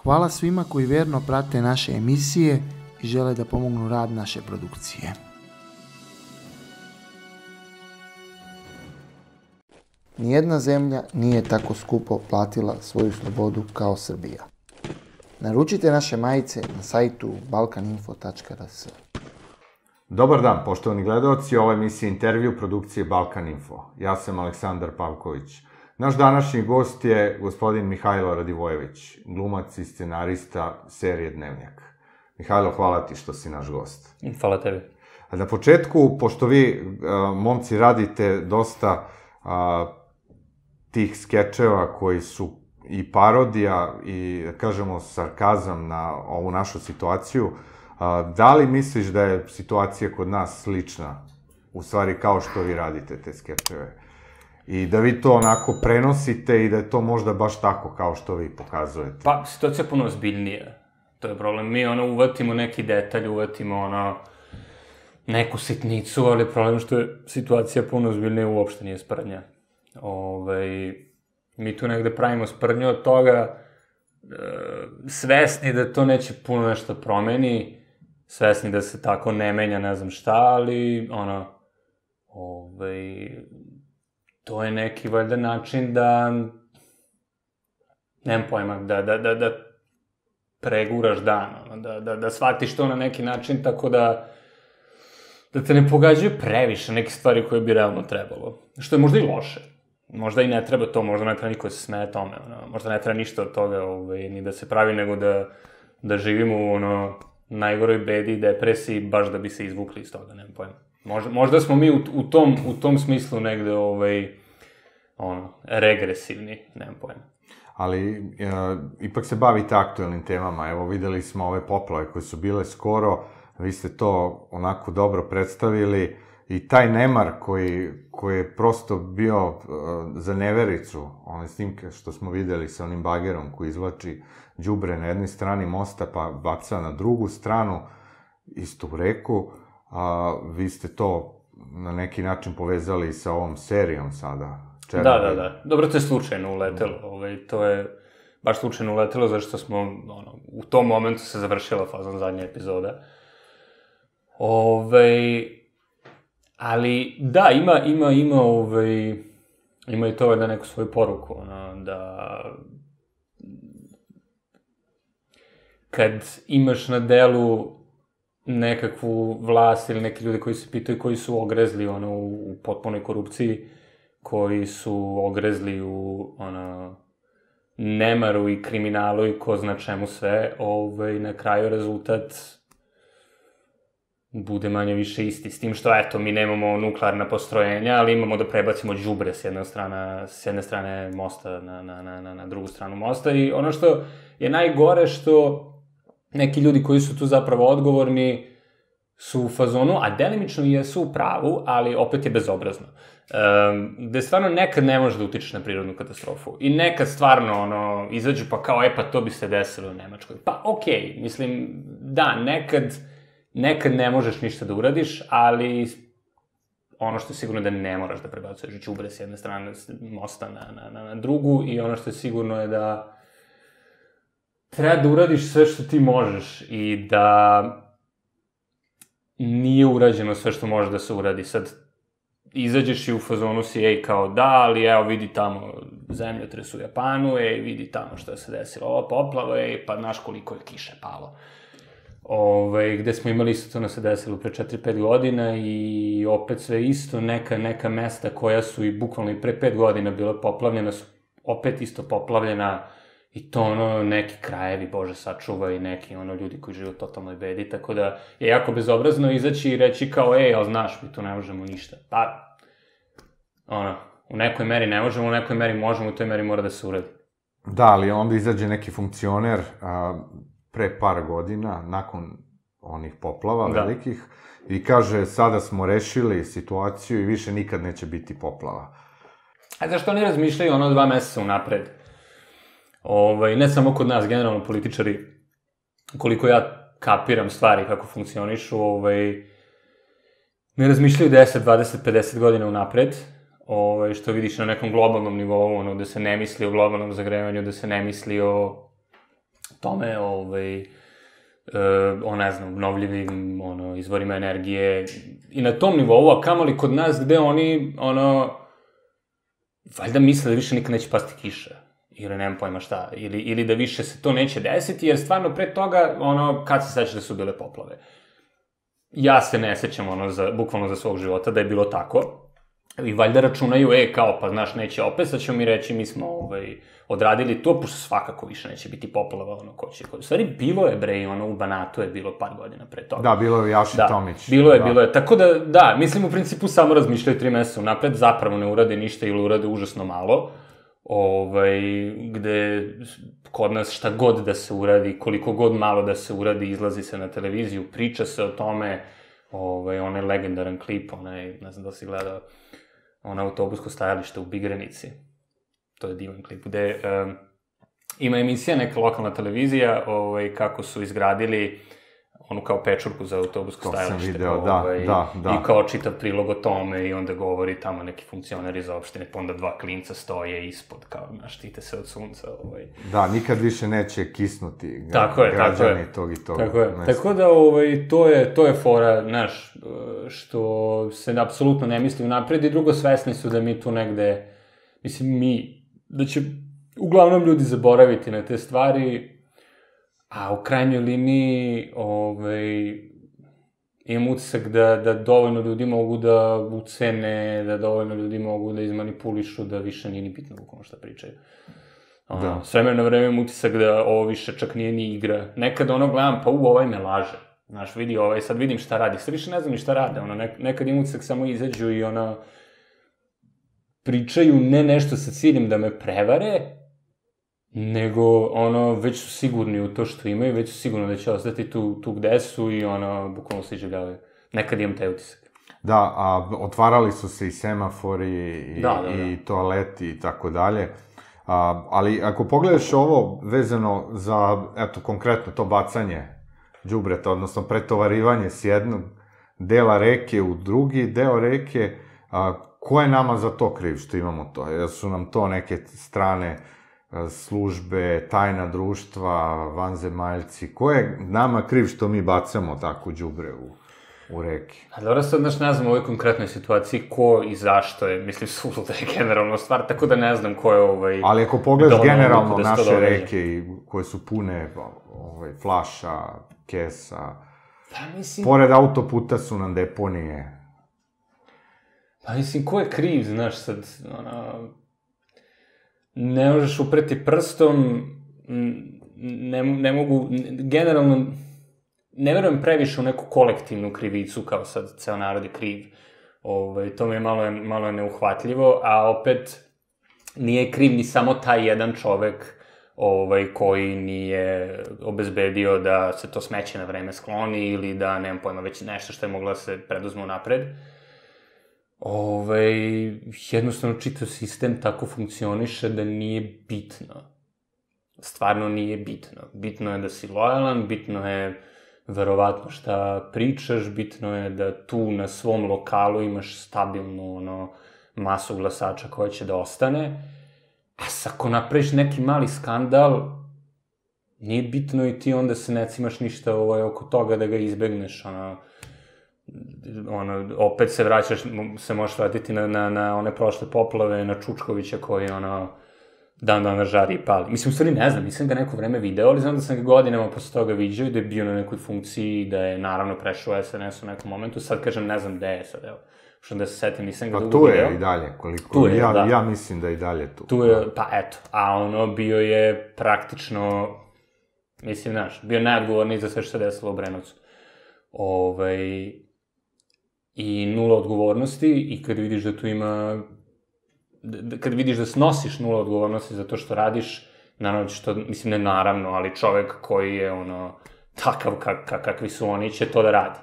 Hvala svima koji verno prate naše emisije i žele da pomognu rad naše produkcije. Nijedna zemlja nije tako skupo platila svoju slobodu kao Srbija. Naručite naše majice na sajtu balkaninfo.rs. Dobar dan, poštovani gledaoci, ovo je emisija Intervju produkcije Balkan Info. Ja sam Aleksandar Pavković. Naš današnji gost je gospodin Mihajlo Radivojević, glumac i scenarista serije Dnevnjak. Mihajlo, hvala ti što si naš gost. Hvala tebi. Na početku, pošto vi, momci, radite dosta tih skečeva koji su i parodija i, da kažemo, sarkazam na ovu našu situaciju, da li misliš da je situacija kod nas slična, u stvari kao što vi radite te skečeve? I da vi to onako prenosite i da je to možda baš tako kao što vi pokazujete? Pa, situacija je puno ozbiljnija. To je problem. Mi, uvatimo neki detalj, uvatimo, neku sitnicu, ali problem što je situacija puno ozbiljnija, uopšte nije sprdnja. Mi tu negde pravimo sprdnju od toga, svesni da to neće puno nešto promeni, svesni da se tako ne menja ne znam šta, ali, to je neki, valjda, način da, nemam pojma, da preguraš dan, da shvatiš to na neki način, tako da te ne pogađaju previše neke stvari koje bi realno trebalo. Što je možda i loše. Možda i ne treba to, možda ne treba niko se smeje tome, možda ne treba ništa od toga ni da se pravi, nego da živimo u najgoroj bedi i depresiji, baš da bi se izvukli iz toga, nemam pojma. Možda smo mi u tom smislu negde, regresivni, nemam pojma. Ali, ipak se bavite aktuelnim temama. Evo, videli smo ove poplave koje su bile skoro, vi ste to onako dobro predstavili i taj nemar koji je prosto bio za nevericu, one snimke što smo videli sa onim bagerom koji izvlači đubre na jednoj strani mosta pa baca na drugu stranu, istu u reku, vi ste to na neki način povezali sa ovom serijom sada. Da. Dobro, to je slučajno uletelo. To je baš slučajno uletelo, zašto smo, u tom momentu se završila fazon zadnja epizoda. Ali, da, ima i to da neku svoju poruku, da kad imaš na delu nekakvu vlast ili neki ljudi koji se pitaju koji su ogrezli u potpunoj korupciji, koji su ogrezli u nemaru i kriminalu i ko zna čemu sve, na kraju rezultat bude manje više isti. S tim što, eto, mi nemamo nuklearna postrojenja, ali imamo da prebacimo đubre s jedne strane mosta na drugu stranu mosta. I ono što je najgore što neki ljudi koji su tu zapravo odgovorni su u fazonu, a delimično i jesu u pravu, ali opet je bezobrazno. Gde stvarno nekad ne može da utičeš na prirodnu katastrofu. I nekad stvarno, izađu pa kao, pa to bi se desilo u Nemačkoj. Pa okej, mislim, da, nekad ne možeš ništa da uradiš, ali ono što je sigurno da ne moraš da prebacuješ đubre s jedne strane mosta na drugu i ono što je sigurno je da treba da uradiš sve što ti možeš i da nije urađeno sve što može da se uradi. Sad, izađeš i u fazonu si, kao da, ali evo vidi tamo zemljotres u Japanu, vidi tamo što se desilo, ova poplava, pa znaš koliko je kiše palo. Gde smo imali isto to se desilo pre 4-5 godina i opet sve isto, neka mesta koja su i bukvalno i pre 5 godina bila poplavljena su opet isto poplavljena i to neki krajevi, Bože sačuva, i neki ljudi koji žive u totalnoj bedi, tako da je jako bezobrazno izaći i reći kao, ali znaš, mi tu ne možemo ništa. Pa, u nekoj meri ne možemo, u nekoj meri možemo, u toj meri mora da se uradi. Da, ali onda izađe neki funkcioner pre par godina, nakon onih poplava velikih, i kaže, sada smo rešili situaciju i više nikad neće biti poplava. A zašto oni razmišljaju 2 meseca unapred? Ne samo kod nas, generalno političari, koliko ja kapiram stvari kako funkcionišu, ne razmišljaju 10, 20, 50 godina unapred, što vidiš na nekom globalnom nivou, da se ne misli o globalnom zagrevanju, da se ne misli o tome, o ne znam, obnovljivim izvorima energije i na tom nivou, a kamoli kod nas gde oni, valjda misle da više nikad neće pasti kiša, ili nemam pojma šta, ili da više se to neće desiti, jer stvarno pre toga, kad se seća da su bile poplave? Ja se ne sećam, bukvalno za svog života da je bilo tako, i valjda računaju, kao, pa znaš, neće opet, sad ćemo mi reći, mi smo odradili to, pošto svakako više neće biti poplava, ko će. U stvari, bilo je, bre, u Banatu je bilo par godina pre toga. Da, bilo je Jaši Tomić. Bilo je. Tako da, mislim, u principu samo razmišljaju 3 meseca unapred, zapravo ne urade ništa ili urade užasno malo, gde kod nas šta god da se uradi, koliko god malo da se uradi, izlazi se na televiziju, priča se o tome, onaj legendaran klip, ne znam da si gledao, autobusko stajalište u Bigrenici. To je divan klip, gde ima emisija, neka lokalna televizija, kako su izgradili onu kao pečurku za autobusko stajalište. To sam video, da. I kao čitav prilog o tome i onda govori tamo neki funkcioner iz opštine, pa onda 2 klinca stoje ispod, kao, štite se od sunca. Da, nikad više neće kisnuti građani tog i tog. Tako da, to je fora, znaš, što se apsolutno ne misli unapred i drugo, svesni su da mi tu negde, mislim, da će uglavnom ljudi zaboraviti na te stvari, a u krajnjoj liniji imam utisak da dovoljno ljudi mogu da ucene, da dovoljno ljudi mogu da izmanipulišu, da više nije ni bitno bukvalno šta pričaju. S vremena na vreme imam utisak da ovo više čak nije ni igra. Nekad gledam, pa ovaj me laže. Znaš, vidi sad vidim šta radi. Sad više ne znam ni šta rade. Nekad imam utisak samo izađu i pričaju ne nešto sa ciljem da me prevare, nego, već su sigurni u to što imaju, već su sigurni da će ostati tu gde su i, bukvalno se iživljavaju. Nekad imam taj utisak. Da, a otvarali su se i semafori, i toaleti i tako dalje, ali ako pogledaš ovo vezano za, eto, konkretno to bacanje đubreta, odnosno pretovarivanje s jednog dela reke u drugi deo reke, ko je nama za to kriv što imamo to? Jer su nam to neke strane službe, tajna društva, vanzemaljci, ko je nama kriv što mi bacamo tako đubre u reke? A dobro, sad, znaš, ne znam u ovoj konkretnoj situaciji ko i zašto je, mislim, suluda je generalno stvar, tako da ne znam ko je Ali ako pogledaš generalno naše reke koje su pune flaša, kesa, pored autoputa su nam deponije. Pa mislim, ko je kriv, znaš, sad, ne možeš upreti prstom, ne mogu, generalno, ne verujem previše u neku kolektivnu krivicu, kao sad ceo narod je kriv. To mi je malo neuhvatljivo, a opet nije kriv ni samo taj jedan čovek koji nije obezbedio da se to smeće na vreme skloni ili da, nemam pojma, već nešto što je moglo da se preduzme unapred. Jednostavno čitav sistem tako funkcioniše da nije bitno. Stvarno nije bitno. Bitno je da si lojalan, bitno je verovatno šta pričaš, bitno je da tu na svom lokalu imaš stabilnu masu glasača koja će da ostane, a ako napraviš neki mali skandal, nije bitno i ti onda se ne cimaš ništa oko toga da ga izbegneš, opet se vraćaš, se možeš vratiti na one prošle poplave, na Čučkovića koji dan žari i pali. Mislim, u stvari ne znam, nisam ga neko vreme video, ali znam da sam ga godinama posle toga viđao i da je bio na nekoj funkciji i da je naravno prešao SNS u nekom momentu. Sad kažem, ne znam gde je sad, evo. Što da se setim, nisam ga dugo video. Pa tu je i dalje, koliko ja mislim da je i dalje tu. Tu je, pa eto, a bio je praktično, mislim, znaš, bio najodgovorniji za sve što se desilo u Brenovcu. I nula odgovornosti i kad vidiš da tu ima, kad vidiš da snosiš nula odgovornosti za to što radiš, naravno ćeš to, mislim ne naravno, ali čovek koji je takav kakvi su oni će to da radi.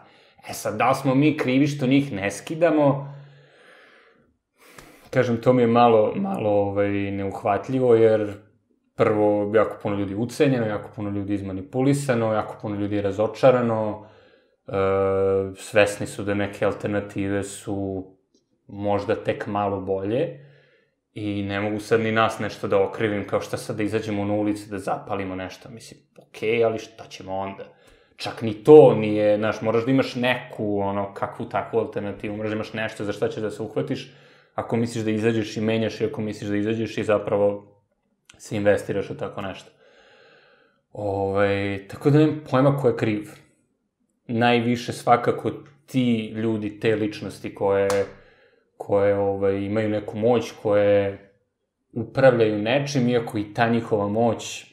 Sad, da li smo mi krivi što njih ne skidamo? Kažem, to mi je malo neuhvatljivo, jer prvo, jako puno ljudi ucenjeno, jako puno ljudi izmanipulisano, jako puno ljudi je razočarano, svesni su da neke alternative su možda tek malo bolje I ne mogu sad ni nas nešto da okrivim, kao šta sad da izađemo na ulici, da zapalimo nešto. Mislim, okej, ali šta ćemo onda? Čak ni to nije, znaš, moraš da imaš neku, kakvu takvu alternativu, moraš da imaš nešto za šta ćeš da se uhvatiš, ako misliš da izađeš i menjaš i ako misliš da izađeš i zapravo se investiraš u tako nešto. Tako da nemam pojma ko je kriv. Najviše svakako ti ljudi, te ličnosti koje imaju neku moć, koje upravljaju nečim, iako i ta njihova moć,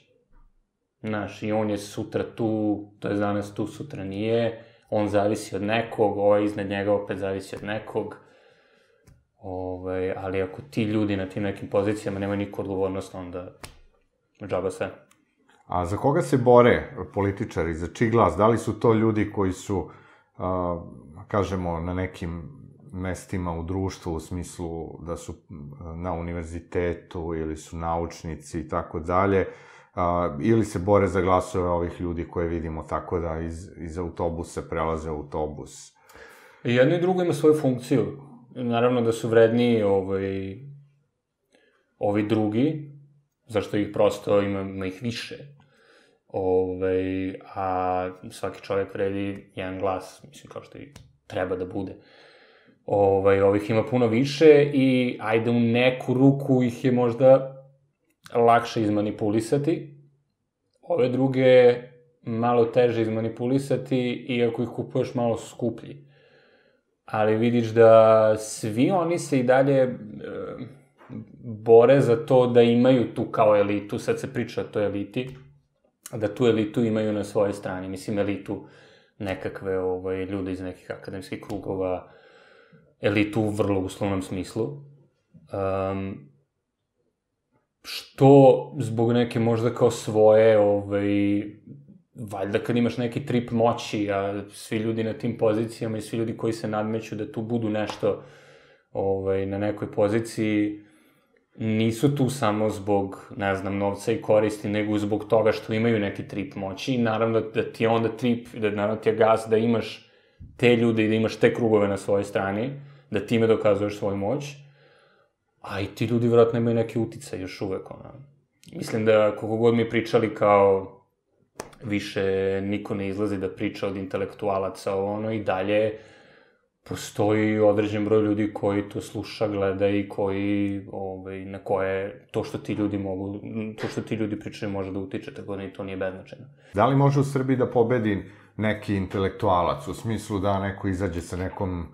znaš, i on je sutra tu, to je danas tu, sutra nije, on zavisi od nekog, iznad njega opet zavisi od nekog, ali ako ti ljudi na tim nekim pozicijama nemaju nikakvu odgovornost, onda džaba sve. A za koga se bore političari, za čiji glas? Da li su to ljudi koji su, kažemo, na nekim mestima u društvu, u smislu da su na univerzitetu ili su naučnici i tako dalje, ili se bore za glasove ovih ljudi koje vidimo tako da iz autobusa prelaze u autobus? I jedno i drugo ima svoju funkciju. Naravno da su vredniji ovi drugi, zašto ih prosto ima ih više. A svaki čovjek vredi jedan glas, mislim, kao što i treba da bude. Ovih ima puno više i ajde u neku ruku ih je možda lakše izmanipulisati. Ove druge malo teže izmanipulisati, iako ih kupuješ malo skuplji. Ali vidiš da svi oni se i dalje bore za to da imaju tu kao elitu, sad se priča o toj eliti, da tu elitu imaju na svojoj strani. Mislim, elitu nekakve ljude iz nekih akademskih krugova, elitu u vrlo uslovnom smislu. Što zbog neke možda kao svoje, valjda kad imaš neki trip moći, a svi ljudi na tim pozicijama i svi ljudi koji se nadmeću da tu budu nešto na nekoj poziciji, nisu tu samo zbog, ne znam, novca i koristi, nego zbog toga što imaju neki trip moći i naravno da ti je onda trip, da naravno ti je gas da imaš te ljude i da imaš te krugove na svojoj strani, da time dokazuješ svoju moć, a i ti ljudi vjerojatno imaju neki uticaj još uvek, Mislim da koliko god mi pričali kao više niko ne izlazi da priča od intelektualaca i dalje postoji određen broj ljudi koji to sluša, gleda i koji, na koje to što ti ljudi mogu, to što ti ljudi pričaju može da utiče, tako da i to nije beznačajno. Da li može u Srbiji da pobedi neki intelektualac, u smislu da neko izađe sa nekom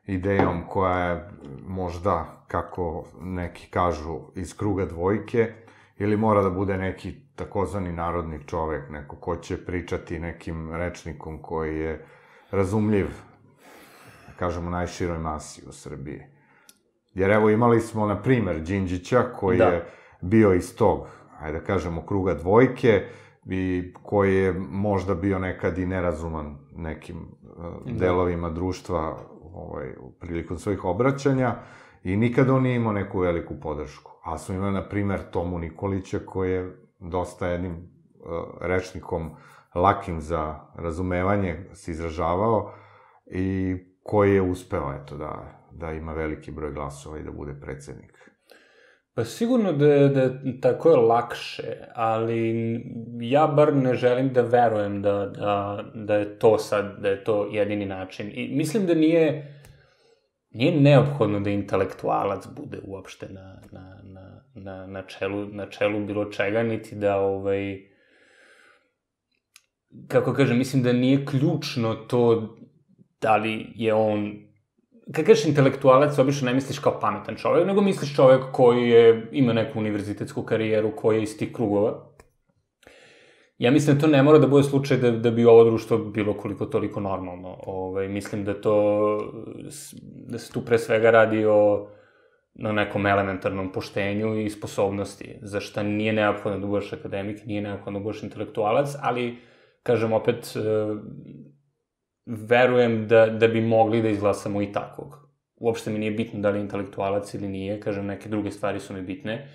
idejom koja je možda, kako neki kažu, iz kruga dvojke, ili mora da bude neki takozvani narodni čovek, neko ko će pričati nekim rečnikom koji je razumljiv, kažemo, najširoj masi u Srbiji. Jer evo imali smo, na primer, Đinđića, koji je bio iz tog, ajde da kažemo, kruga dvojke, i koji je možda bio nekad i nerazuman nekim delovima društva prilikom svojih obraćanja, i nikada on nije imao neku veliku podršku. A smo imali, na primer, Tomu Nikolića, koji je dosta jednim rečnikom lakim za razumevanje se izražavao i koji je uspeo, eto, da ima veliki broj glasova i da bude predsednik. Pa sigurno da tako je lakše, ali ja bar ne želim da verujem da je to sad, da je to jedini način. I mislim da nije neophodno da intelektualac bude uopšte na čelu bilo čega, niti da, kako kažem, mislim da nije ključno to da li je on, kad kažeš intelektualac, obično ne misliš kao pametan čovek, nego misliš čovek koji ima neku univerzitetsku karijeru, koji je iz tih krugova. Ja mislim da to ne mora da bude slučaj da bi ovo društvo bilo koliko toliko normalno. Mislim da se tu pre svega radi o nekom elementarnom poštenju i sposobnosti, za šta nije neophodno da budeš akademik, nije neophodno da budeš intelektualac, ali, kažem opet, verujem da bi mogli da izglasamo i takvog. Uopšte mi nije bitno da li je intelektualac ili nije, kažem, neke druge stvari su mi bitne.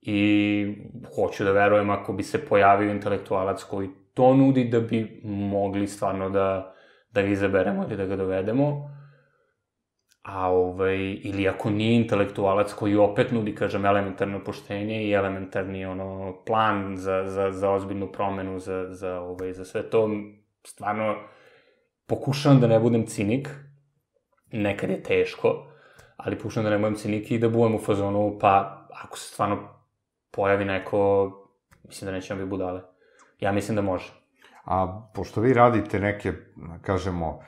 I hoću da verujem ako bi se pojavio intelektualac koji to nudi, da bi mogli stvarno da ga izaberemo ili da ga dovedemo. ili ako nije intelektualac koji opet nudi, kažem, elementarno poštenje i elementarni, plan za ozbiljnu promenu, za sve to, stvarno, pokušavam da ne budem cinik, nekad je teško, ali pokušavam da ne budem cinik i da budem u fazonu, pa, ako se stvarno pojavi neko, mislim da nećemo biti budale. Ja mislim da može. A pošto vi radite neke, kažemo,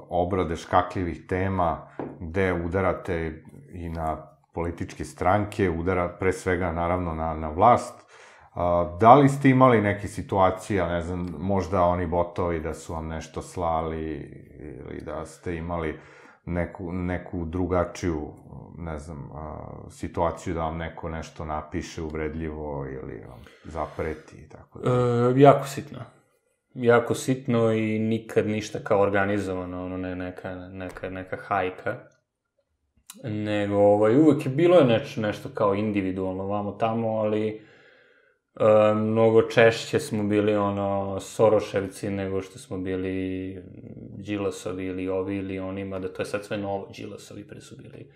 obrade škakljivih tema, gde udarate i na političke stranke, pre svega, naravno, na vlast, da li ste imali neke situacije, ne znam, možda oni botovi da su vam nešto slali, ili da ste imali neku drugačiju, ne znam, situaciju da vam neko nešto napiše uvredljivo ili vam zapreti i tako da? Jako sitno. Jako sitno i nikad ništa kao organizovano, ne neka hajka. Nego, uvek je bilo nešto kao individualno vamo tamo, ali mnogo češće smo bili, Soroševci nego što smo bili Đilasovi ili ovi ili oni, mada to je sad sve novo, Đilasovi pre su bili.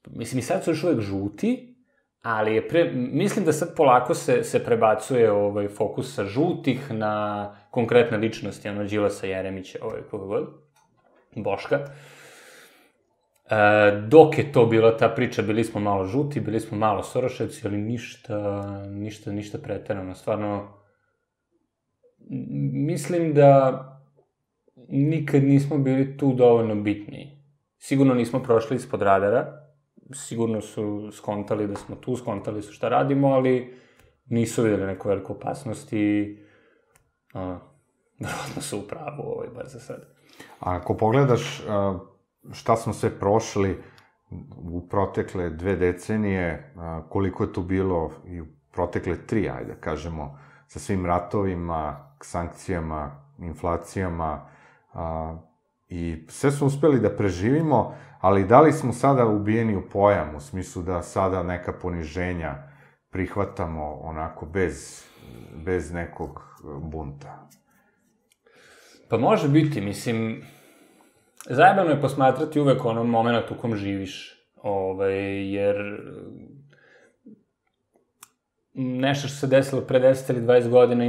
Mislim, i sad su još uvek žuti, ali mislim da sad polako se prebacuje fokus sa žutih na konkretne ličnosti, Đilasa, Jeremića, koga god, Boška. Dok je to bila ta priča, bili smo malo žuti, bili smo malo Soroševci, ali ništa preterano. Stvarno, mislim da nikad nismo bili tu dovoljno bitni. Sigurno nismo prošli ispod radara, sigurno su skontali da smo tu, skontali su šta radimo, ali nisu videli neku veliku opasnost i verovatno su u pravu bar za sad. A ako pogledaš šta smo sve prošli u protekle 2 decenije, koliko je to bilo i u protekle 3, ajde kažemo, sa svim ratovima, sankcijama, inflacijama, i sve smo uspeli da preživimo, ali da li smo sada ubijeni u pojam, u smislu da sada neka poniženja prihvatamo onako bez nekog bunta? Pa može biti, mislim, zajebano je posmatrati uvek moment u kom živiš, jer nešto što se desilo pre 10 ili 20 godina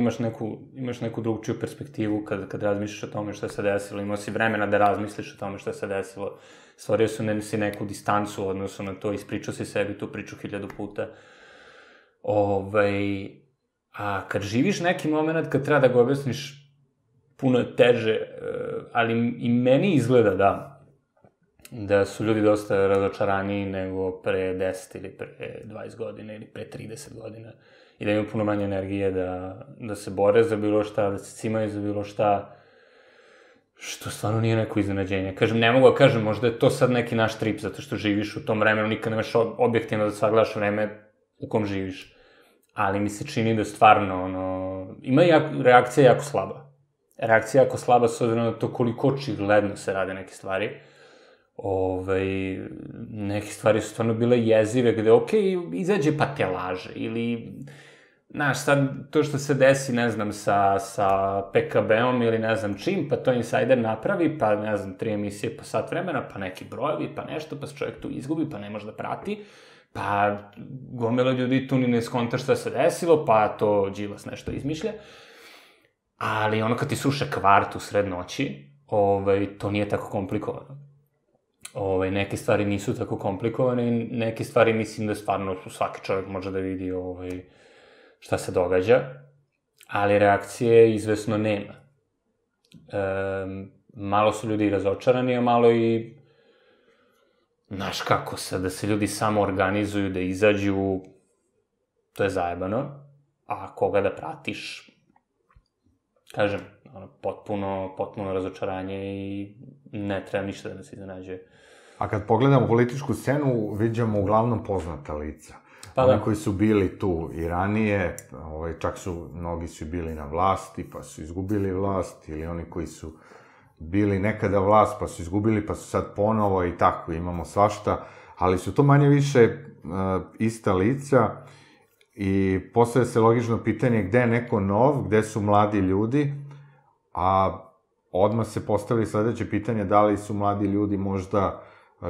imaš neku drugčiju perspektivu kad razmišljaš o tome što se desilo, imao si vremena da razmisliš o tome što se desilo, stvorio si neku distancu u odnosu na to, ispričao si sebi tu priču 1000 puta. A kad živiš neki moment, kad treba da ga objasniš, puno je teže, ali i meni izgleda da su ljudi dosta razočaraniji nego pre 10 ili pre 20 godina ili pre 30 godina i da imaju puno manje energije da se bore za bilo šta, da se cimaju za bilo šta, što stvarno nije neko iznenađenje. Kažem, ne mogu da kažem, možda je to sad neki naš trip, zato što živiš u tom vremenu, nikad nemaš objektivno da sagledaš vreme u kom živiš, ali mi se čini da stvarno, ima reakcija jako slaba. Reakcija jako slaba s obzirom na to koliko očigledno se rade neke stvari. Neke stvari su stvarno bile jezive, gde, izađe pa te laže, ili, znaš, sad to što se desi, ne znam, sa PKB-om ili ne znam čim, pa to Insider napravi, pa, ne znam, 3 emisije po sat vremena, pa neki brojevi, pa nešto, pa se čovjek tu izgubi, pa ne može da prati, pa gomila ljudi tu ni ne skonta šta se desilo, pa to Đilas nešto izmišlja. Ali kad ti sruše kvart u sred noći, to nije tako komplikovano. Neke stvari nisu tako komplikovane i neke stvari mislim da stvarno svaki čovjek može da vidi šta se događa, ali reakcije izvesno nema. Malo su ljudi razočarani, a malo i, znaš kako sad, da se ljudi samo organizuju, da izađu, to je zajebano, a koga da pratiš, kažem, potpuno razočaranje i ne treba ništa da nas iznenađuje. A kad pogledamo političku scenu, viđamo uglavnom poznata lica. Oni koji su bili tu i ranije, čak su, mnogi su bili na vlasti, pa su izgubili vlast, ili oni koji su bili nekada vlast, pa su izgubili, pa su sad ponovo i tako, imamo svašta, ali su to manje više ista lica i postavlja se logično pitanje gde je neko nov, gde su mladi ljudi, a odmah se postavili sledeće pitanje da li su mladi ljudi možda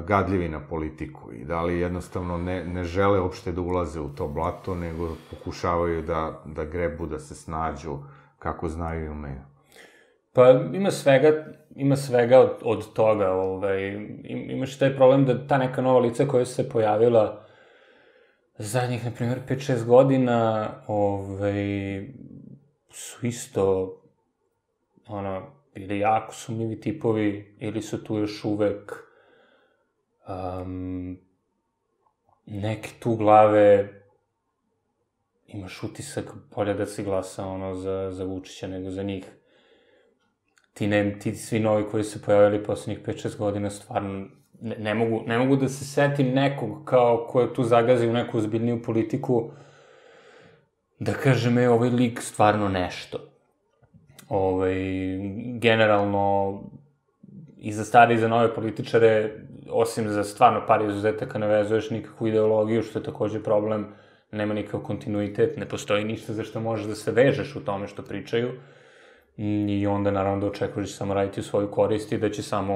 gadljivi na politiku i da li jednostavno ne žele uopšte da ulaze u to blato, nego pokušavaju da grebu, da se snađu kako znaju i umeju. Pa ima svega od toga. Imaš taj problem da ta neka nova lica koja su se pojavila zadnjih, na primjer, 5-6 godina, su isto, bili jako sumnjivi tipovi, ili su tu još uvek neke tu glave, imaš utisak bolje da se glasa, za Vučića nego za njih. Ti svi novi koji se pojavili poslednjih 5-6 godina, stvarno, ne mogu da se setim nekog kao ko je tu zagazio neku ozbiljniju politiku, da kažem, ovaj lik stvarno nešto. Generalno, i za stare i za nove političare, osim za stvarno par izuzetaka, ne vezuješ nikakvu ideologiju, što je takođe problem, nema nikakav kontinuitet, ne postoji ništa za što možeš da se vežeš u tome što pričaju, i onda naravno da očekuješ da će samo raditi u svoju korist i da će samo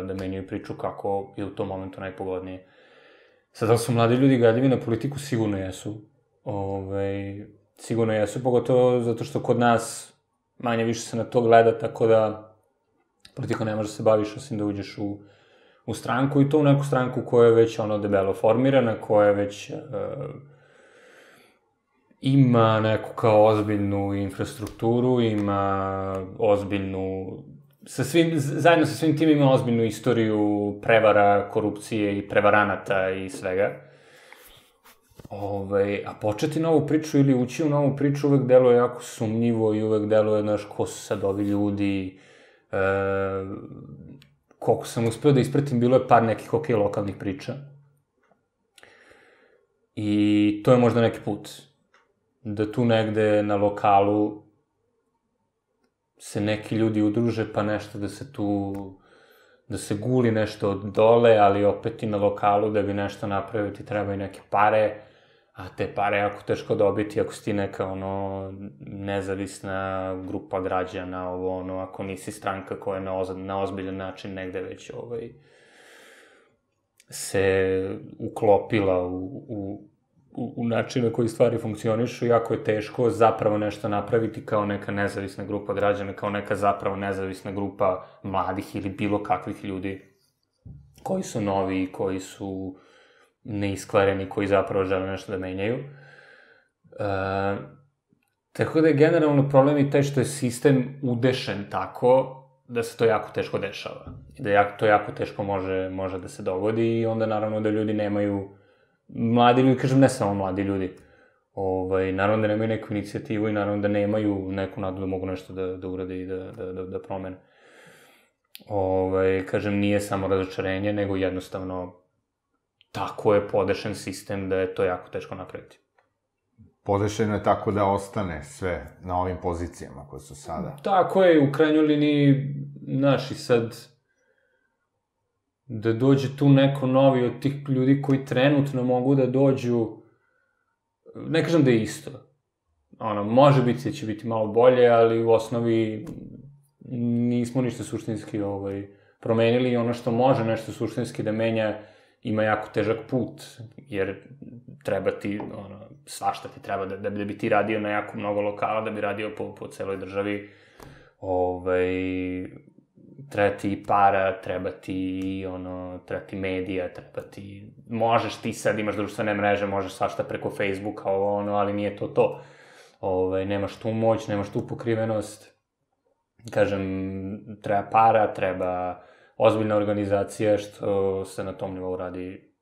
da menjaju priču kako je u tom momentu najpogodnije. Sad, da li su mladi ljudi gadljivi na politiku? Sigurno jesu. Sigurno jesu, pogotovo zato što kod nas manje više se na to gleda, tako da politika ne može da se baviš osim da uđeš u stranku, i to u neku stranku koja je već debelo formirana, koja je već ima neku kao ozbiljnu infrastrukturu, ima ozbiljnu, zajedno sa svim tim ima ozbiljnu istoriju prevara, korupcije i prevaranata i svega. A početi novu priču ili ući u novu priču uvek deluje jako sumnjivo i uvek deluje, znaš, ko su sad ovi ljudi, koliko sam uspeo da ispratim, bilo je par nekih lokalnih priča. I to je možda neki put. Da tu negde na lokalu se neki ljudi udruže, pa nešto da se guli nešto od dole, ali opet i na lokalu da bi nešto napravio ti treba i neke pare, a te pare je jako teško dobiti ako si ti neka, nezavisna grupa građana, ako nisi stranka koja je na ozbiljan način negde već se uklopila u način na koji stvari funkcionišu, jako je teško zapravo nešto napraviti kao neka nezavisna grupa građana, kao neka zapravo nezavisna grupa mladih ili bilo kakvih ljudi koji su novi, koji su neiskvareni, koji zapravo žele nešto da menjaju. Tako da je generalno problem i taj što je sistem udešen tako da se to jako teško dešava. I da to jako teško može da se dogodi i onda naravno da ljudi nemaju, mladi ljudi, kažem ne samo mladi ljudi, naravno da nemaju neku inicijativu i naravno da nemaju neku nadu da mogu nešto da urade i da promene. Kažem, nije samo razočarenje, nego jednostavno tako je podešen sistem da je to jako teško napraviti. Podešeno je tako da ostane sve na ovim pozicijama koje su sada. Tako je, u krajnjoj liniji, znaš, i sad da dođe tu neko novi od tih ljudi koji trenutno mogu da dođu, ne kažem da je isto. Može biti da će biti malo bolje, ali u osnovi nismo ništa suštinski promenili i ono što može nešto suštinski da menja ima jako težak put, jer treba ti, svašta ti treba da bi ti radio na jako mnogo lokala, da bi radio po celoj državi, treba ti para, treba ti medija, možeš ti sad, imaš društvene mreže, možeš svašta preko Facebooka, ali nije to. Nemaš tu moć, nemaš tu pokrivenost, kažem, treba para, treba ozbiljna organizacija, što se na tom nivou radi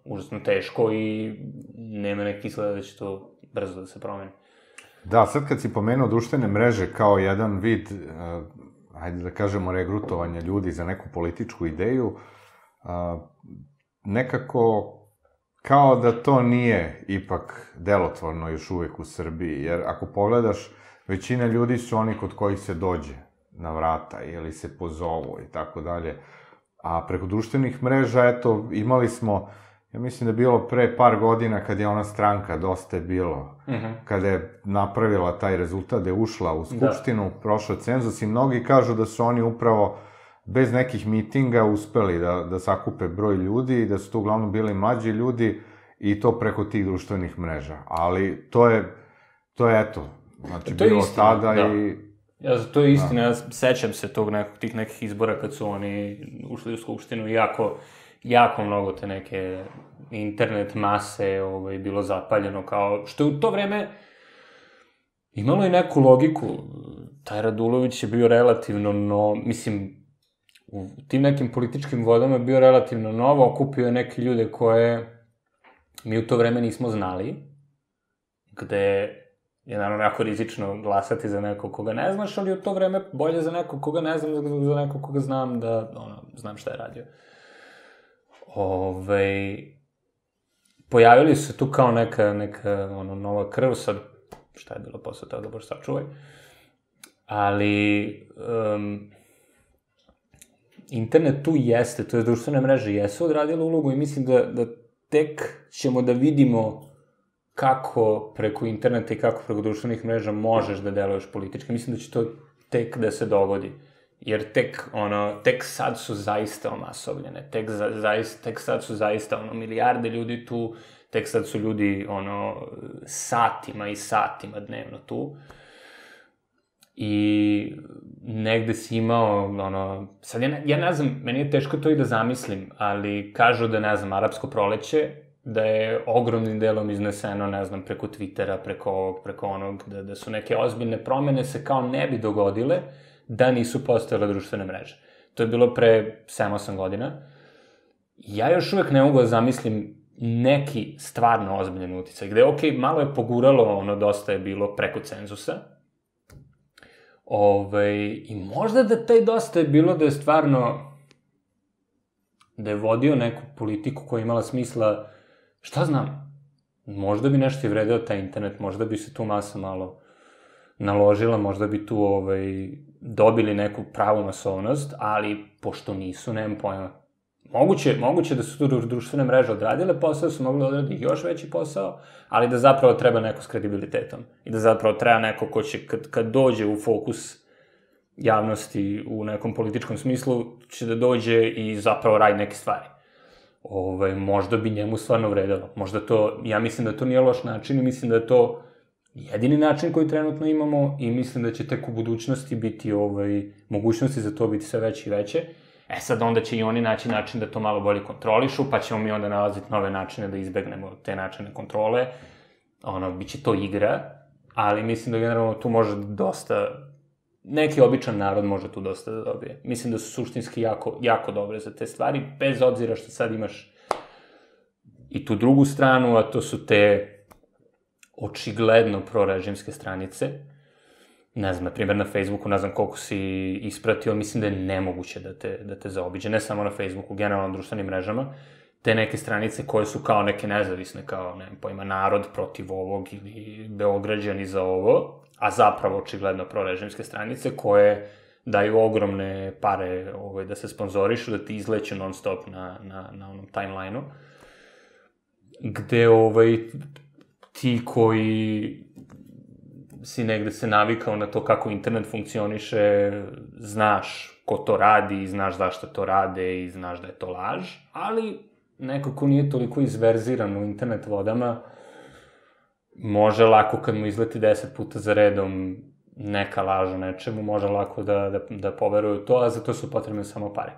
užasno teško i nema neki izgleda da će to brzo da se promeni. Da, sad kad si pomenuo društvene mreže kao jedan vid, hajde da kažemo, regrutovanja ljudi za neku političku ideju, nekako kao da to nije ipak delotvorno još uvek u Srbiji, jer ako pogledaš, većina ljudi su oni kod kojih se dođe na vrata ili se pozovu i tako dalje. A preko društvenih mreža, eto, imali smo ja mislim da je bilo pre par godina kad je ona stranka Dosta je bilo, kada je napravila taj rezultat, da je ušla u Skupštinu, prošla cenzus i mnogi kažu da su oni upravo bez nekih mitinga uspeli da sakupe broj ljudi i da su to uglavnom bili mlađi ljudi i to preko tih društvenih mreža. Ali to je eto, znači bilo tada i... To je istina, ja sećam se tih nekih izbora kad su oni ušli u Skupštinu i jako mnogo te neke internet mase bilo zapaljeno, kao što je u to vreme imalo i neku logiku. Taj Radulović je bio relativno mislim, u tim nekim političkim vodama je bio relativno novo, okupio je neke ljude koje mi u to vreme nismo znali, gde je naravno jako rizično glasati za nekog koga ne znaš, ali u to vreme bolje za nekog koga ne znam, za nekog koga znam da, znam šta je radio. Pojavili su tu kao neka nova krv, sad, šta je bilo posle toga, bož sačuvaj. Ali, internet tu jeste, to je društvene mreže jesu odradile ulogu i mislim da tek ćemo da vidimo kako preko interneta i kako preko društvenih mreža možeš da deluješ politički. Mislim da će to tek da se dogodi. Jer tek sad su zaista omasovljene. Tek sad su zaista, milijarde ljudi tu. Tek sad su ljudi, satima i satima dnevno tu. I negde si imao, sad ja ne znam, meni je teško to i da zamislim, ali kažu da, ne znam, arapsko proleće, da je ogromnim delom izneseno, ne znam, preko Twittera, preko ovog, preko onog, da su neke ozbiljne promene se kao ne bi dogodile da nisu postojale društvene mreže. To je bilo pre 7-8 godina. Ja još uvek ne mogu da zamislim neki stvarno ozbiljen uticaj, gde, okej, malo je poguralo, dosta je bilo preko cenzusa, i možda da taj dosta je bilo da je stvarno, da je vodio neku politiku koja je imala smisla, šta znam, možda bi nešto i vredeo taj internet, možda bi se tu masa malo naložila, možda bi tu dobili neku pravu masovnost, ali pošto nisu, nemam pojma. Moguće da su tu društvene mreže odradile posao, su mogli odraditi još veći posao, ali da zapravo treba neko s kredibilitetom. I da zapravo treba neko ko će, kad dođe u fokus javnosti u nekom političkom smislu, će da dođe i zapravo radi neke stvari. Možda bi njemu stvarno vredelo. Možda to, ja mislim da to nije loš način i mislim da je to jedini način koji trenutno imamo i mislim da će tek u budućnosti biti mogućnosti za to biti sve veće i veće. Sad onda će i oni naći način da to malo bolje kontrolišu, pa ćemo mi onda nalaziti nove načine da izbegnemo te načine kontrole. Biće to igra, ali mislim da generalno tu može dosta, neki običan narod može tu dosta da dobije. Mislim da su suštinski jako dobre za te stvari, bez obzira što sad imaš i tu drugu stranu, a to su te očigledno prorežimske stranice. Ne znam, na primjer na Facebooku, ne znam koliko si ispratio, mislim da je nemoguće da te zaobiđe, ne samo na Facebooku, generalno na društvenim mrežama, te neke stranice koje su kao neke nezavisne, kao, ne znam pojma, narod protiv ovog ili Beograđani za ovo, a zapravo očigledno prorežimske stranice koje daju ogromne pare da se sponzorišu, da ti izleću non stop na onom timeline-u, gde ti koji si negde se navikao na to kako internet funkcioniše, znaš ko to radi, znaš zašto to rade i znaš da je to laž, ali neko ko nije toliko izverziran u internet vodama, može lako kad mu izleti 10 puta za redom neka laž o nečemu, može lako da poveruje u to, a za to su potrebne samo pare.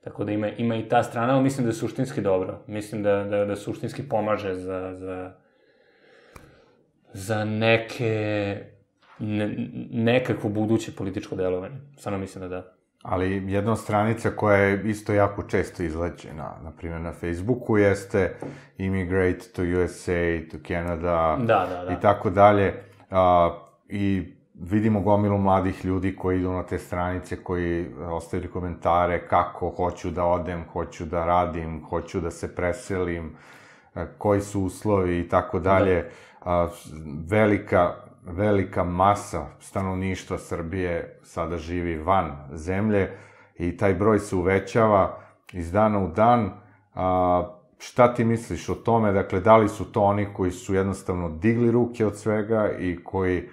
Tako da ima i ta strana, ali mislim da je suštinski dobro. Mislim da suštinski pomaže za nekakvo buduće političko delovanje. Stvarno mislim da. Ali jedna od stranica koja je isto jako često izleđena, na primjer na Facebooku, jeste Immigrate to USA, to Canada i tako dalje. I vidimo gomilu mladih ljudi koji idu na te stranice, koji ostavili komentare kako hoću da odem, hoću da radim, hoću da se preselim, koji su uslovi i tako dalje. Velika masa stanovništva Srbije sada živi van zemlje i taj broj se uvećava iz dana u dan. šta ti misliš o tome, dakle, da li su to oni koji su jednostavno digli ruke od svega i koji,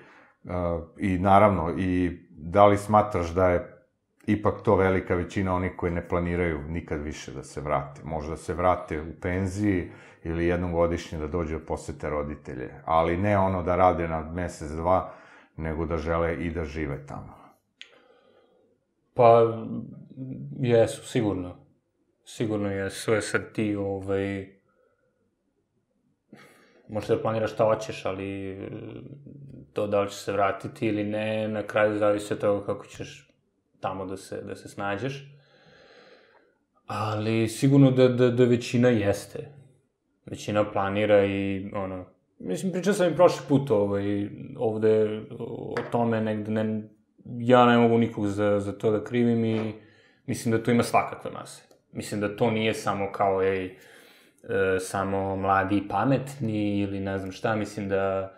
i naravno, i da li smatraš da je ipak to velika većina onih koji ne planiraju nikad više da se vrate. Možda se vrate u penziji ili jednom godišnje da dođe da posete roditelje, ali ne ono da rade na mesec, dva, nego da žele i da žive tamo. Pa, jesu, sigurno. Sigurno jesu, sad ti, možda da planiraš šta hoćeš, ali to da li će se vratiti ili ne, na kraju zavisi od toga kako ćeš tamo da se snađeš. Ali sigurno da većina jeste. Većina planira i, mislim, pričao sam i prošli put ovde o tome negde, ja ne mogu nikog za to da krivim i mislim da tu ima svakakve mase. Mislim da to nije samo kao, samo mladi i pametni ili ne znam šta, mislim da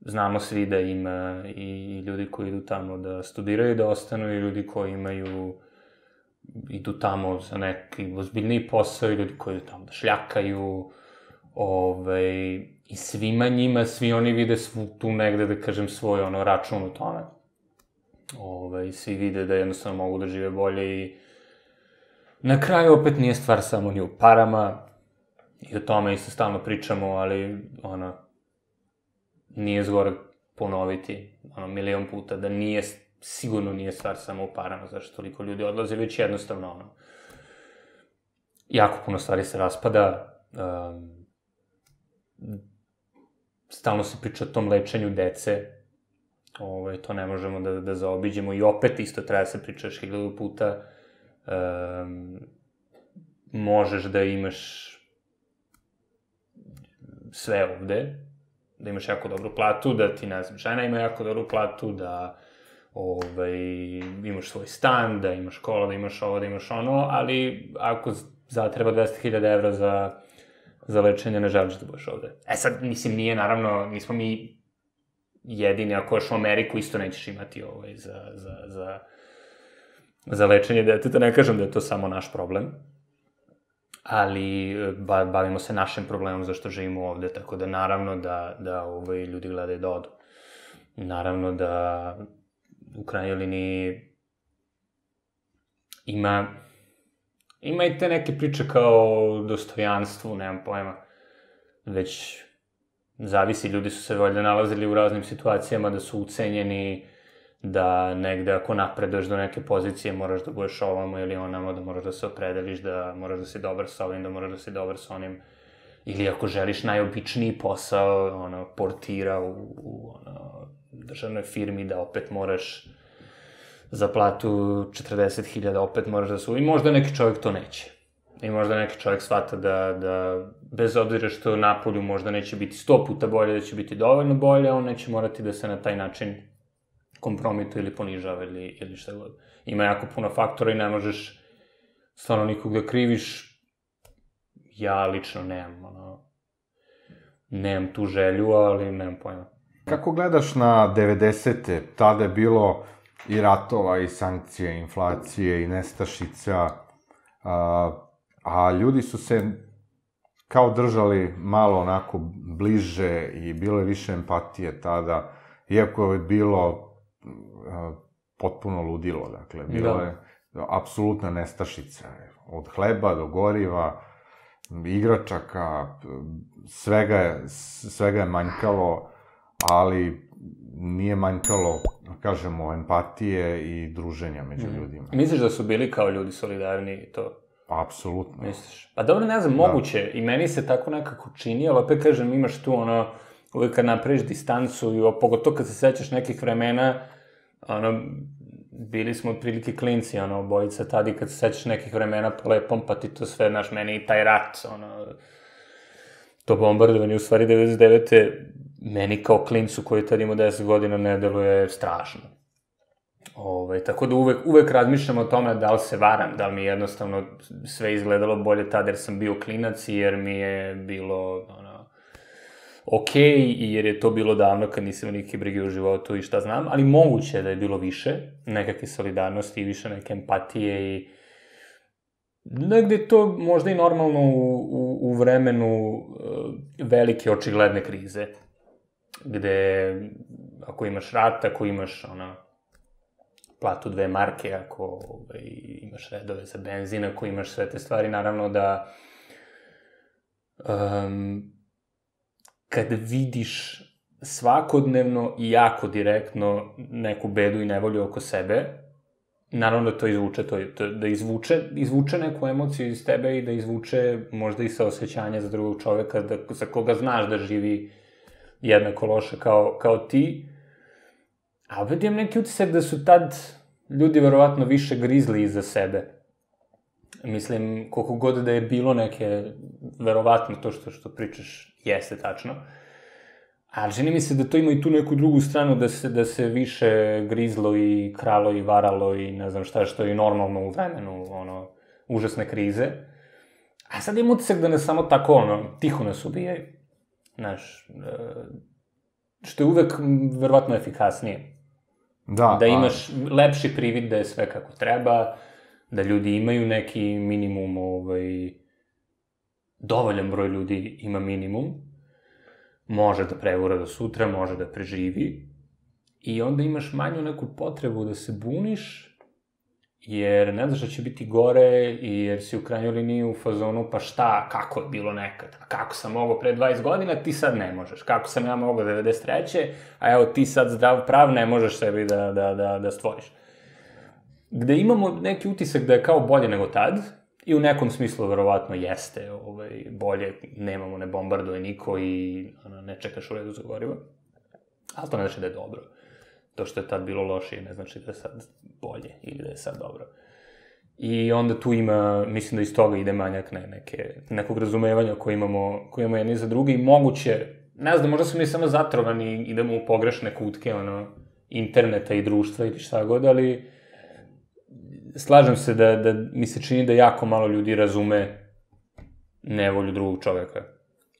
znamo svi da ima i ljudi koji idu tamo da studiraju, da ostanu, i ljudi koji idu tamo za neki ozbiljniji posao, i ljudi koji idu tamo da šljakaju, i svima njima, svi oni vide tu negde, da kažem, svoj račun u tome. Svi vide da jednostavno mogu da žive bolje i na kraju opet nije stvar samo ni u parama, i o tome isto stalno pričamo, ali, nije zgore ponoviti, milion puta, da sigurno nije stvar samo u parama, zašto toliko ljudi odlaze, već jednostavno, jako puno stvari se raspada, stalno se priča o tom lečenju dece, to ne možemo da zaobiđemo, i opet isto treba se pričaš 1000 puta, možeš da imaš sve ovde, da imaš jako dobru platu, da ti, ne znam, žena ima jako dobru platu, da imaš svoj stan, da imaš škola, da imaš ovo, da imaš ono, ali ako zatreba 200.000 evra za lečenje, ne želiš da budeš ovde. Sad, mislim, nije, naravno, nismo mi jedini, ako još u Ameriku isto nećeš imati za lečenje deteta, ne kažem da je to samo naš problem, ali bavimo se našim problemom zašto živimo ovde, tako da naravno da ljudi gledaju da odu. Naravno da u krajnjoj liniji ima i te neke priče kao dostojanstvu, nemam pojma, već zavisi, ljudi su se valjda nalazili u raznim situacijama da su ucenjeni, da negde ako napreduješ do neke pozicije moraš da budeš ovamo ili onamo, da moraš da se opredeliš, da moraš da si dobar sa ovim, da moraš da si dobar sa onim, ili ako želiš najobičniji posao, portira u državnoj firmi, da opet moraš za platu 40.000, opet moraš da i možda neki čovjek to neće. I možda neki čovjek shvata da bez obzira što napolju možda neće biti 100 puta bolje, da će biti dovoljno bolje, on neće morati da se na taj način kompromituje ili ponižava ili šta god. Ima jako puno faktora i ne možeš stvarno nikog da kriviš. Ja lično nemam tu želju, ali nemam pojma. Kako gledaš na 90-te? Tada je bilo i ratova, i sankcije, i inflacije, i nestašica, a ljudi su se kao držali malo onako bliže i bilo je više empatije tada, iako je bilo potpuno ludilo, dakle, bilo je apsolutna nestašica, od hleba do goriva, igračaka, svega je manjkalo, ali nije manjkalo, kažemo, empatije i druženja među ljudima. Misliš da su bili kao ljudi solidarni i to? Apsolutno. Misliš? Pa dobro, ne znam, moguće. I meni se tako nekako čini, ali opet kažem, imaš tu uvijek kad napraviš distancu, i pogotovo kad se sećaš nekih vremena, bili smo otprilike klinci, obojica tada, i kad se sećaš nekih vremena po lepom, pa ti to sve, znaš, meni i taj rat, to bombardovanje, u stvari 99. meni kao klincu koji tad ima 10 godina ne deluje strašno. Tako da uvek razmišljam o tome da li se varam, da li mi jednostavno sve izgledalo bolje tada jer sam bio klinac i jer mi je bilo okej, i jer je to bilo davno kad nisam neke brige u životu i šta znam, ali moguće da je bilo više nekakve solidarnosti i više neke empatije i Negde je to možda i normalno u vremenu velike očigledne krize, gde ako imaš rat, ako imaš platu 2 marke, ako imaš redove za benzin, ako imaš sve te stvari, naravno da kad vidiš svakodnevno i jako direktno neku bedu i nevolju oko sebe, naravno da to izvuče, da izvuče neku emociju iz tebe i da izvuče možda i saosećanje za drugog čoveka, za koga znaš da živi jednako loše kao ti. A opet imam neki utisak da su tad ljudi verovatno više grizli iza sebe. Mislim, koliko god da je bilo neke, verovatno to što pričaš jeste tačno, ali čini mi se da to ima i tu neku drugu stranu, da se više grizlo i kralo i varalo i ne znam šta, što je normalno u vremenu, užasne krize. A sad imam utisak da ne samo tako, tiho nas ubijaju. Znaš, što je uvek verovatno efikasnije. Da imaš lepši privid da je sve kako treba, da ljudi imaju neki minimum, dovoljan broj ljudi ima minimum, može da prevura do sutra, može da preživi, i onda imaš manju neku potrebu da se buniš, jer ne znaš da će biti gore, i jer si u krajnjoj liniji u fazonu, pa šta, kako je bilo nekad, kako sam mogao pre 20 godina, ti sad ne možeš, kako sam ja mogao 93. A evo ti sad zdrav prav ne možeš sebi da stvoriš. Gde imamo neki utisak da je kao bolje nego tad, i u nekom smislu verovatno jeste bolje, nemamo, ne bombarduje niko i ne čekaš u redu za gorivo, ali to ne znači da je dobro. To što je tad bilo lošije ne znači da je sad bolje ili da je sad dobro. I onda tu ima, mislim da iz toga ide manjak nekog razumevanja koje imamo jedni za drugi, i moguće, ne znam, možda smo mi samo zatrovani, idemo u pogrešne kutke interneta i društva ili šta god, ali slažem se da mi se čini da jako malo ljudi razume nevolju drugog čoveka.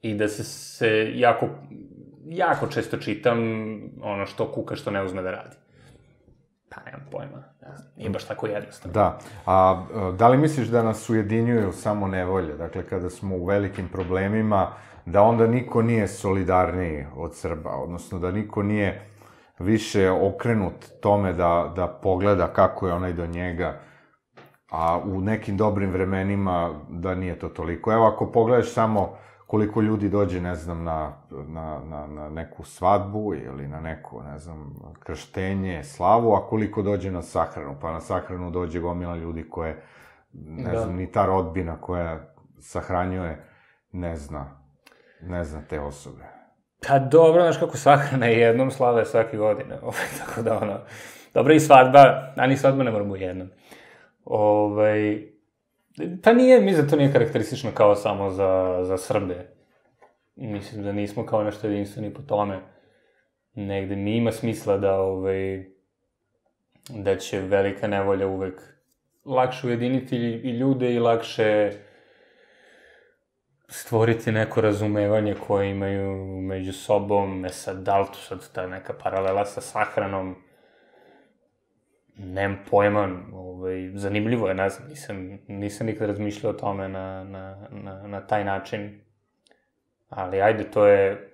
I da se jako često čitam što kuka što ne uzme da radi. Pa nemam pojma, nije baš tako jednostavno. Da, a da li misliš da nas ujedinjuju samo nevolje? Dakle, kada smo u velikim problemima, da onda niko nije solidarniji od Srba, odnosno da niko nije više okrenut tome da pogleda kako je onaj do njega, a u nekim dobrim vremenima da nije to toliko. Evo, ako pogledaš samo koliko ljudi dođe, ne znam, na neku svadbu ili na neko, ne znam, krštenje, slavu, a koliko dođe na sahranu. Pa na sahranu dođe gomila ljudi koje, ne znam, ni ta rodbina koja sahranjuje ne zna te osobe. Pa dobro, znaš kako sahrana je jednom, slava je svake godine, tako da dobra i svadba, a ni svadba ne moramo jednom. Pa nije, mislim da to nije karakteristično kao samo za Srbe. Mislim da nismo kao nešto jedinstveni po tome. Negde mi ima smisla da će velika nevolja uvek lakše ujediniti i ljude i lakše stvoriti neko razumevanje koje imaju među sobom. Sad, da li tu sad ta neka paralela sa sahranom, nemam pojma, zanimljivo je, ne znam, nisam nikad razmišljao o tome na taj način, ali ajde, to je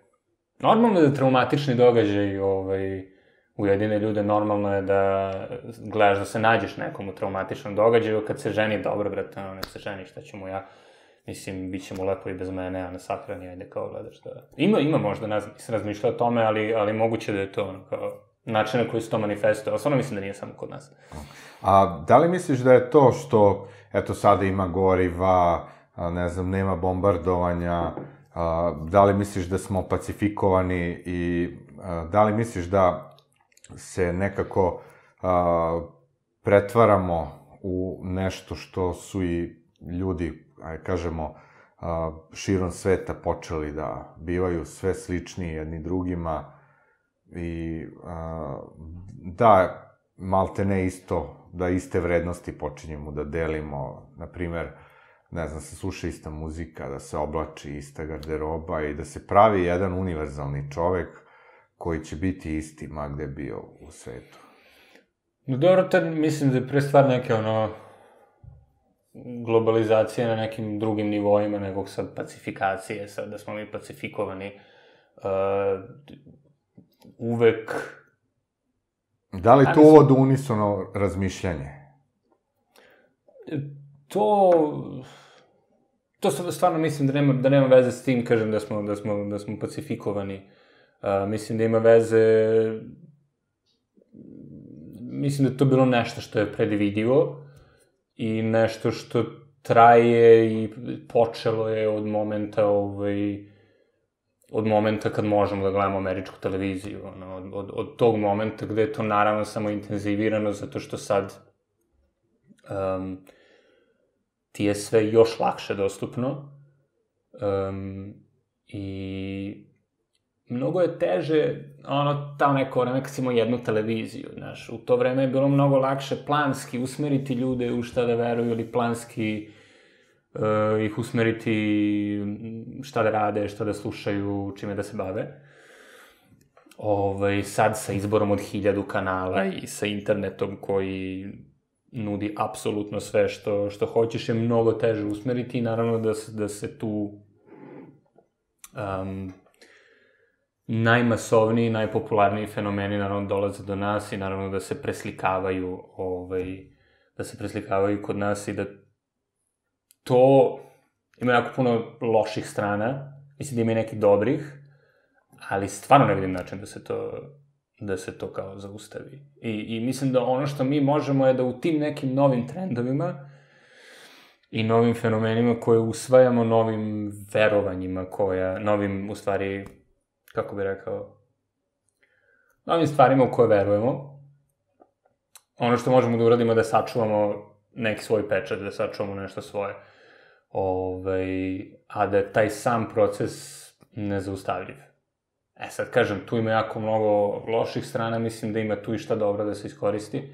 normalno da traumatični događaj ujedine ljude, normalno je da gledaš da se nađeš nekom u traumatičnom događaju, kad se ženi, dobro, brate, nek se ženi, šta ću mu ja, mislim, bit će mu lepo i bez mene, a na sahrani, ajde, kao gledaš da... Ima možda, ne znam, nisam razmišljao o tome, ali moguće da je to, kao način na koji se to manifestuje, ali stvarno mislim da nije samo kod nas. A da li misliš da je to što, eto, sada ima goriva, ne znam, nema bombardovanja, da li misliš da smo pacifikovani i da li misliš da se nekako pretvaramo u nešto što su i ljudi, kažemo, širom sveta počeli da bivaju sve sličniji jedni drugima i da, malte ne isto, da iste vrednosti počinjemo da delimo, na primer, ne znam, se sluša ista muzika, da se oblači ista garderoba i da se pravi jedan univerzalni čovek koji će biti isti ma gde bio u svetu. No dobro, tad mislim da je pre stvar neke globalizacije na nekim drugim nivoima, nego sad pacifikacije, sad da smo mi pacifikovani, uvek... Da li to uvod unisono razmišljanje? To stvarno mislim da nema veze s tim, kažem, da smo pacifikovani. Mislim da ima veze... Mislim da je to bilo nešto što je predvidivo i nešto što traje i počelo je od momenta kad možemo da gledamo američku televiziju. Od tog momenta gde je to naravno samo intenzivirano, zato što sad ti je sve još lakše dostupno i mnogo je teže, tamo neko vreme kad si imao jednu televiziju, znaš, u to vreme je bilo mnogo lakše planski usmeriti ljude u šta da veruju ili planski ih usmeriti šta da rade, šta da slušaju, čime da se bave. Sad sa izborom od 1000 kanala i sa internetom koji nudi apsolutno sve što hoćeš je mnogo teže usmeriti i naravno da se tu najmasovniji, najpopularniji fenomeni naravno dolaze do nas i naravno da se preslikavaju kod nas i da to ima jako puno loših strana, mislim da ima i nekih dobrih, ali stvarno ne vidim način da se to kao zaustavi. I mislim da ono što mi možemo je da u tim nekim novim trendovima i novim fenomenima koje usvajamo, novim verovanjima novim, u stvari, kako bih rekao, novim stvarima u koje verujemo, ono što možemo da uradimo je da sačuvamo neki svoj pečat, da sačuvamo nešto svoje. A da je taj sam proces nezaustavljiv. Sad kažem, tu ima jako mnogo loših strana, mislim da ima tu i šta dobro da se iskoristi,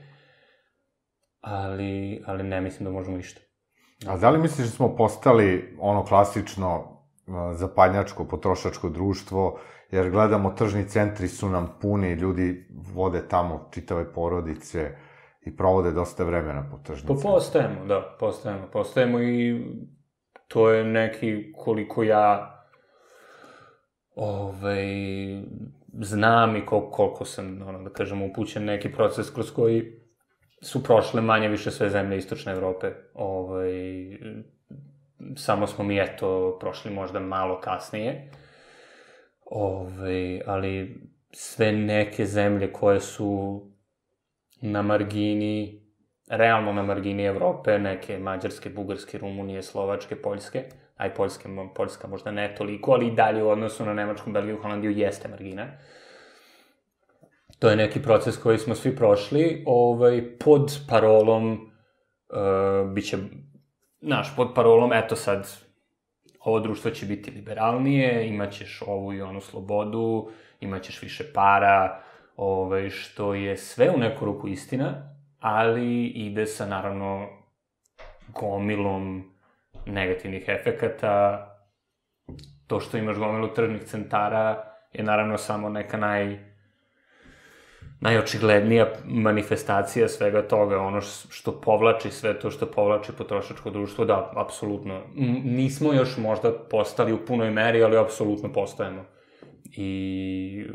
ali ne mislim da možemo išta. A da li misliš da smo postali ono klasično zapadnjačko, potrošačko društvo, jer gledamo tržni centri su nam puni, ljudi vode tamo čitave porodice i provode dosta vremena po tržnim centrima? Postajemo, da, postajemo i to je neki, koliko ja znam i koliko sam, da kažem, upućen neki proces kroz koji su prošle manje više sve zemlje Istočne Evrope. Samo smo mi, prošli možda malo kasnije. Ali sve neke zemlje koje su na margini, realno na margini Evrope, neke Mađarske, Bugarske, Rumunije, Slovačke, Poljske, a i Poljska možda ne toliko, ali i dalje u odnosu na Nemačku, Belgiju, Holandiju jeste margina. To je neki proces koji smo svi prošli, pod parolom, pod parolom, eto sad, ovo društvo će biti liberalnije, imaćeš ovu i onu slobodu, imaćeš više para, što je sve u neku ruku istina, ali ide sa, naravno, gomilom negativnih efekata. To što imaš gomilu tržnih centara je, naravno, samo neka najočiglednija manifestacija svega toga, ono što povlači sve to, što povlači potrošačko društvo, da, apsolutno. Nismo još možda postali u punoj meri, ali apsolutno postajemo. I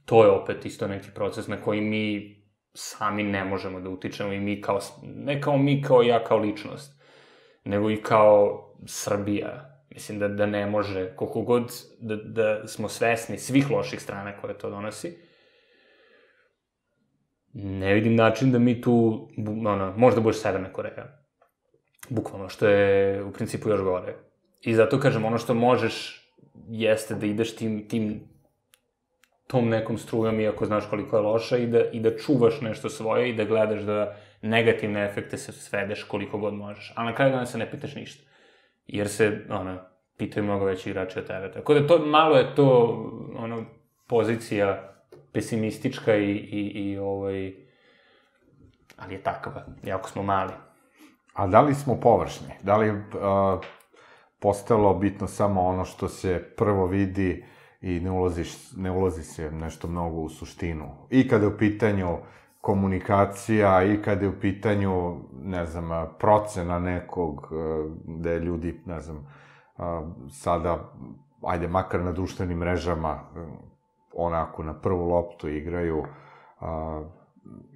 to je opet isto neki proces na koji mi sami ne možemo da utičemo i mi kao, ne kao mi kao ja kao ličnost, nego i kao Srbija. Mislim da ne može, koliko god da smo svesni svih loših strana koje to donosi, ne vidim način da mi tu, možda budeš Severna Koreja, bukvalno, što je u principu još gore. I zato kažem, ono što možeš jeste da ideš tom nekom strujom, iako znaš koliko je loša, i da čuvaš nešto svoje i da gledaš da negativne efekte se svedeš koliko god možeš. A na kraju dana se ne pitaš ništa. Jer se, pitaju mnogo veći igrači od tebe. Tako da malo je to, pozicija pesimistička ali je takva, jako smo mali. A da li smo površni? Da li postalo bitno samo ono što se prvo vidi i ne ulazi se nešto mnogo u suštinu? I kada je u pitanju komunikacija i kad je u pitanju, ne znam, procena nekog, gde ljudi, ne znam, sada, ajde, makar na društvenim mrežama, onako, na prvu loptu igraju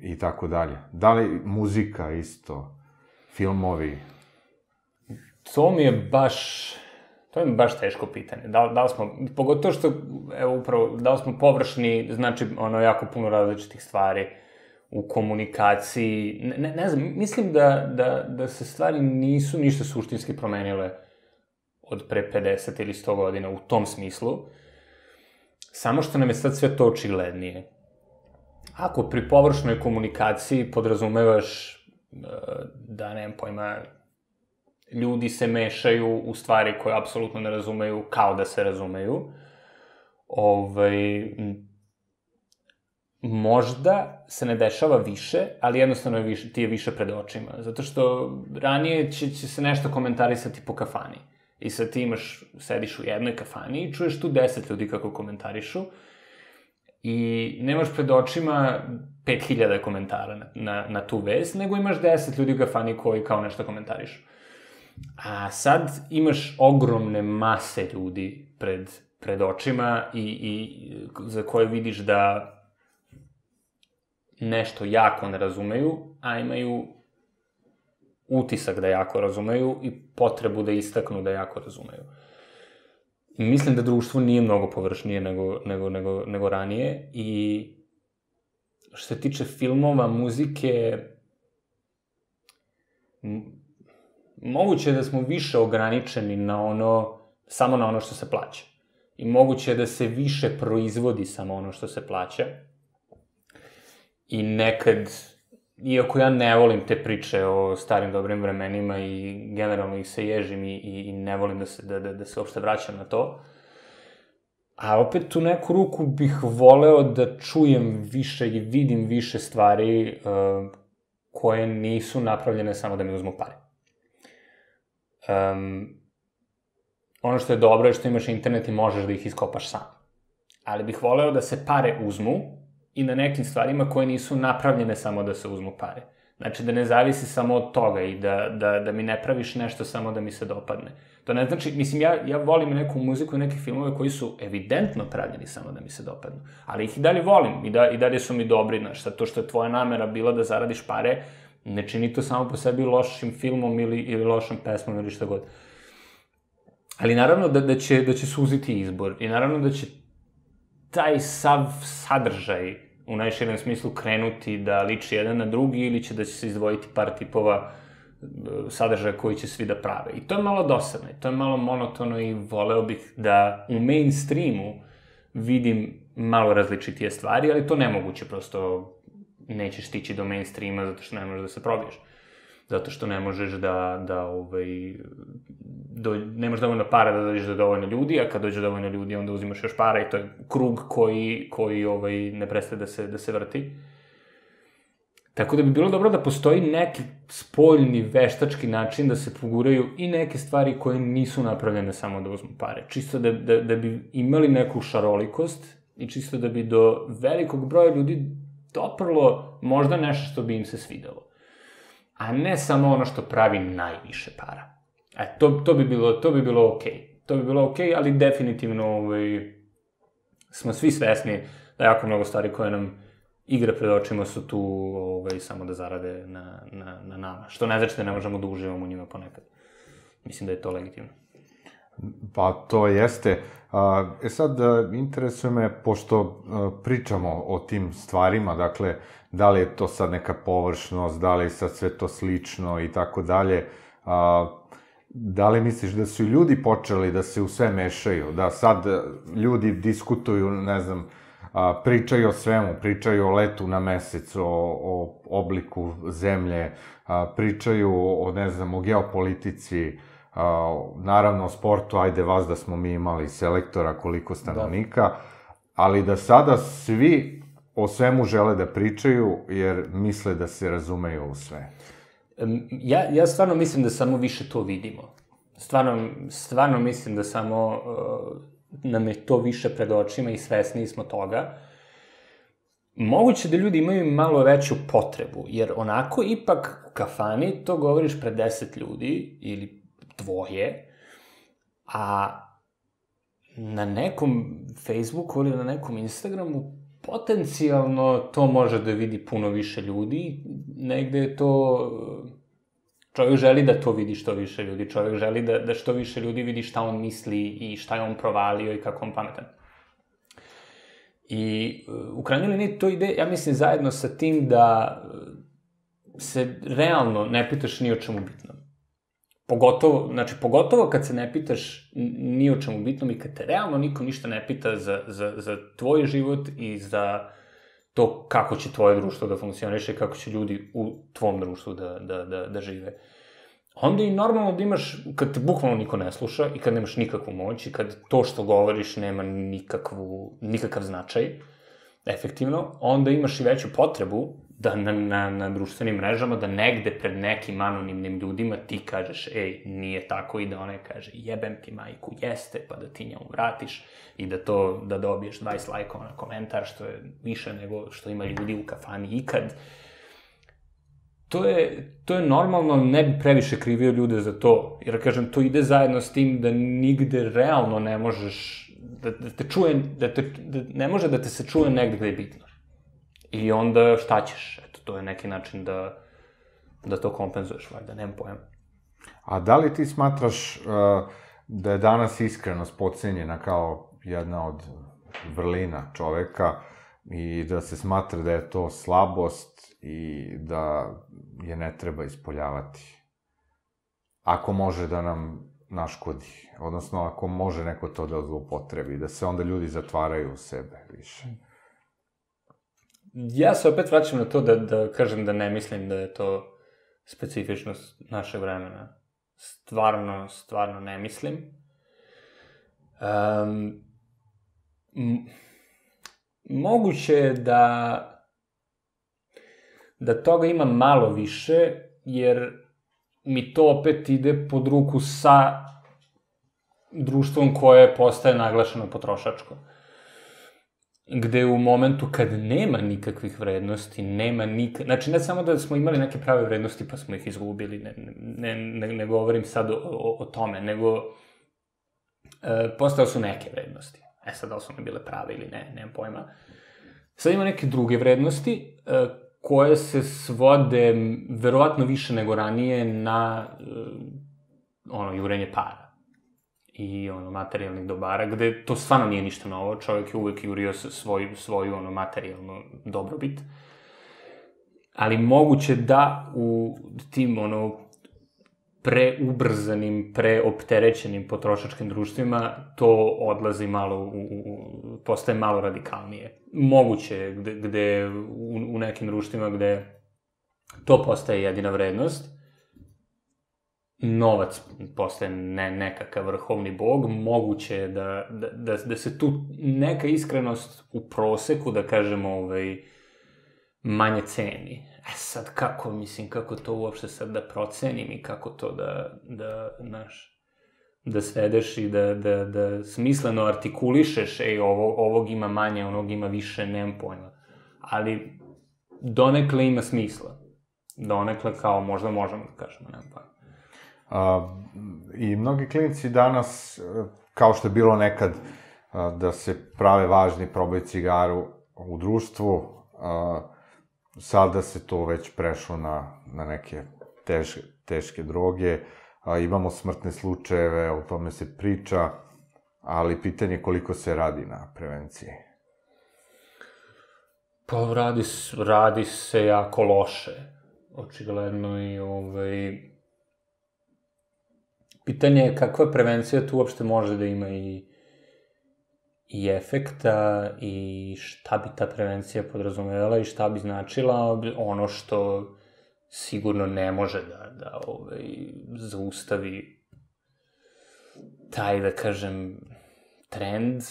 i tako dalje. Da li muzika isto, filmovi? To mi je baš teško pitanje. Da li smo, pogotovo što, evo upravo, da li smo površni, znači, jako puno različitih stvari u komunikaciji. Ne znam, mislim da se stvari nisu ništa suštinski promenile od pre 50 ili 100 godina u tom smislu, samo što nam je sad sve to očiglednije. Ako pri površnoj komunikaciji podrazumevaš da, nemam pojma, ljudi se mešaju u stvari koje apsolutno ne razumeju kao da se razumeju, možda se ne dešava više, ali jednostavno ti je više pred očima. Zato što ranije će se nešto komentarisati po kafani. I sad ti sediš u jednoj kafani i čuješ tu 10 ljudi kako komentarišu i nemaš pred očima 5000 komentara na tu vest, nego imaš 10 ljudi u kafani koji kao nešto komentarišu. A sad imaš ogromne mase ljudi pred očima i za koje vidiš da nešto jako ne razumeju, a imaju utisak da jako razumeju i potrebu da istaknu da jako razumeju. I mislim da društvo nije mnogo površnije nego ranije i što se tiče filmova, muzike, moguće je da smo više ograničeni samo na ono što se plaća. I moguće je da se više proizvodi samo ono što se plaća. I nekad, iako ja ne volim te priče o starim dobrim vremenima i generalno ih se ježim i ne volim da se uopšte vraćam na to, a opet u neku ruku bih voleo da čujem više i vidim više stvari koje nisu napravljene samo da mi uzmu pare. Ono što je dobro je što imaš internet i možeš da ih iskopaš sam. Ali bih voleo da se pare uzmu i na nekim stvarima koje nisu napravljene samo da se uzmu pare. Znači, da ne zavisi samo od toga i da mi ne praviš nešto samo da mi se dopadne. To ne znači, mislim, ja volim neku muziku i neke filmove koji su evidentno pravljeni samo da mi se dopadnu. Ali ih i dalje volim i dalje su mi dobri, znaš, to što je tvoja namera bila da zaradiš pare, ne čini to samo po sebi lošim filmom ili lošom pesmom ili šta god. Ali naravno da će suziti izbor i naravno da će taj sav sadržaj u najširem smislu krenuti da liči jedan na drugi ili da će se izdvojiti par tipova sadržaja koji će svi da prave. I to je malo dosadno, to je malo monotono i voleo bih da u mainstreamu vidim malo različitije stvari, ali to nemoguće, prosto nećeš stići do mainstreama zato što ne možeš da se probiješ. Zato što ne možeš nemaš dovoljno para da dođeš do dovoljno ljudi, a kad dođe dovoljno ljudi, onda uzimaš još para i to je krug koji ne prestaje da se vrti. Tako da bi bilo dobro da postoji neki spoljni veštački način da se poguraju i neke stvari koje nisu napravljene samo da uzmu pare. Čisto da bi imali neku šarolikost i čisto da bi do velikog broja ljudi doprlo možda nešto što bi im se svidelo. A ne samo ono što pravi najviše para. To bi bilo okej. To bi bilo okej, ali definitivno smo svi svesni da jako mnogo stvari koje nam igre pred očima su tu samo da zarade na nama. Što ne znači da ne možemo da uživamo u njima ponekad. Mislim da je to legitimno. Pa to jeste. Sad, interesuje me, pošto pričamo o tim stvarima, dakle, da li je to sad neka površnost, da li je sad sve to slično i tako dalje, da li misliš da su ljudi počeli da se u sve mešaju, da sad ljudi diskutuju, ne znam, pričaju o svemu, pričaju o letu na mesec, o obliku zemlje, pričaju o, ne znam, o geopolitici, naravno o sportu, ajde vas da smo mi imali selektora koliko stanovnika, ali da sada svi o svemu žele da pričaju jer misle da se razumeju u sve. Ja stvarno mislim da samo više to vidimo. Stvarno mislim da samo nam je to više pred očima i svesniji smo toga. moguće da ljudi imaju malo veću potrebu, jer onako ipak u kafani to govoriš pred 10 ljudi ili dvoje, a na nekom Facebooku ili na nekom Instagramu potencijalno to može da vidi puno više ljudi, negde je to... Čovjek želi da to vidi što više ljudi, čovjek želi da što više ljudi vidi šta on misli i šta je on provalio i kako on pametan. I u krajnjoj liniji to ide, ja mislim, zajedno sa tim da se realno ne pitaš ni o čemu bitnom. Pogotovo kad se ne pitaš ni o čemu bitnom i kad te realno niko ništa ne pita za tvoj život i za to kako će tvoje društvo da funkcioniše, kako će ljudi u tvom društvu da žive. Onda i normalno da imaš, kad te bukvalno niko ne sluša i kad nemaš nikakvu moć i kad to što govoriš nema nikakav značaj, efektivno, onda imaš i veću potrebu da na društvenim mrežama, da negde pred nekim anonimnim ljudima ti kažeš, ej, nije tako, i da onaj kaže, jebem ti majku, jeste, pa da ti njemu vratiš i da dobiješ 20 lajkova na komentar, što je više nego što ima ljudi u kafani ikad. To je normalno, ne bi previše krivio ljude za to, jer, kažem, to ide zajedno s tim da nigde realno ne možeš, ne može da te se čuje negde gde je bitno. I onda šta ćeš? Eto, to je neki način da to kompenzuješ, valjda, nemam pojma. A da li ti smatraš da je danas iskrenost podcenjena kao jedna od vrlina čoveka i da se smatra da je to slabost i da je ne treba ispoljavati? Ako može da nam naškodi, odnosno ako može neko to da zloupotrebi, da se onda ljudi zatvaraju u sebe više. Ja se opet vraćam na to da kažem da ne mislim da je to specifičnost našeg vremena. Stvarno ne mislim. Moguće je da toga ima malo više, jer mi to opet ide pod ruku sa društvom koje postaje naglašeno potrošačko. Gde u momentu kad nema nikakvih vrednosti, znači ne samo da smo imali neke prave vrednosti pa smo ih izgubili, ne govorim sad o tome, nego postao su neke vrednosti. Sad da li su one bile prave ili ne, nemam pojma. Sad ima neke druge vrednosti koje se svode verovatno više nego ranije na jurenje para i materijalnih dobara, gde to stvarno nije ništa novo, čovjek je uvek jurio svoju materijalnu dobrobit, ali moguće da u tim preubrzanim, preopterećenim potrošačkim društvima to odlazi malo, postaje malo radikalnije. Moguće je gde u nekim društvima gde to postaje jedina vrednost, novac postaje nekakav vrhovni bog, moguće je da se tu neka iskrenost u proseku, da kažemo, manje ceni. Sad kako to uopšte sad da procenim i kako to da svedeš i da smisleno artikulišeš, ovog ima manje, onog ima više, nemam pojma. Ali donekle ima smisla. Donekle kao možda možemo da kažemo, nemam pojma. I mnogi klinici danas, kao što je bilo nekad, da se prave važni, probaju cigaru u društvu, sada se to već prešlo na neke teške droge, imamo smrtne slučajeve, o tome se priča, ali pitanje je koliko se radi na prevenciji. Pa radi se jako loše, očigledno, i pitanje je kakva prevencija tu uopšte može da ima i efekta i šta bi ta prevencija podrazumevala i šta bi značila. Ono što sigurno ne može da zaustavi taj, da kažem, trend,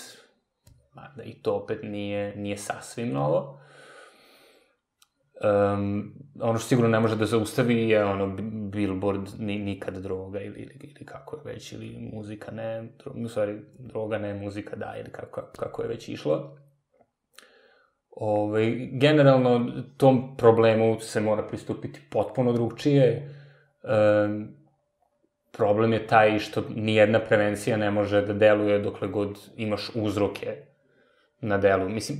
mada i to opet nije sasvim novo. Ono što sigurno ne može da zaustavi je billboard nikad droga ili kako je već, ili muzika ne, u stvari droga ne, muzika da, ili kako je već išlo. Generalno, tom problemu se mora pristupiti potpuno drugčije. Problem je taj što nijedna prevencija ne može da deluje dokle god imaš uzroke na delu. Mislim,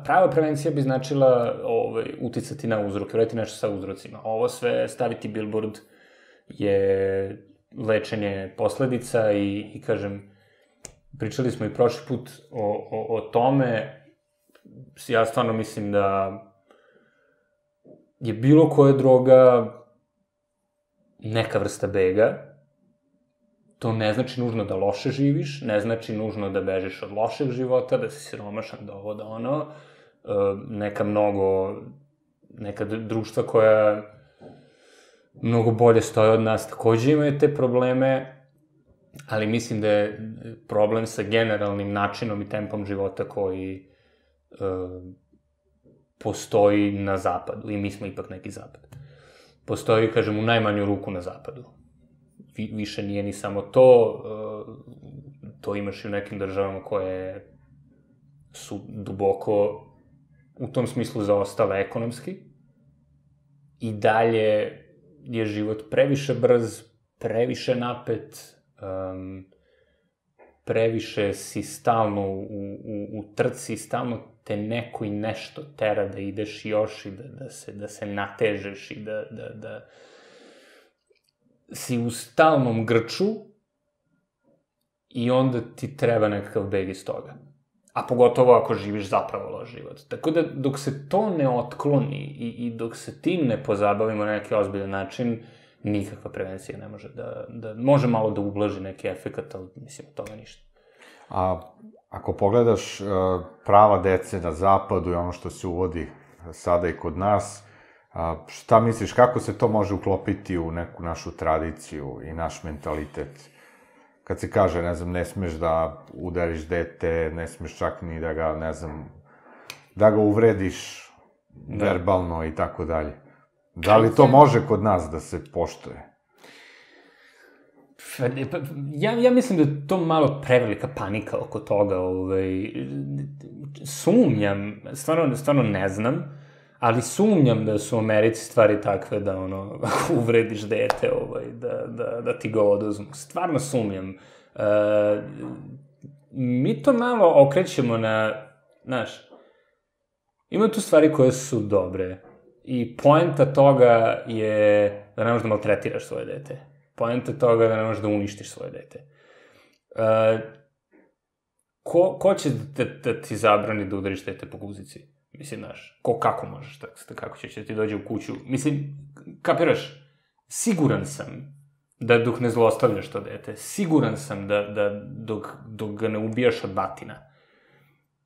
prava prevencija bi značila uticati na uzroke, uraditi nešto sa uzrocima. Ovo sve, staviti billboard je lečenje posledica i kažem, pričali smo i prošli put o tome, ja stvarno mislim da je bilo koja droga neka vrsta bega. To ne znači nužno da loše živiš, ne znači nužno da bežiš od lošeg života, da si siromašan, da ovo, da ono. Neka društva koja mnogo bolje stoje od nas takođe imaju te probleme, ali mislim da je problem sa generalnim načinom i tempom života koji postoji na zapadu, i mi smo ipak neki zapad. Postoji, kažem, u najmanju ruku na zapadu. Više nije ni samo to, to imaš i u nekim državama koje su duboko u tom smislu zaostale ekonomski. I dalje je život previše brz, previše napet, previše si stalno u trci, stalno te neko i nešto tera da ideš još i da se natežeš i da si u stalnom grču i onda ti treba nekakav beg iz toga. A pogotovo ako živiš zapravo loš život. Tako da dok se to ne otkloni i dok se tim ne pozabavimo na neki ozbiljan način, nikakva prevencija ne može da može malo da ublaži neki efekat, ali mislim od toga ništa. A ako pogledaš prava dece na zapadu i ono što se uvodi sada i kod nas, šta misliš, kako se to može uklopiti u neku našu tradiciju i naš mentalitet? Kad se kaže, ne znam, ne smeš da udariš dete, ne smeš čak ni da ga, ne znam, da ga uvrediš verbalno i tako dalje. Da li to može kod nas da se poštuje? Ja mislim da je to malo prevelika panika oko toga. Sumnjam, stvarno ne znam, ali sumnjam da su u Americi stvari takve da, uvrediš dete, da ti ga oduzmu. Stvarno sumnjam. Mi to malo okrećemo na, znaš, ima tu stvari koje su dobre i poenta toga je da ne možeš da maltretiraš svoje dete. Poenta toga je da ne možeš da uništiš svoje dete. Ko će da ti zabrani da udariš dete po guzici? Mislim, znaš, kako možeš, kako će ti dođe u kuću? Mislim, kapiraš, siguran sam da dok ne zlostavljaš to dete, siguran sam da dok ga ne ubijaš od batina,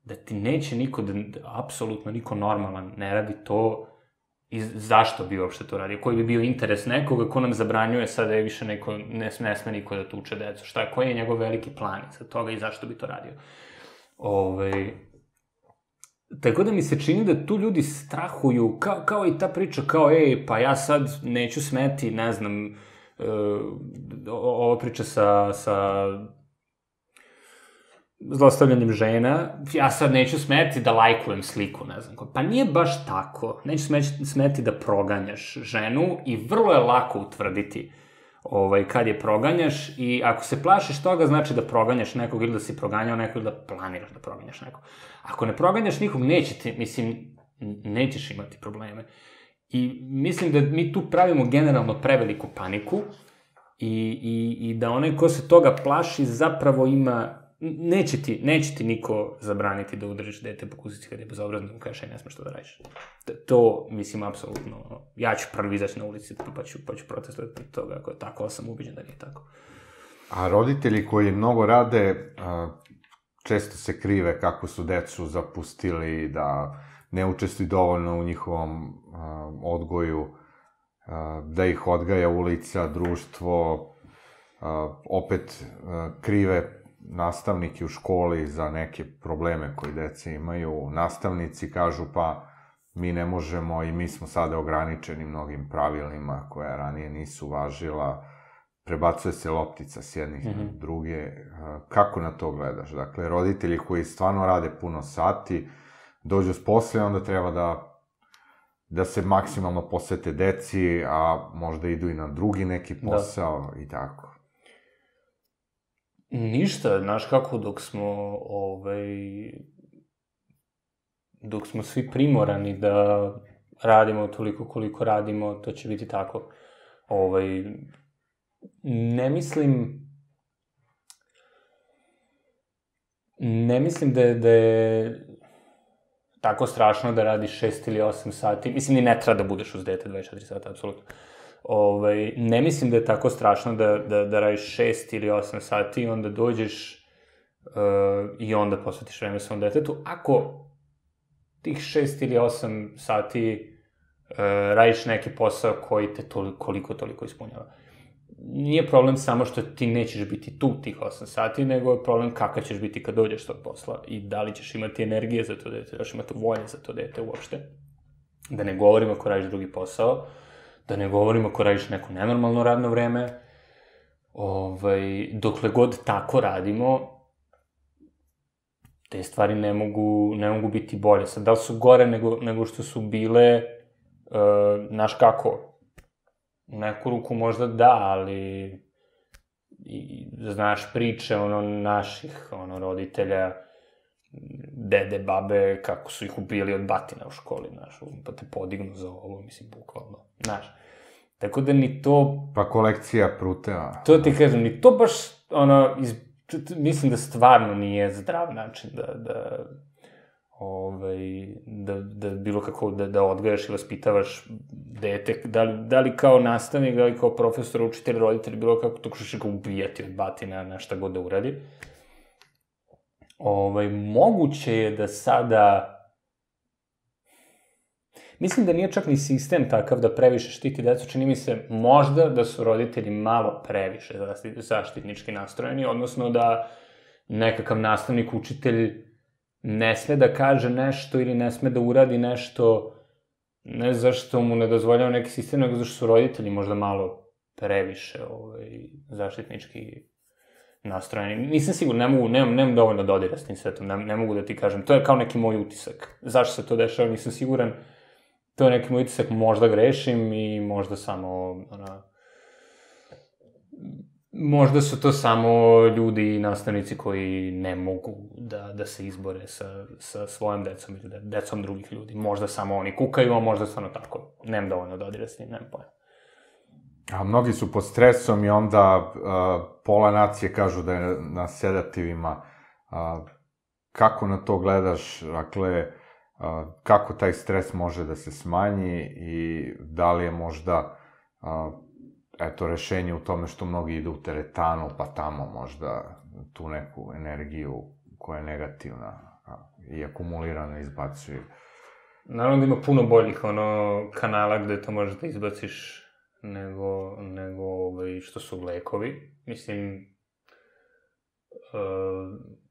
da ti neće niko, apsolutno niko normalan ne radi to. I zašto bi uopšte to radio? Koji bi bio interes nekoga ko nam zabranjuje sada je više neko, ne sme niko da tuče decu? Koji je njegov veliki plan za toga i zašto bi to radio? Tako da mi se čini da tu ljudi strahuju, kao i ta priča, kao, pa ja sad neću smeti, ne znam, ova priča sa zlostavljanjem žena, ja sad neću smeti da lajkujem sliku, ne znam. Pa nije baš tako. Neću smeti da proganjaš ženu i vrlo je lako utvrditi kad je proganjaš i ako se plašiš toga, znači da proganjaš nekog ili da si proganjao nekog ili da planiraš da proganjaš nekog. Ako ne proganjaš nikog, nećeš imati probleme. I mislim da mi tu pravimo generalno preveliku paniku i da onaj ko se toga plaši zapravo ima. Neće ti niko zabraniti da udariš dete po guzici kada je bezobrazno i kažeš ne smeš to da radiš. To, mislim, apsolutno, ja ću prvi izaći na ulici pa ću protestovati protiv toga ako je tako, ali sam ubeđen da nije tako. A roditelji koji mnogo rade, često se krive kako su decu zapustili, da ne učestvuju dovoljno u njihovom odgoju, da ih odgaja ulica, društvo, opet krive nastavniki u školi za neke probleme koje deca imaju. Nastavnici kažu pa mi ne možemo i mi smo sada ograničeni mnogim pravilima koja ranije nisu važila. prebacuje se loptica s jednih na druge. Kako na to gledaš? Dakle, roditelji koji stvarno rade puno sati, dođu s posle, onda treba da se maksimalno posvete deci, a možda idu i na drugi neki posao i tako. Ništa, znaš kako, dok smo svi primorani da radimo toliko koliko radimo, to će biti tako. Ne mislim da je tako strašno da radiš 6 ili 8 sati. Mislim, ni ne treba da budeš uz dete 24 sata, apsolutno. Ne mislim da je tako strašno da radiš 6 ili 8 sati i onda dođeš i onda posvetiš vreme svom detetu. Ako tih 6 ili 8 sati radiš neki posao koji te toliko ispunjava. Nije problem samo što ti nećeš biti tu tih 8 sati, nego je problem kakav ćeš biti kad dođeš tog posla i da li ćeš imati energije za to dete, da ćeš imati volje za to dete uopšte. Da ne govorim ako radiš drugi posao, da ne govorim ako radiš neko nenormalno radno vreme. Dokle god tako radimo, te stvari ne mogu biti bolje. Sad, da li su gore nego što su bile, znaš kako, u neku ruku možda da, ali znaš priče naših roditelja, dede, babe, kako su ih ubili od batina u školi, znaš, pa te podignu za ovo, mislim, bukvalno, znaš. Tako da ni to... Pa kolekcija pruteva. To ti kažem, ni to baš, mislim da stvarno nije zdrav način da bilo kako, da odgajaš i vaspitavaš dete, da li kao nastavnik, da li kao profesor, učitelj, roditelj, bilo kako, tako što će ga ubijati od batina na šta god da uradi. Moguće je da sada... Mislim da nije čak ni sistem takav da previše štiti decu, čini mi se možda da su roditelji malo previše zaštitnički nastrojeni, odnosno da nekakav nastavnik, učitelj ne sme da kaže nešto ili ne sme da uradi nešto, ne zašto mu ne dozvoljava neki sistem, nego zašto su roditelji možda malo previše zaštitnički nastrojeni. Nisam siguran, nemam dovoljno dodira s tim svetom, ne mogu da ti kažem. To je kao neki moj utisak. Zašto se to dešava, nisam siguran. To je neki moj utisak, možda grešim i možda samo, možda su to samo ljudi i nastavnici koji ne mogu da se izbore sa svojom decom ili decom drugih ljudi. Možda samo oni kukaju, a možda stvarno tako. Nemam dovoljno dodira s njim, nemam pojma. A mnogi su pod stresom i onda pola nacije kažu da je na sedativima. Kako na to gledaš? Dakle, kako taj stres može da se smanji i da li je možda rešenje u tome što mnogi idu u teretanu, pa tamo možda tu neku energiju koja je negativna i akumulirana izbacuju. Naravno da ima puno boljih kanala gde to možeš da izbaciš nego što su lekovi. Mislim,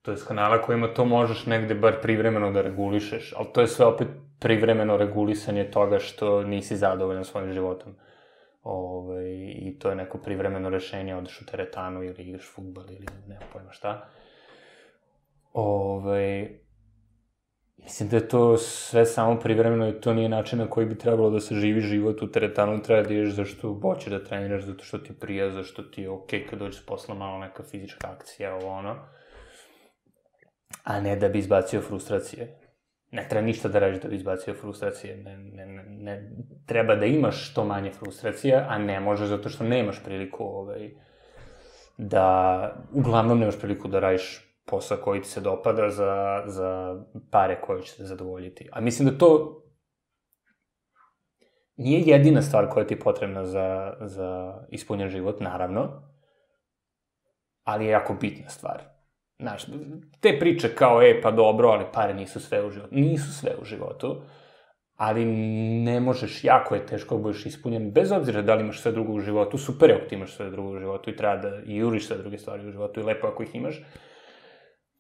to je s kanala kojima to možeš negde bar privremeno da regulišeš, ali to je sve opet privremeno regulisanje toga što nisi zadovoljan svojim životom. I to je neko privremeno rešenje, odeš u teretanu ili igraš fudbal ili nema pojma šta. Mislim da je to sve samo privremeno i to nije način na koji bi trebalo da se živi život u teretanu, treba da ideš zašto hoćeš da treniraš, zato što ti prija, zašto ti je okej kad dođeš posla malo neka fizička akcija, a ne da bi izbacio frustracije. Ne treba ništa da radiš da bi izbacio frustracije, ne treba da imaš što manje frustracija, a ne možeš zato što nemaš priliku uglavnom nemaš priliku da radiš posao koji ti se dopada za pare koje će te zadovoljiti. A mislim da to nije jedina stvar koja ti je potrebna za ispunjen život, naravno, ali je jako bitna stvar. Znaš, te priče kao, pa dobro, ali pare nisu sve u životu. Nisu sve u životu, ali ne možeš, jako je teško da budeš ispunjen, bez obzira da li imaš sve drugo u životu, super je ako ti imaš sve drugo u životu i treba da i juriš sve druge stvari u životu i lepo ako ih imaš.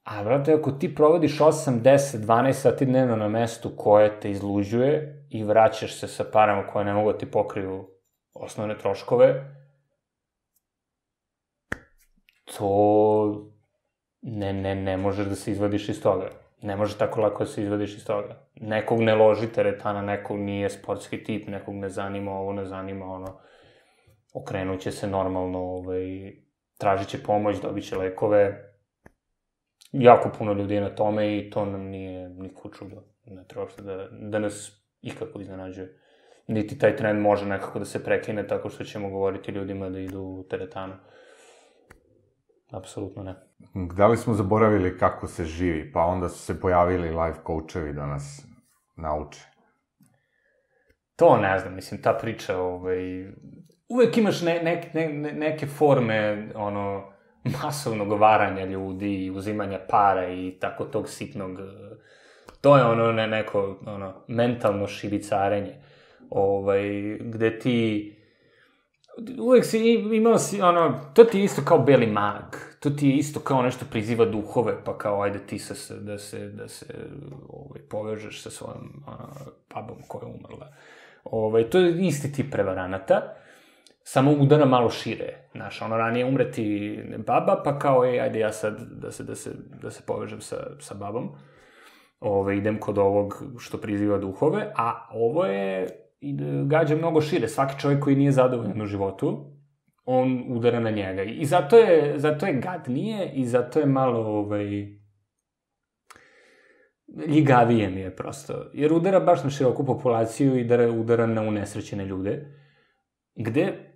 A, brate, ako ti provodiš 8, 10, 12 sati dnevno na mestu koje te izluđuje i vraćaš se sa parama koje ne mogu da ti pokriju osnovne troškove, to ne možeš da se izvadiš iz toga. Ne može tako lako da se izvadiš iz toga. Nekog ne loži teretana, nekog nije sportski tip, nekog ne zanima ovo, ne zanima ono. Okrenut će se normalno, tražit će pomoć, dobit će lekove. Jako puno ljudi je na tome i to nam nije niko čudo. Ne treba uopšte da nas ikako iznenađuje. Niti taj trend može nekako da se prekine tako što ćemo govoriti ljudima da idu u teretanu. Apsolutno ne. Da li smo zaboravili kako se živi, pa onda su se pojavili life coachevi da nas nauče? To ne znam, mislim, ta priča, uvek imaš neke forme, masovnog varanja ljudi i uzimanja para i tako tog sitnog, to je neko mentalno šibicarenje, gde ti uvek si imao to ti je isto kao beli mag, to ti je isto kao nešto priziva duhove, pa kao ajde ti da se povežeš sa svojom babom koja je umrla. To je isti tip prevaranata, samo udara malo šire, znaš, ranije umreti baba, pa kao, ajde ja sad da se povežem sa babom, idem kod ovog što priziva duhove, a ovo je gađa mnogo šire. Svaki čovjek koji nije zadovoljan u životu, on udara na njega. I zato je gadnije i zato je malo, ljigavije mi je prosto. Jer udara baš na široku populaciju i udara na unesrećene ljude, gde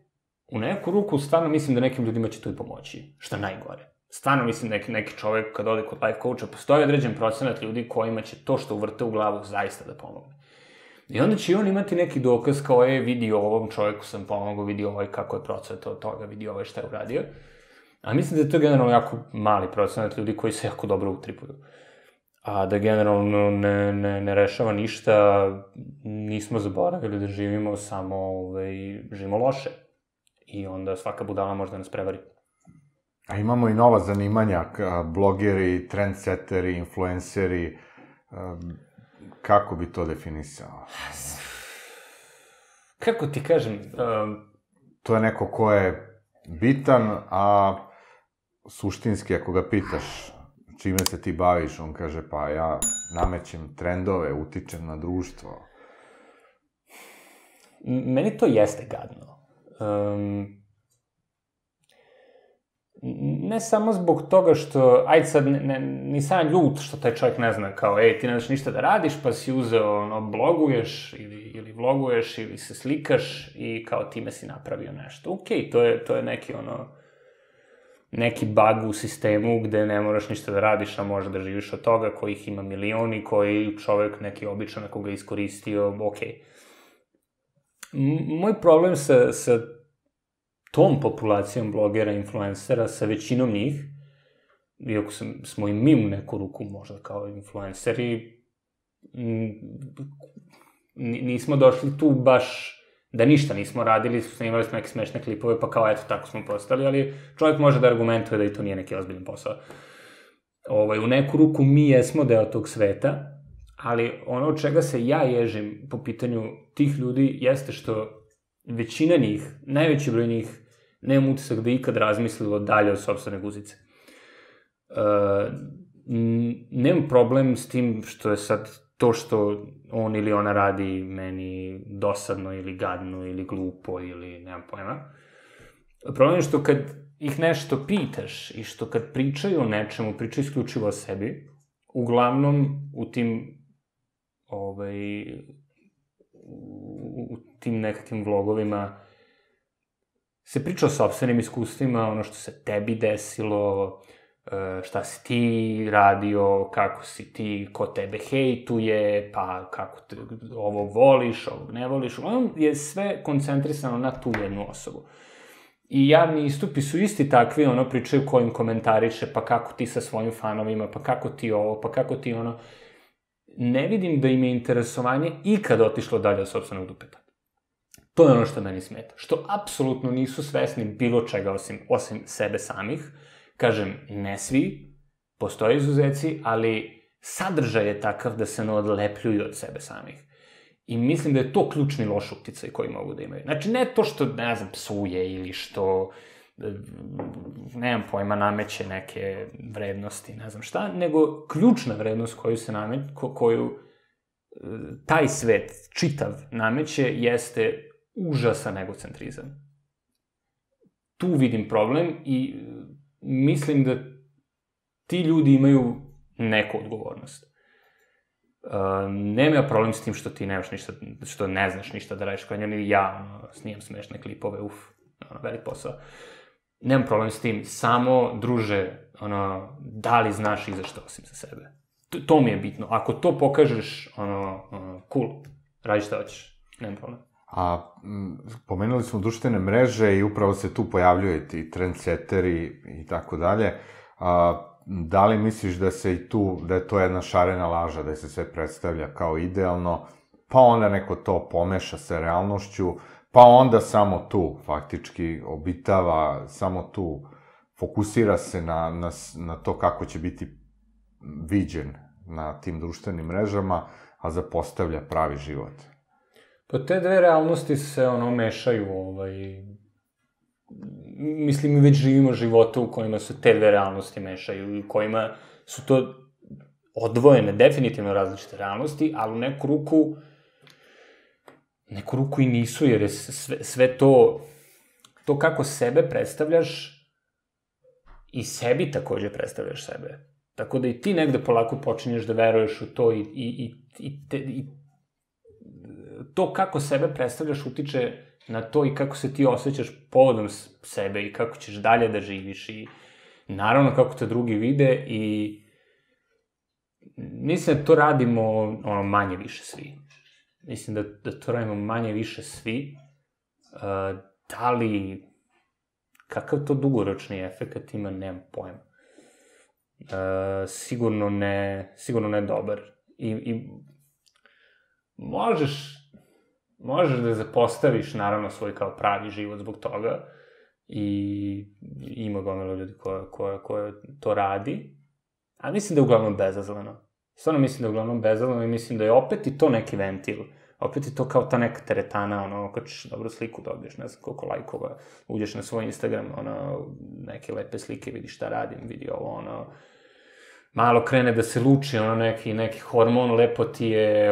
u neku ruku stvarno mislim da nekim ljudima će to i pomoći, što je najgore. Stvarno mislim da neki čovjek kad ode kod life coacha, postoji određen procenat ljudi kojima će to što uvrte u glavu zaista da pomogne. I onda će on imati neki dokaz kao vidi ovom čovjeku sam pomogao, vidi kako je procvetao od toga, vidi šta je uradio. A mislim da je to generalno jako mali procenat ljudi koji se jako dobro utripuju. A da generalno ne rešava ništa, nismo zaboravili da živimo samo, živimo loše. I onda svaka budala može da nas prevari. A imamo i nova zanimanja, blogeri, trendsetteri, influenceri, kako bi to definisao? Kako ti kažem? To je neko ko je bitan, a suštinski ako ga pitaš čime se ti baviš, on kaže pa ja namećem trendove, utičem na društvo. Meni to jeste gadno. Ne samo zbog toga što, ajde sad, nisam ljut što taj čovjek ne zna, kao, ti ne znaš ništa da radiš, pa si uzeo, bloguješ, ili vloguješ, ili se slikaš, i kao time si napravio nešto. Okej, to je neki bug u sistemu gde ne moraš ništa da radiš, a možeš da živiš od toga, kojih ima milioni, koji čovjek neki običan, ako ga iskoristio, okej. Moj problem sa tom populacijom blogera, influencera, sa većinom njih, iako smo i mi u neku ruku možda kao influenceri, nismo došli tu baš da ništa nismo radili, snimali smo neke smešne klipove, pa kao eto tako smo postali, ali čovjek može da argumentuje da i to nije neki ozbiljan posao. U neku ruku mi jesmo deo tog sveta, ali ono od čega se ja ježim po pitanju tih ljudi jeste što većina njih, najveći broj njih, nemam utisak da ikad razmislilo dalje od sopstvene guzice. Nemam problem s tim što je sad to što on ili ona radi meni dosadno ili gadno ili glupo ili nemam pojma. Problem je što kad ih nešto pitaš i što kad pričaju o nečemu, pričaju isključivo o sebi, uglavnom u tim nekakvim vlogovima se priča o sopstvenim iskustvima, ono što se tebi desilo, šta si ti radio, kako si ti, ko tebe hejtuje, pa kako ovog voliš, ovog ne voliš. Ono je sve koncentrisano na tu jednu osobu. I javni istupi su isti takvi, pričaju ko im komentariše, pa kako ti sa svojim fanovima, pa kako ti ovo, pa kako ti ono. Ne vidim da im je interesovanje ikad otišlo dalje od sopstvenog dupeta. To je ono što meni smeta. Što apsolutno nisu svesni bilo čega osim sebe samih. Kažem, ne svi, postoje izuzeci, ali sadržaj je takav da se ne odlepljuju od sebe samih. I mislim da je to ključni loš uticaj koji mogu da imaju. Znači, ne to što, ne znam, psuje ili što nemam pojma, nameće neke vrednosti, ne znam šta, nego ključna vrednost koju se koju taj svet, čitav, nameće, jeste užasan egocentrizam. Tu vidim problem i mislim da ti ljudi imaju neku odgovornost. Nema problem s tim što ti nemaš ništa, što ne znaš ništa da radiš, kao njeni ja, snimam smešne klipove, velik posao. Nemam problem s tim, samo, druže, da li znaš i za što osim za sebe. To mi je bitno. Ako to pokažeš, cool, radi šta hoćeš, nemam problem. A pomenuli smo društvene mreže i upravo se tu pojavljuju ti trendseteri i tako dalje. Da li misliš da se i tu, da je to jedna šarena laža, da se sve predstavlja kao idealno, pa onda neko to pomeša sa realnošću, pa onda samo tu faktički obitava, samo tu fokusira se na to kako će biti viđen na tim društvenim mrežama, a zapostavlja pravi život? Pa te dve realnosti se, mešaju, mislim, mi već živimo živote u kojima se te dve realnosti mešaju i u kojima su to odvojene, definitivno različite realnosti, ali u neku ruku i nisu, jer je sve to kako sebe predstavljaš i sebi takođe predstavljaš sebe. Tako da i ti negde polako počinješ da veruješ u to i to kako sebe predstavljaš utiče na to i kako se ti osjećaš povodom sebe i kako ćeš dalje da živiš i naravno kako te drugi vide i mislim da to radimo manje više svi. Mislim da to radimo manje više svi. Da li, kakav to dugoročni efekt ima, nemam pojma. Sigurno ne dobar. I možeš da zapostaviš, naravno, svoj kao pravi život zbog toga i ima gomila ljudi koja to radi, a mislim da je uglavnom bezazleno. Stvarno mislim da je uglavnom bezazleno i mislim da je opet i to neki ventil. Opet je to kao ta neka teretana, kad ćeš dobru sliku dobiješ, ne znam koliko lajkova, uđeš na svoj Instagram, neke lepe slike, vidi šta radim, vidi ovo, malo krene da se luči, neki hormon, lepo ti je,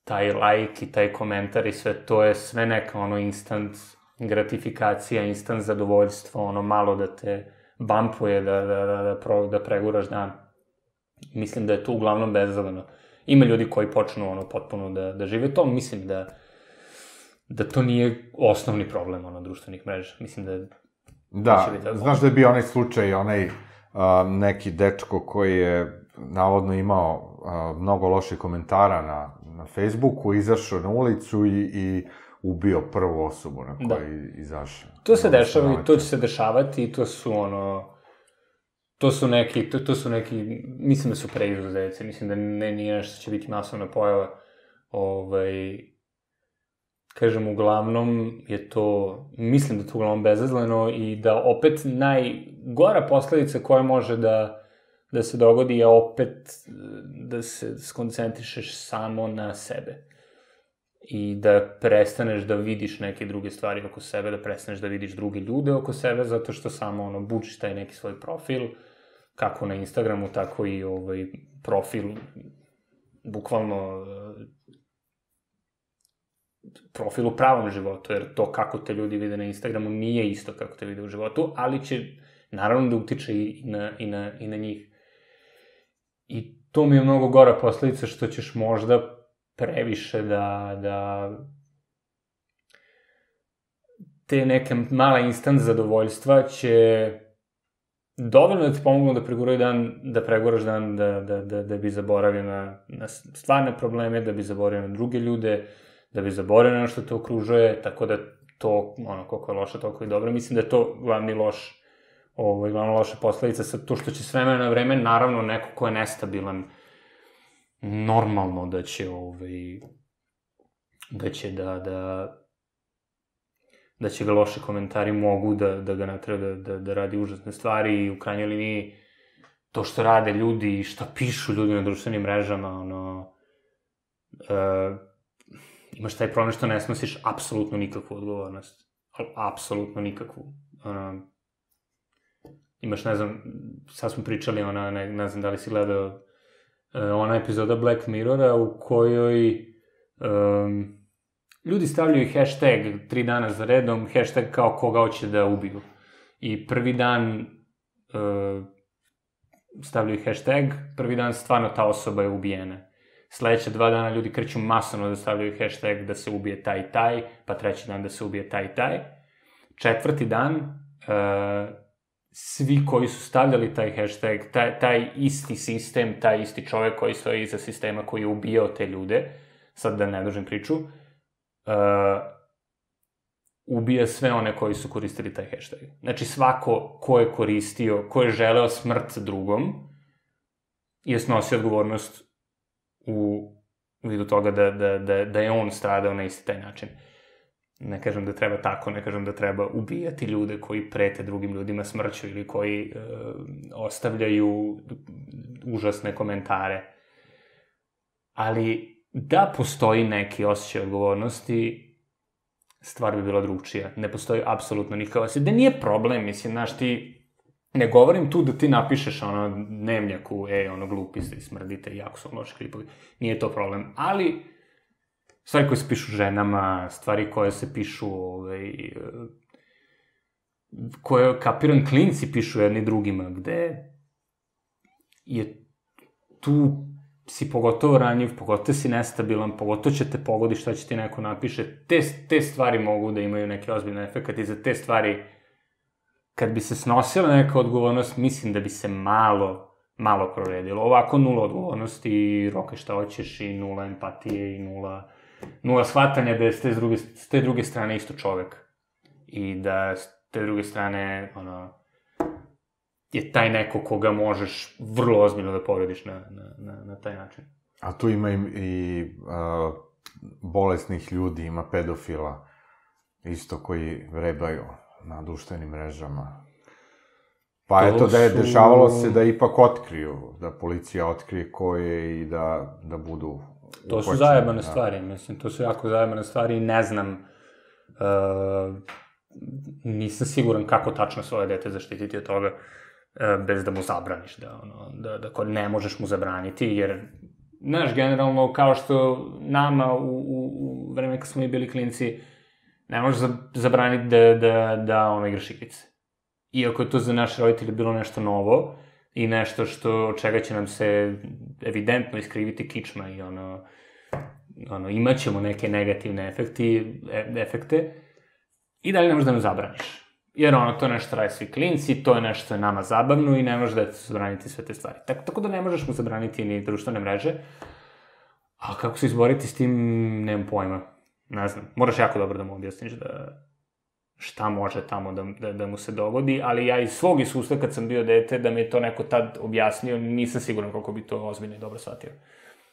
taj lajk i taj komentar i sve to je sve neka, instant gratifikacija, instant zadovoljstvo, malo da te bampuje, da preguraš dan. Mislim da je to uglavnom bezazleno. Ima ljudi koji počnu, potpuno da žive to, mislim da to nije osnovni problem, društvenih mreža. Mislim da... Da, znaš da je bio onaj slučaj, neki dečko koji je navodno imao mnogo loših komentara na Facebooku, izašao na ulicu i ubio prvu osobu na kojoj izašao. To se dešava i to će se dešavati i to su neki, mislim da su preizuzeci, mislim da nije nešto će biti masovna pojava. Kažem, uglavnom je to, mislim da je to uglavnom bezazleno i da opet najgora posledica koja može da se dogodi je opet da se skoncentrišeš samo na sebe i da prestaneš da vidiš neke druge stvari oko sebe, da prestaneš da vidiš druge ljude oko sebe, zato što samo bučiš taj neki svoj profil, kako na Instagramu, tako i profil, bukvalno profil u pravom životu, jer to kako te ljudi vide na Instagramu nije isto kako te vide u životu, ali će naravno da utiče i na njih. I to mi je mnogo gora posledica što ćeš možda previše da te neke mala instant zadovoljstva će dovoljno da ti pomognu da preguraš dan, da bi zaboravio na stvarne probleme, da bi zaboravio na druge ljude, da bi zaboravio na ono što te okružuje, tako da to, koliko je loše, toliko i dobro. Mislim da je to glavna loša posledica, sa to što će s vremena na vreme, naravno, neko ko je nestabilan, normalno da će ga loši komentari mogu da ga natraju da radi užasne stvari i u krajnjoj liniji to što rade ljudi i što pišu ljudi na društvenim mrežama, imaš taj problem što ne snosiš apsolutno nikakvu odgovornost. apsolutno nikakvu. Imaš, ne znam, sad smo pričali, ne znam da li si gledao ona epizoda Black Mirrora u kojoj ljudi stavljaju hashtag 3 dana za redom, hashtag kao koga hoće da ubiju. I prvi dan stavljaju hashtag, prvi dan stvarno ta osoba je ubijena. Sledeća 2 dana ljudi kreću masovno da stavljaju hashtag da se ubije taj i taj, pa treći dan da se ubije taj i taj. Četvrti dan, svi koji su stavljali taj hashtag, taj isti sistem, taj isti čovek koji stoji iza sistema koji je ubijao te ljude, sad da ne dužim priču, ubija sve one koji su koristili taj hashtag. Znači, svako ko je koristio, ko je želeo smrt drugom, je snosio odgovornost u vidu toga da je on stradao na isti taj način. Ne kažem da treba tako, ne kažem da treba ubijati ljude koji prete drugim ljudima smrću ili koji ostavljaju užasne komentare. Ali da postoji neki osjećaj odgovornosti, stvar bi bila drugčija. Ne postoji apsolutno nikakav osjećaj. Da nije problem, mislim, znaš, ti... Ne govorim tu da ti napišeš dnevnjaku, glupi ste i smrdite, jako su loši klipovi. Nije to problem. Ali, stvari koje se pišu ženama, stvari koje se pišu, koje, kapiram, klinci pišu jedni drugima, gde je tu si pogotovo ranjiv, pogotovo si nestabilan, pogotovo će te pogodi šta će ti neko napiše. Te stvari mogu da imaju neke ozbiljne efekte i za te stvari, kad bi se snosila neka odgovornost, mislim da bi se malo proredilo. Ovako 0 odgovornosti, roke šta hoćeš i 0 empatije i 0 shvatanja da je s te druge strane isto čovek. I da s te druge strane, je taj neko koga možeš vrlo ozbiljno da povrediš na taj način. A tu ima i bolesnih ljudi, ima pedofila, isto koji vrebaju na društvenim mrežama. Pa eto da je dešavalo se da ipak otkriju, da policija otkrije ko je i da budu upoćeni. To su zajebane stvari, mislim, to su jako zajebane stvari i ne znam, nisam siguran kako tačno svoje dete zaštititi od toga bez da mu zabraniš, da ne možeš mu zabraniti, jer, znaš, generalno, kao što nama u vreme kad smo mi bili klinci, ne možeš zabraniti da igraš igrice. Iako je to za naše roditelje bilo nešto novo i nešto od čega će nam se evidentno iskriviti kičma i imaćemo neke negativne efekte i dalje ne možeš da nam zabraniš. Jer to je nešto rade svi klinci, to je nešto što je nama zabavno i ne možeš da zabraniti sve te stvari. Tako da ne možeš mu zabraniti ni društvene mreže, a kako se izboriti s tim, nemam pojma. Ne znam, moraš jako dobro da mu objasniš šta može tamo da mu se dogodi, ali ja iz svog iskustva kad sam bio dete, da mi je to neko tad objasnio, nisam siguran koliko bi to ozbiljno i dobro shvatio.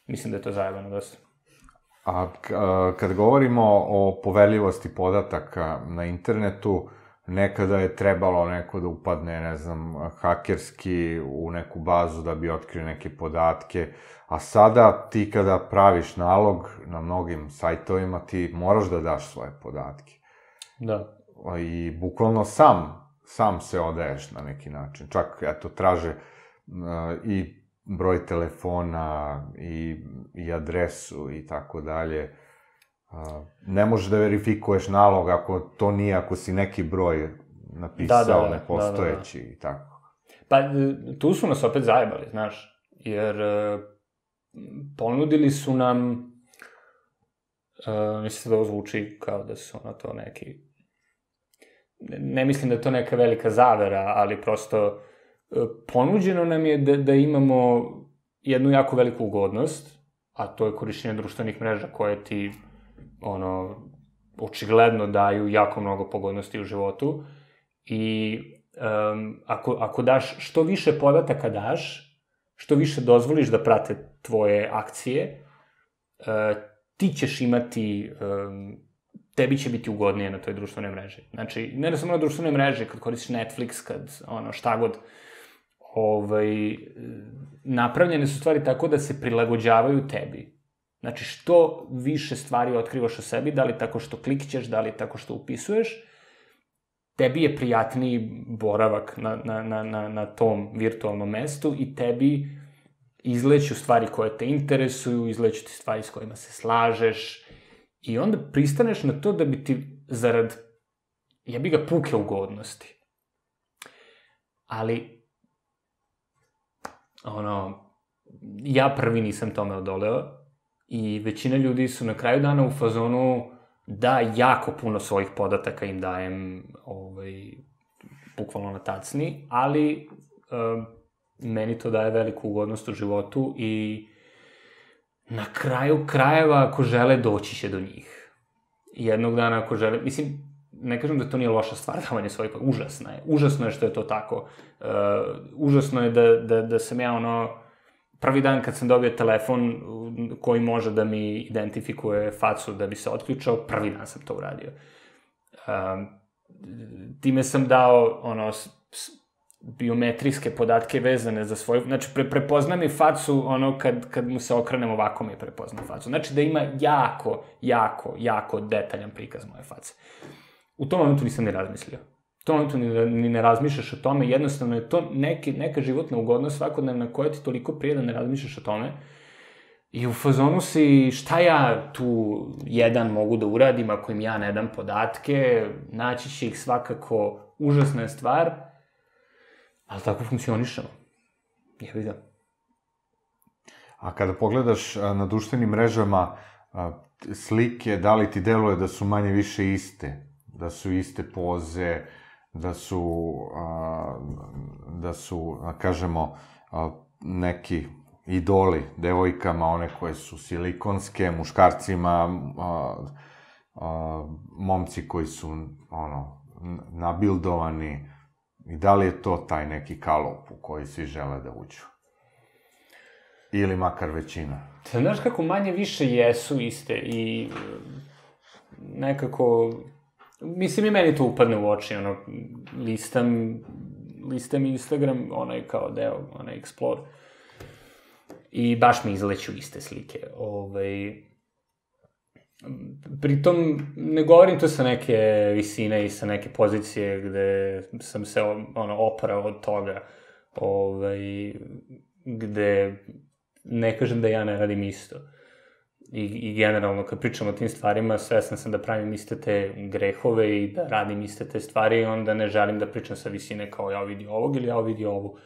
Mislim da je to zajebano dosta. A kad govorimo o poverljivosti podataka na internetu, nekada je trebalo neko da upadne, ne znam, hakerski u neku bazu da bi otkrio neke podatke, a sada ti kada praviš nalog na mnogim sajtovima, ti moraš da daš svoje podatke. Da. I bukvalno sam se odaješ na neki način. Čak, eto, traže i broj telefona i adresu i tako dalje. Ne možeš da verifikuješ nalog ako si neki broj napisao nepostojeći i tako. Pa, tu su nas opet zajebali, znaš, jer ponudili su nam, mislim da ovo zvuči kao da su to neki, ne mislim da je to neka velika zavera, ali prosto ponuđeno nam je da imamo jednu jako veliku ugodnost, a to je korišćenje društvenih mreža koje ti, očigledno daju jako mnogo pogodnosti u životu i ako daš, što više podataka daš, što više dozvoliš da prate tvoje akcije, ti ćeš imati, tebi će biti ugodnije na toj društvenoj mreži. Znači, ne samo na društvenoj mreži, kad koristiš Netflix, kad šta god, napravljene su stvari tako da se prilagođavaju tebi. Znači, što više stvari otkrivaš o sebi, da li tako što klikćeš, da li tako što upisuješ, tebi je prijatniji boravak na tom virtualnom mestu i tebi izleću stvari koje te interesuju, izleću ti stvari s kojima se slažeš i onda pristaneš na to da bi ti zarad, jebi ga, puke ugodnosti. Ali, ja prvi nisam tome odoleo i većina ljudi su na kraju dana u fazonu da jako puno svojih podataka im dajem bukvalno na tacni, ali meni to daje veliku ugodnost u životu i na kraju krajeva ako žele doći će do njih. Jednog dana ako žele, mislim, ne kažem da to nije loša stvar davanje svojih, užasno je. Užasno je što je to tako. Užasno je da sam ja prvi dan kad sam dobio telefon koji može da mi identifikuje facu da bi se otključao, prvi dan sam to uradio. Time sam dao biometrijske podatke vezane za svoju, znači prepozna mi facu kad mu se okrenem ovako mi prepozna facu. Znači da ima jako detaljan prikaz moje face. U tom momentu nisam ni razmislio. U tom momentu ni ne razmišljaš o tome, jednostavno je to neka životna ugodnost svakodnevna koja ti toliko prije da ne razmišljaš o tome. I u fazonu si, šta ja tu jedan mogu da uradim ako im ja ne dam podatke, naći će ih svakako, užasna je stvar, ali tako funkcionišemo. Jebi ga. A kada pogledaš na društvenim mrežama slike, da li ti deluje da su manje više iste? Da su iste poze, da su, kažemo, neki idoli devojkama, one koje su silikonske, muškarcima, momci koji su, nabildovani, i da li je to taj neki kalup u koji svi žele da uđu? Ili makar većina? Znaš kako manje više jesu iste i nekako, mislim i meni to upadne u oči, listam Instagram, kao deo, Explore, i baš mi izleću iste slike. Pritom, ne govorim to sa neke visine i sa neke pozicije gde sam se oprao od toga, gde ne kažem da ja ne radim isto. I generalno, kad pričam o tim stvarima, svestan sam da pravim iste te grehove i da radim iste te stvari, onda ne želim da pričam sa visine kao ja vidi ovog ili ja vidi ovu.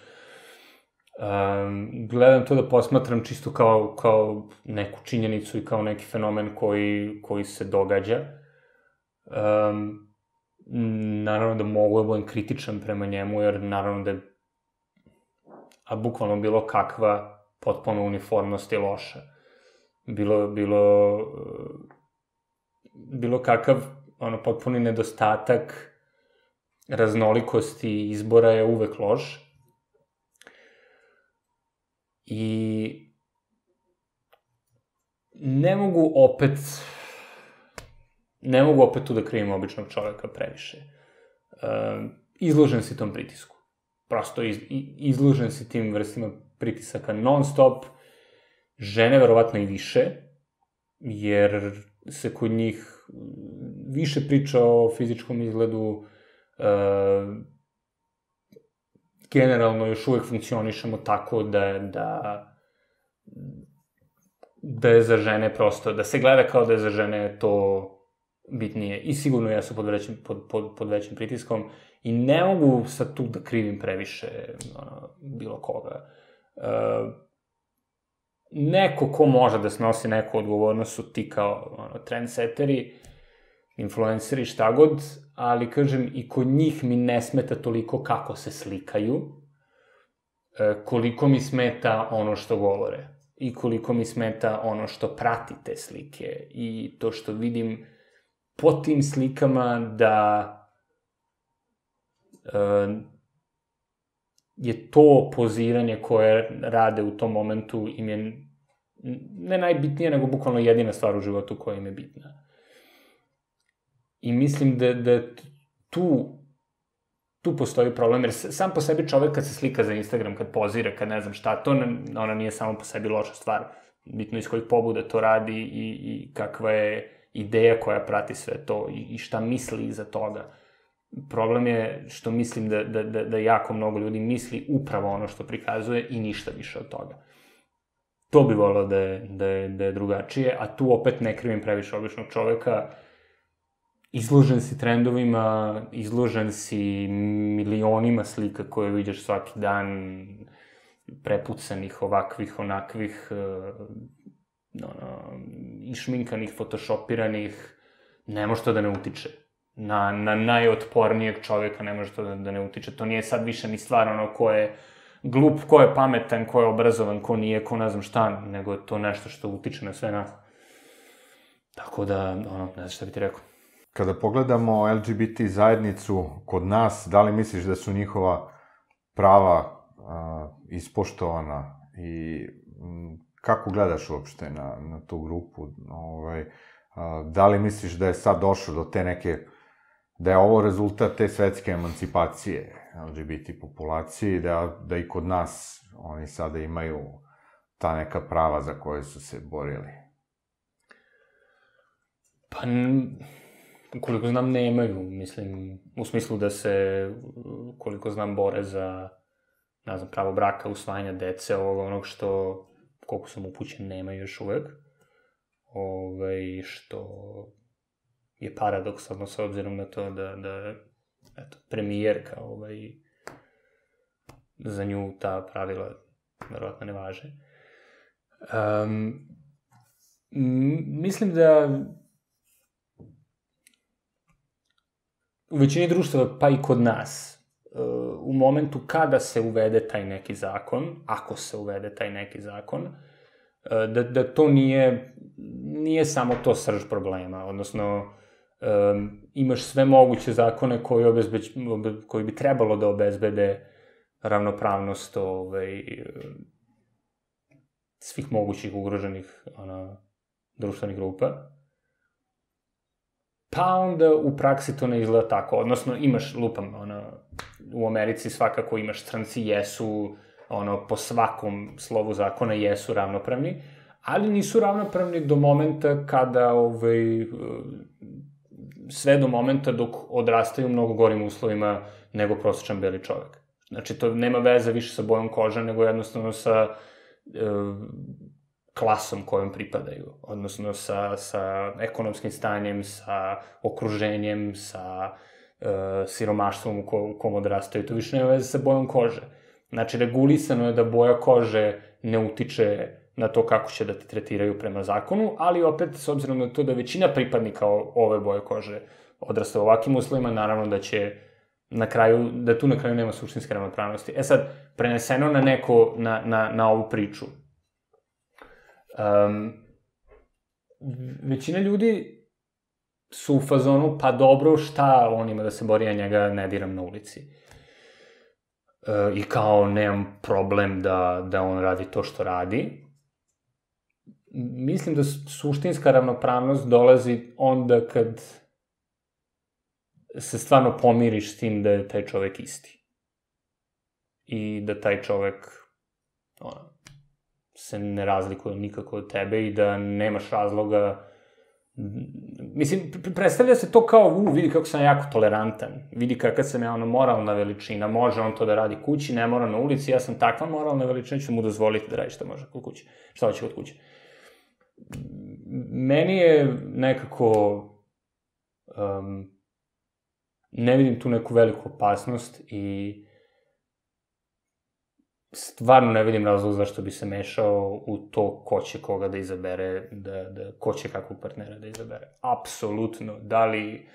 Gledam to da posmatram čisto kao neku činjenicu i kao neki fenomen koji se događa. Naravno da mogu da budem kritičan prema njemu, jer naravno da je bukvalno bilo kakva potpuno uniformnost je loša. Bilo kakav potpuni nedostatak raznolikosti izbora je uvek loš. I ne mogu opet tu da krivim običnog čoveka previše. Izložen si tom pritisku. Prosto izložen si tim vrstima pritisaka non stop. Žene verovatno i više, jer se kod njih više priča o fizičkom izgledu, generalno još uvek funkcionišemo tako da je za žene prosto, da se gleda kao da je za žene to bitnije. I sigurno ja sam pod većim pritiskom i ne mogu sad tu da krivim previše bilo koga. Neko ko može da snosi neku odgovornost su ti kao trendsetteri, influenceri, šta god, ali kažem, i kod njih mi ne smeta toliko kako se slikaju, koliko mi smeta ono što govore i koliko mi smeta ono što prati te slike i to što vidim po tim slikama da je to poziranje koje rade u tom momentu im je ne najbitnije, nego bukvalno jedina stvar u životu koja im je bitna. I mislim da tu postoji problem, jer sam po sebi čovek kad se slika za Instagram, kad pozira, kad ne znam šta, to ona nije samo po sebi loša stvar. Bitno iz kojih pobuda to radi i kakva je ideja koja prati sve to i šta misli iza toga. Problem je što mislim da jako mnogo ljudi misli upravo ono što prikazuje i ništa više od toga. To bi volao da je drugačije, a tu opet ne krivim previše običnog čoveka. Izložen si trendovima, izložen si milionima slika koje vidiš svaki dan, prepucanih, ovakvih, onakvih, išminkanih, photoshopiranih, ne može to da ne utiče. Na najotpornijeg čoveka ne može to da ne utiče. To nije sad više ni stvar ko je glup, ko je pametan, ko je obrazovan, ko nije, ko ne znam šta, nego je to nešto što utiče na sve nas. Tako da, ne znam šta bi ti rekao. Kada pogledamo LGBT zajednicu kod nas, da li misliš da su njihova prava ispoštovana i kako gledaš uopšte na tu grupu? Da li misliš da je sad došlo do te neke, da je ovo rezultat te svetske emancipacije LGBT populacije, da i kod nas oni sada imaju ta neka prava za koje su se borili? Pa, koliko znam, nemaju, mislim, u smislu da se, koliko znam, bore za, ne znam, pravo braka, usvajanja dece, onog što, koliko sam upućen, nemaju još uvek. Što je paradoksalno s obzirom na to da eto, premijerka, za nju ta pravila verovatno ne važe. Mislim da u većini društava, pa i kod nas, u momentu kada se uvede taj neki zakon, ako se uvede taj neki zakon, da to nije samo to srž problema, odnosno imaš sve moguće zakone koji bi trebalo da obezbede ravnopravnost svih mogućih ugroženih društvenih grupa, pa onda u praksi to ne izgleda tako, odnosno imaš, lupam, u Americi svakako imaš, stranci jesu, po svakom slovu zakona jesu ravnopravni, ali nisu ravnopravni do momenta kada, sve do momenta dok odrastaju u mnogo gorim uslovima nego prosječan beli čovek. Znači, to nema veze više sa bojom kože, nego jednostavno sa klasom kojom pripadaju, odnosno sa ekonomskim stanjem, sa okruženjem, sa siromaštvom u kom odrastaju. To više nema veze sa bojom kože. Znači, regulisano je da boja kože ne utiče na to kako će da te tretiraju prema zakonu, ali opet, s obzirom na to da većina pripadnika ove boje kože odrasta u ovakvim uslovima, naravno da će da tu na kraju nema suštinske ravnopravnosti. E sad, preneseno na ovu priču. Većina ljudi su u fazonu, pa dobro, šta on ima da se bori, ja njega ne diram na ulici. I kao, nemam problem da on radi to što radi. Mislim da suštinska ravnopravnost dolazi onda kad se stvarno pomiriš s tim da je taj čovek isti. I da taj čovek se ne razlikuje nikako od tebe i da nemaš razloga. Mislim, predstavlja se to kao, vidi kako sam jako tolerantan, vidi kakav sam ja moralna veličina, može on to da radi kući, ne mora na ulici, ja sam takva moralna veličina, ću mu dozvoliti da radi šta može kod kuće, šta hoće kod kuće. Meni je nekako, ne vidim tu neku veliku opasnost i stvarno ne vidim razlog zašto bi se mešao u to ko će koga da izabere, ko će kakvog partnera da izabere. Apsolutno. Da li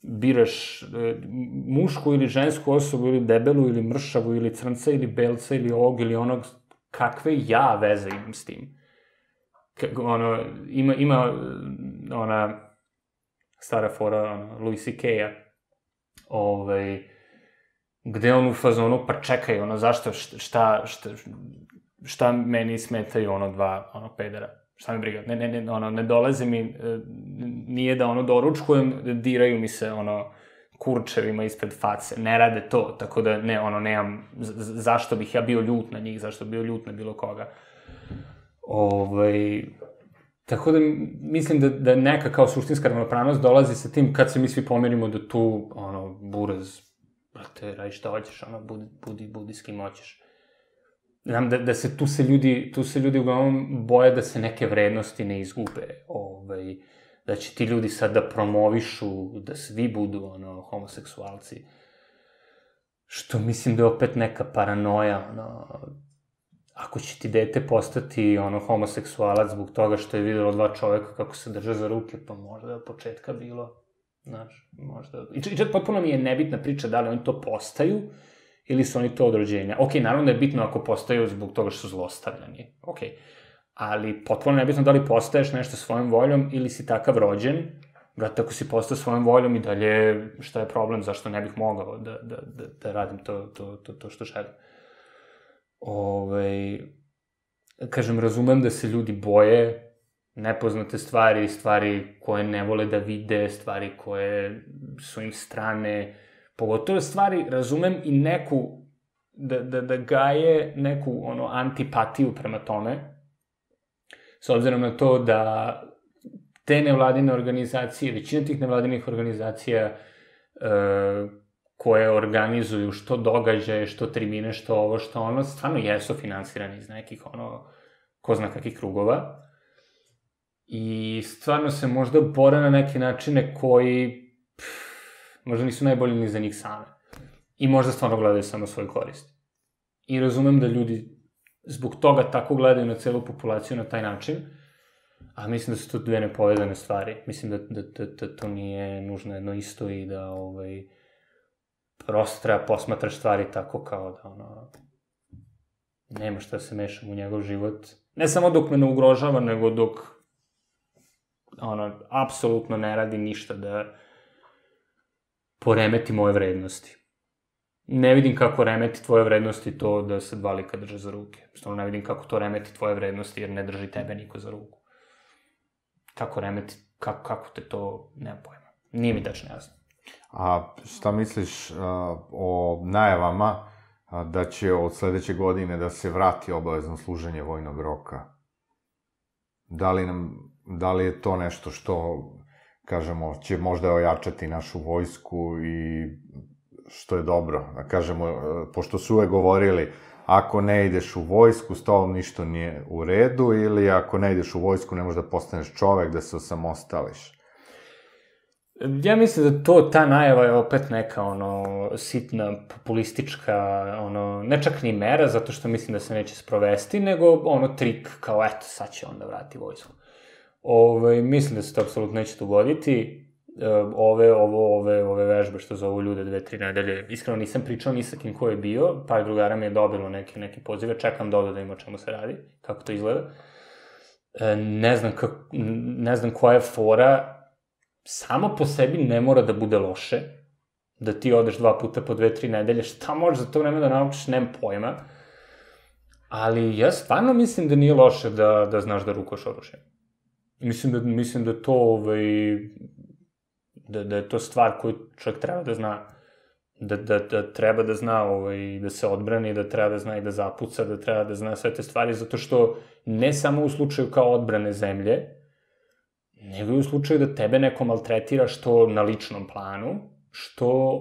biraš mušku ili žensku osobu, ili debelu, ili mršavu, ili crnca, ili belca, ili ovog, ili onog, kakve ja veze imam s tim? Ima ona stara fora Louis C.K.-a, gde on u fazonu, pa čekaj, zašto, šta meni smetaju dva pedera, šta mi briga, ne dolaze mi, nije da doručkujem, diraju mi se, kurčevima ispred face, ne rade to, tako da nemam, zašto bih ja bio ljut na njih, zašto bih bio ljut na bilo koga. Tako da mislim da neka kao suštinska ravnopravnost dolazi sa tim kad se mi svi pomerimo da tu, buraz, brate, radi šta hoćeš, budi s kim hoćeš. Znam da se tu se ljudi uglavnom boje da se neke vrednosti ne izgube, da će ti ljudi sad da promovišu, da svi budu, homoseksualci. Što mislim da je opet neka paranoja, ako će ti dete postati, homoseksualac zbog toga što je videlo dva čoveka kako se drže za ruke, pa možda je od početka bilo, znaš, možda... I čak potpuno mi je nebitna priča da li oni to postaju, ili su oni to od rođenja. Okej, naravno da je bitno ako postaju zbog toga što su zlostavljani, okej. Ali potpuno nebitno da li postaješ nešto svojom voljom ili si takav rođen. Brate, ako si postao svojom voljom i dalje, šta je problem, zašto ne bih mogao da radim to što želim. Kažem, razumem da se ljudi boje nepoznate stvari koje ne vole da vide, stvari koje su im strane, pogotovo stvari, razumem i neku, da gaje neku, antipatiju prema tome, s obzirom na to da te nevladine organizacije, većina tih nevladinih organizacija koje organizuju što događaje, što tribine, što ovo, što ono, stvarno jesu finansirani iz nekih, ko zna kakvih krugova. I stvarno se možda bore na neke načine koji možda nisu najbolji ni za njih same. I možda stvarno gledaju samo svoju korist. I razumem da ljudi zbog toga tako gledaju na celu populaciju na taj način, a mislim da su to dve nepovezane stvari. Mislim da to nije nužno jedno isto i da prosto treba posmatraš stvari tako kao da nema šta se mešam u njegov život. Ne samo dok me ne ugrožava, nego dok apsolutno ne radi ništa da poremeti moje vrednosti. Ne vidim kako remeti tvoje vrednosti to da se dva lika drže za ruke. Stvarno ne vidim kako to remeti tvoje vrednosti jer ne drži tebe niko za ruku. Kako remeti, kako te to, nema pojma. Nije mi tačno jasno. A šta misliš o najavama da će od sledeće godine da se vrati obavezno služenje vojnog roka? Da li je to nešto što, kažemo, će možda ojačati našu vojsku i što je dobro? Da kažemo, pošto su uvek govorili, ako ne ideš u vojsku, s tobom ništa nije u redu, ili ako ne ideš u vojsku, ne možeš da postaneš čovek, da se osamostališ. Ja mislim da ta najava je opet neka, sitna, populistička, ne čak ni mera, zato što mislim da se neće sprovesti, nego, trik, kao, eto, sad će onda vrati vojsku. Mislim da se to apsolutno neće dogoditi. Ove vežbe što zovu ljude 2-3 nedelje, iskreno nisam pričao ni sa kim ko je bio, par drugara mi je dobilo neke pozive, čekam da im o čemu se radi, kako to izgleda. Ne znam koja je fora, samo po sebi ne mora da bude loše, da ti odeš 2 puta po 2-3 nedelje, šta možeš za to vreme da naučiš, nemam pojma, ali ja stvarno mislim da nije loše da znaš da rukoš oružje. Mislim da to, da je to stvar koju čovjek treba da zna, da treba da zna da se odbrani, da treba da zna i da zapuca, da treba da zna sve te stvari, zato što ne samo u slučaju kao odbrane zemlje, nego i u slučaju da tebe neko maltretira, što na ličnom planu, što,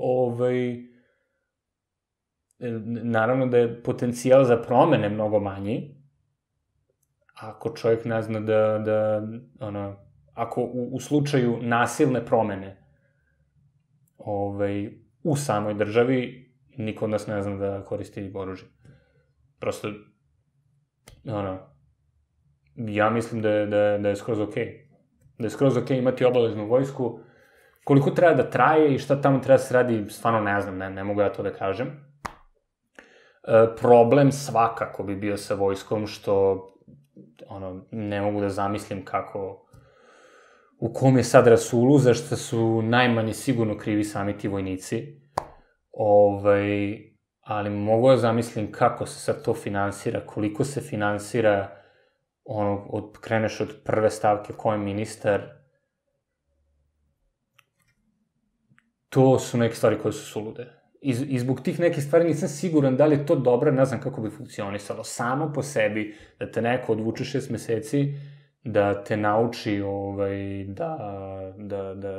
naravno da je potencijal za promene mnogo manji, ako čovjek ne zna ako u slučaju nasilne promene u samoj državi, niko od nas ne zna da koristi oružje. Prosto, ja mislim da je skroz okej. Da je skroz okej imati obaveznu vojsku. Koliko treba da traje i šta tamo treba da se radi, stvarno ne znam, ne mogu ja to da kažem. Problem svakako bi bio sa vojskom, što ne mogu da zamislim kako, u kom je sad rasulu, zašto su najmanje sigurno krivi sami ti vojnici. Ali mogu da zamislim kako se sad to finansira, koliko se finansira, kreneš od prve stavke ko je ministar. To su neke stvari koje su sulude. I zbog tih nekih stvari nisam siguran da li je to dobro, ne znam kako bi funkcionisalo. Samo po sebi, da te neko odvuče 6 meseci, da te nauči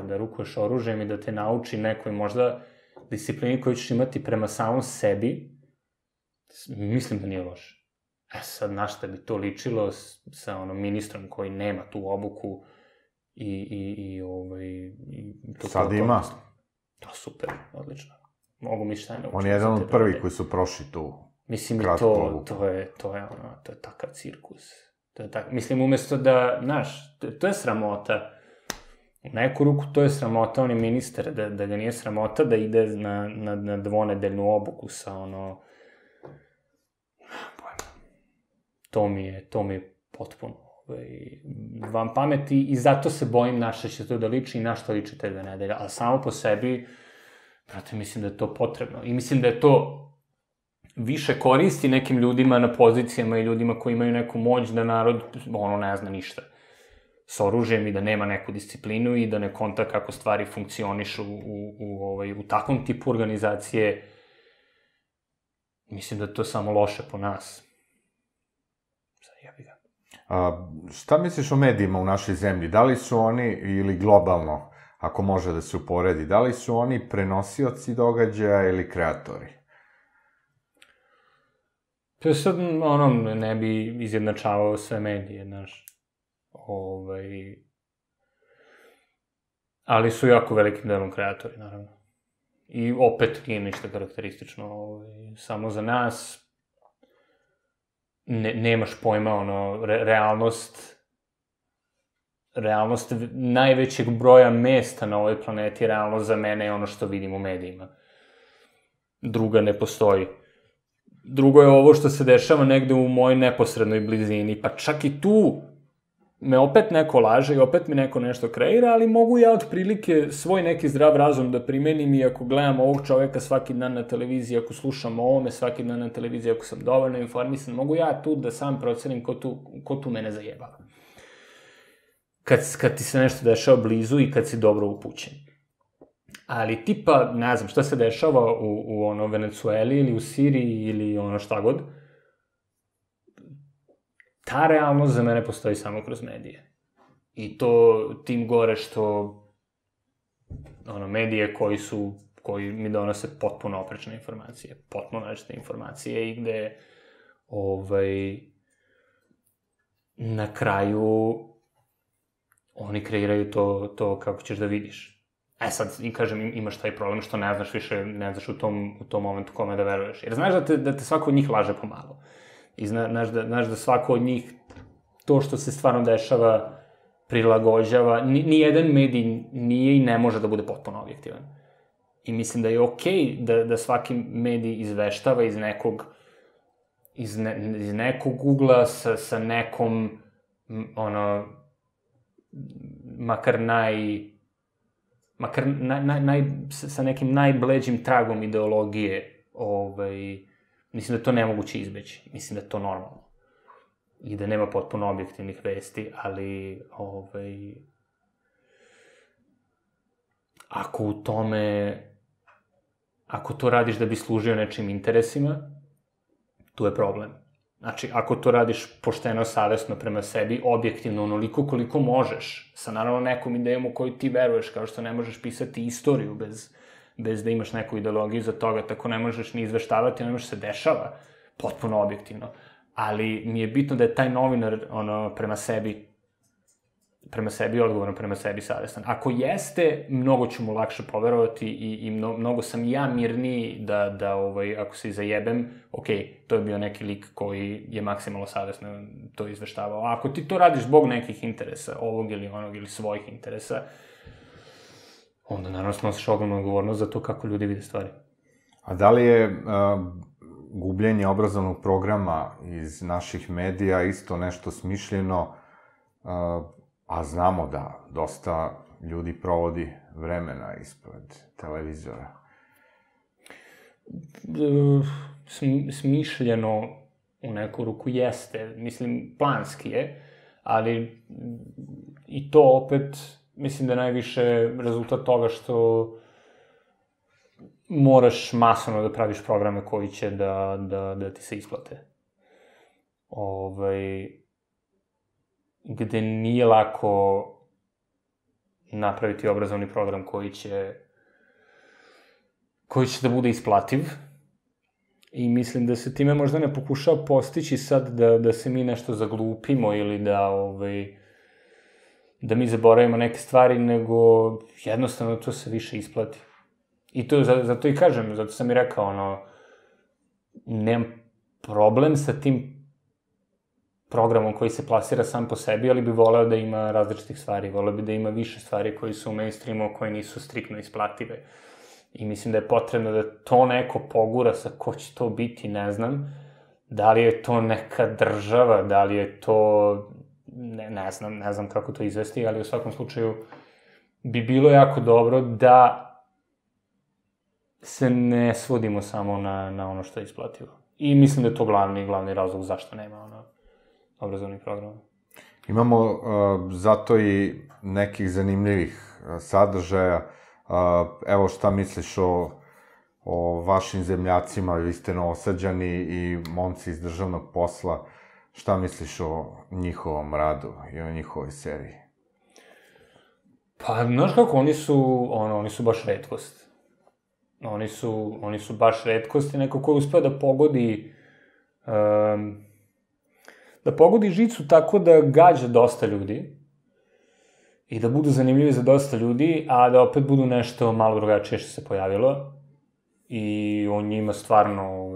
da rukuješ oružjem i da te nauči nekoj možda disciplini koju ćeš imati prema samom sebi, mislim da nije loše. Sad, na šta bi to ličilo sa ministrom koji nema tu obuku i sad ima. To super, odlično. Mogu mi šta je naučiti. On je jedan od prvih koji su prošli tu. Mislim, to je takav cirkus. Mislim, umesto da, znaš, to je sramota. U neku ruku to je sramota, on je ministar, da ga nije sramota da ide na dvonedeljnu obuku sa to mi je potpuno van pameti i zato se bojim na šta će to da liči i na što liči te 2 nedelje. Ali samo po sebi, brate, mislim da je to potrebno. I mislim da je to više koristi nekim ljudima na pozicijama i ljudima koji imaju neku moć da narod, ne zna ništa s oružjem i da nema neku disciplinu i da ne konta kako stvari funkcionišu u takvom tipu organizacije. Mislim da je to samo loše po nas. Šta misliš o medijima u našoj zemlji? Da li su oni, ili globalno, ako može da se uporedi, da li su oni prenosioci događaja ili kreatori? Pa sad, ne bi izjednačavao sve medije, znaš. Ali su jako velikim delom kreatori, naravno. I opet nije ništa karakteristično, samo za nas. Nemaš pojma, realnost najvećeg broja mesta na ovoj planeti, realnost za mene je ono što vidim u medijima. Druga ne postoji. Drugo je ovo što se dešava negde u mojoj neposrednoj blizini, pa čak i tu me opet neko laže i opet mi neko nešto kreira, ali mogu ja otprilike svoj neki zdrav razum da primenim i ako gledam ovog čoveka svaki dan na televiziji, ako slušam o ovome svaki dan na televiziji, ako sam dovoljno informisan, mogu ja tu da sam procenim ko tu mene zajebava. Kad ti se nešto dešava blizu i kad si dobro upućen. Ali tipa, ne znam, šta se dešava u Venecueli ili u Siriji ili šta god, ta realnost za mene postoji samo kroz medije. I to tim gore što medije koji mi donose potpuno oprečne informacije, potpuno različite informacije i gde na kraju oni kreiraju to kako ćeš da vidiš. Sad, kažem, imaš taj problem što ne znaš više, ne znaš u tom momentu kome da veruješ. Jer znaš da te svako od njih laže pomalo. I znaš da svako od njih to što se stvarno dešava prilagođava. Nijedan medij nije i ne može da bude potpuno objektivan. I mislim da je okej da svaki medij izveštava iz nekog ugla sa nekom sa nekim najbleđim tragom ideologije. Mislim da je to nemoguće izbeći. Mislim da je to normalno. I da nema potpuno objektivnih vesti, ali ako to radiš da bi služio nečim interesima, tu je problem. Znači, ako to radiš pošteno, savesno prema sebi, objektivno, onoliko koliko možeš, sa naravno nekom idejom u koju ti veruješ, kao što ne možeš pisati istoriju bez da imaš neku ideologiju za toga, tako ne možeš ni izveštavati, ne možeš se dešava potpuno objektivno. Ali mi je bitno da je taj novinar prema sebi odgovoran, prema sebi savestan. Ako jeste, mnogo ću mu lakše poverovati i mnogo sam ja mirniji da ako se zajebem, to je bio neki lik koji je maksimalno savesno to izveštavao. A ako ti to radiš zbog nekih interesa, ovog ili onog ili svojih interesa, onda naravno snosiš ogromnu odgovornost za to kako ljudi vide stvari. A da li je gubljenje obrazovnog programa iz naših medija isto nešto smišljeno, a znamo da dosta ljudi provodi vremena ispred televizora? Smišljeno u neku ruku jeste, mislim, planski je, ali i to opet, mislim da je najviše rezultat toga što moraš masovno da praviš programe koji će da ti se isplate. gde nije lako napraviti obrazovni program koji će da bude isplativ. I mislim da se time možda ne pokušava postići sad da se mi nešto zaglupimo ili da mi zaboravimo neke stvari, nego jednostavno to se više isplati. I to, zato i kažem, zato sam i rekao, nemam problem sa tim programom koji se plasira sam po sebi, ali bi voleo da ima različitih stvari, voleo bi da ima više stvari koji su u mainstreamu, koje nisu striktno isplative. I mislim da je potrebno da to neko pogura, sa ko će to biti, ne znam. Da li je to neka država, da li je to... Ne znam kako to izvesti, ali u svakom slučaju bi bilo jako dobro da se ne svodimo samo na ono što je isplativo. I mislim da je to glavni razlog zašto nema obrazovnih programa. Imamo zato i nekih zanimljivih sadržaja. Evo šta misliš o vašim zemljacima, vi ste Novosađani i momci iz državnog posla, šta misliš o njihovom radu i o njihovoj seriji? Pa, znaš kako, oni su baš retkost. Oni su baš retkost i neko ko je uspeo da pogodi žicu tako da gađa dosta ljudi i da budu zanimljivi za dosta ljudi, a da opet budu nešto malo drugačije što se pojavilo. I o njima stvarno,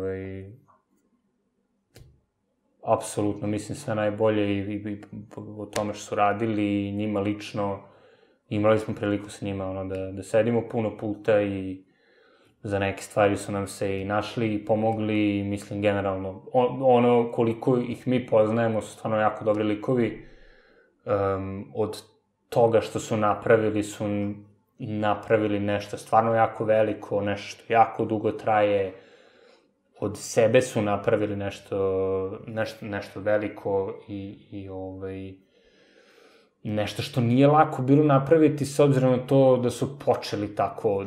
apsolutno, mislim, sve najbolje i o tome što su radili, i njima lično. Imali smo priliku sa njima, da sedimo puno puta i za neke stvari su nam se i našli i pomogli, i mislim, generalno, koliko ih mi poznajemo su stvarno jako dobri likovi. Od toga što su napravili nešto stvarno jako veliko, nešto što jako dugo traje, od sebe su napravili nešto veliko i nešto što nije lako bilo napraviti, s obzirom na to da su počeli tako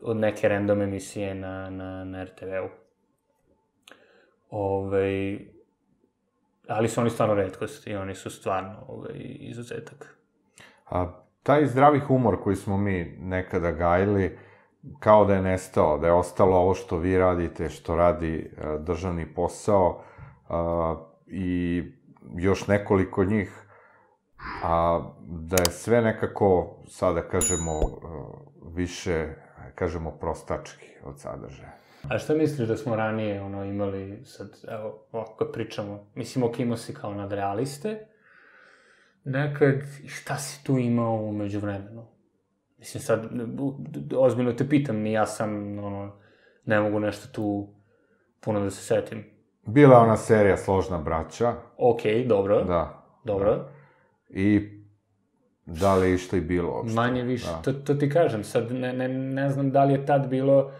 od neke random emisije na RTV-u. Ali su oni stvarno retkost i oni su stvarno izuzetak. Taj zdravi humor koji smo mi nekada gajili, kao da je nestao, da je ostalo ovo što vi radite, što radi državni posao i još nekoliko njih, a da je sve nekako, sada kažemo, više, kažemo, prostački od sadržaja. A šta misliš da smo ranije imali, sad, evo, ovako kad pričamo, mislim, imao si kao nadrealiste, nekad, šta si tu imao umeđu vremenu? Mislim, sad, ozbiljno te pitam, ja sam, ne mogu nešto tu puno da se setim. Bila ona serija Složna braća. Okej, dobro. Da. Dobro. I da li je išta i bilo uopšte? Manje više, to ti kažem, sad ne znam da li je tad bilo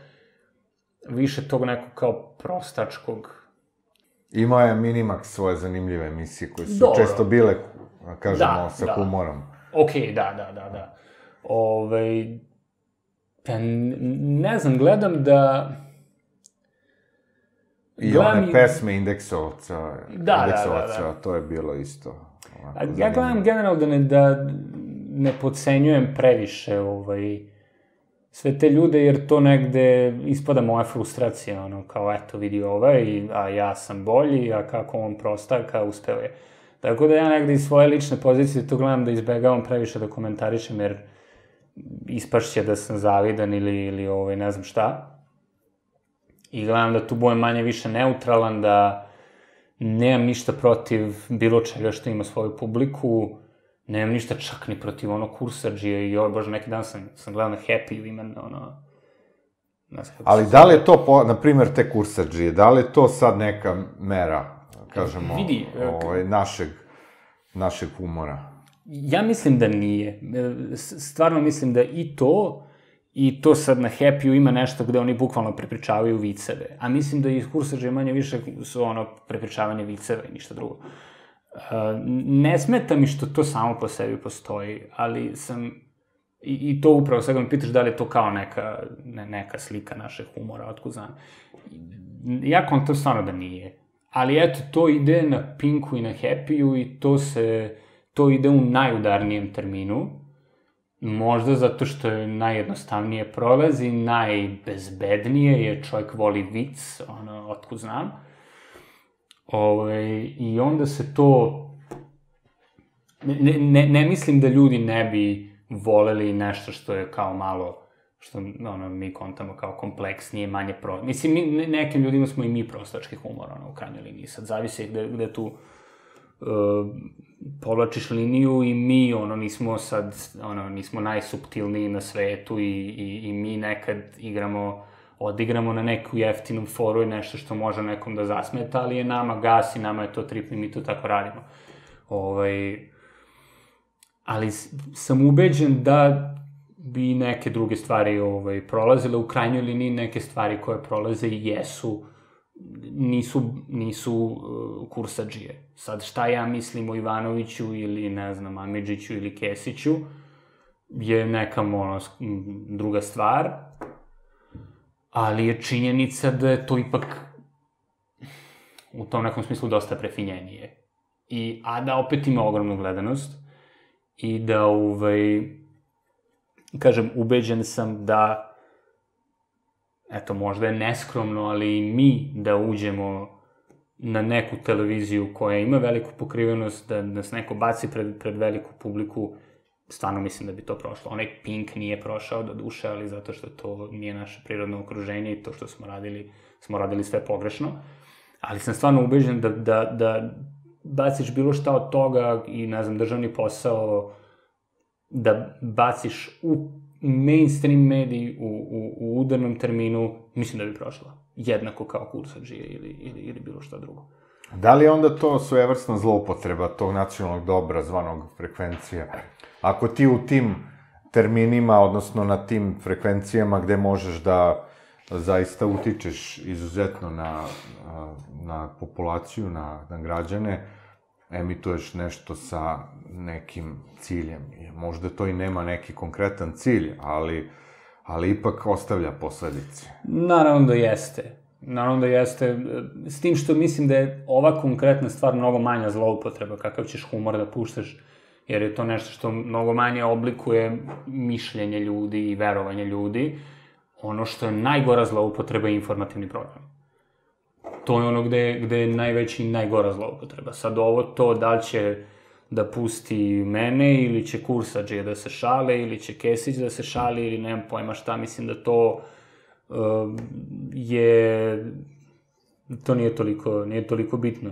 više tog nekog kao prostačkog. Imao je Minimax svoje zanimljive emisije koje su često bile, kažemo, sa humorom. Okej, da. Ne znam, gledam da... I one pesme Indeksovca, to je bilo isto. Ja gledam generalno da ne podcenjujem previše sve te ljude, jer to negde ispada moja frustracija, kao eto vidi a ja sam bolji, a kako on prostaka, uspeo je. Tako da ja negde iz svoje lične pozicije to gledam da izbegavam previše da komentarišem, jer ispašće da sam zavidan ili ne znam šta. I gledam da tu budem manje više neutralan, da nemam ništa protiv bilo čega što ima svoju publiku, nemam ništa čak ni protiv Kursadžije i bože, neki dan sam gledao na Happy ime, Ali da li je to, na primer, te Kursadžije, da li je to sad neka mera, kažemo, našeg humora? Ja mislim da nije. Stvarno mislim da i to sad na Happy-u ima nešto gde oni bukvalno prepričavaju viceve. A mislim da i Kursadžije manje više su prepričavanje viceva i ništa drugo. Ne smeta mi što to samo po sebi postoji, ali sam, i to upravo sad me pitaš da li je to kao neka slika našeg humora, otkud znam. Ja kontam stvarno da nije. Ali eto, to ide na Pinku i na Happy-u i to ide u najudarnijem terminu. Možda zato što je najjednostavnije prolazi, najbezbednije, jer čovjek voli vic, otkud znam. I onda se to... Ne mislim da ljudi ne bi voleli nešto što je kao malo, što mi kontamo kao kompleksnije, manje Mislim, nekim ljudima smo i mi prostački humor, u krajnjoj liniji. Sad zavisi gde tu povlačiš liniju i mi, nismo najsuptilniji na svetu i mi nekad odigramo na neku jeftinu foru i nešto što može nekom da zasmeta, ali je nama gas i nama je to trip i mi to tako radimo. Ali sam ubeđen da bi neke druge stvari prolazile. U krajnjoj liniji neke stvari koje prolaze i nisu kursadžije. Sad, šta ja mislim o Ivanoviću ili, ne znam, Amidžiću ili Kesiću je neka druga stvar, ali je činjenica da je to ipak u tom nekom smislu dosta prefinjenije. A da opet ima ogromnu gledanost i da, kažem, ubeđen sam da, eto, možda je neskromno, ali i mi da uđemo na neku televiziju koja ima veliku pokrivenost, da nas neko baci pred veliku publiku, stvarno mislim da bi to prošlo. Onaj Pink nije prošao do duše, ali zato što to nije naše prirodno okruženje i to što smo radili sve pogrešno. Ali sam stvarno ubeđen da baciš bilo šta od toga i, ne znam, državni posao, da baciš u mainstream mediji u udarnom terminu, mislim da bi prošla. Jednako kao kursadžije ili bilo šta drugo. Da li je onda to svojevrsna zloupotreba tog nacionalnog dobra zvanog frekvencija? Ako ti u tim terminima, odnosno na tim frekvencijama gde možeš da zaista utičeš izuzetno na populaciju, na građane, emituješ nešto sa nekim ciljem. Možda to i nema neki konkretan cilj, ali ipak ostavlja posledice. Naravno da jeste. S tim što mislim da je ova konkretna stvar mnogo manja zloupotreba, kakav ćeš humor da puštaš, jer je to nešto što mnogo manje oblikuje mišljenje ljudi i verovanje ljudi. Ono što je najgora zloupotreba je informativni program. To je ono gde je najveća i najgora zloupotreba. Sad to, da li će da pusti mene, ili će kursadžije da se šale, ili će Kesić da se šali, ili nemam pojma šta, mislim da to nije toliko bitno.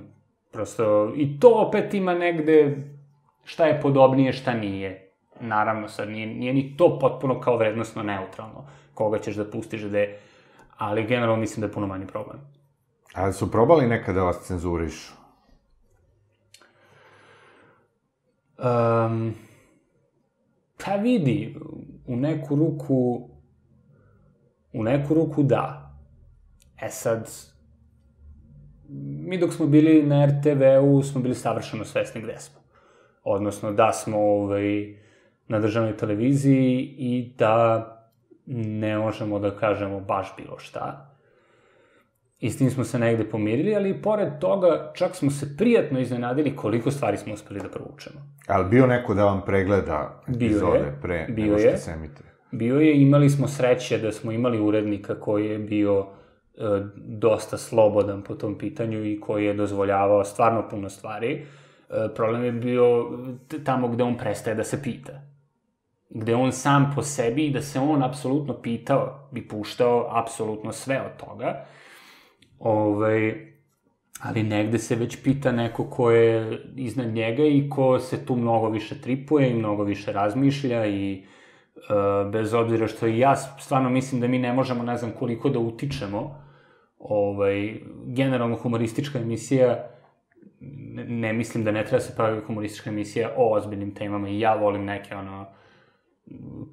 Prosto, i to opet ima negde šta je podobnije, šta nije. Naravno, sad nije ni to potpuno kao vrednostno neutralno, koga ćeš da pustiš gde, ali generalno mislim da je puno manji problem. Ali su probali nekada da vas cenzurišu? Pa vidi, u neku ruku da. Sad, mi dok smo bili na RTV-u smo bili savršeno svesni gde smo. Odnosno da smo na državnoj televiziji i da ne možemo da kažemo baš bilo šta. I s tim smo se negde pomirili, ali i pored toga čak smo se prijatno iznenadili koliko stvari smo uspeli da provučemo. Ali bio neko da vam pregleda epizode pre nego što se emituje? Bio je, imali smo sreće da smo imali urednika koji je bio dosta slobodan po tom pitanju i koji je dozvoljavao stvarno puno stvari. Problem je bio tamo gde on prestaje da se pita. Gde on sam po sebi, da se on apsolutno pitao, bi puštao apsolutno sve od toga. Ali negde se već pita neko ko je iznad njega i ko se tu mnogo više tripuje i mnogo više razmišlja i bez obzira što i ja stvarno mislim da mi ne možemo, ne znam koliko da utičemo, generalno humoristička emisija, ne mislim da ne treba se pravi humoristička emisija o ozbiljnim temama i ja volim neke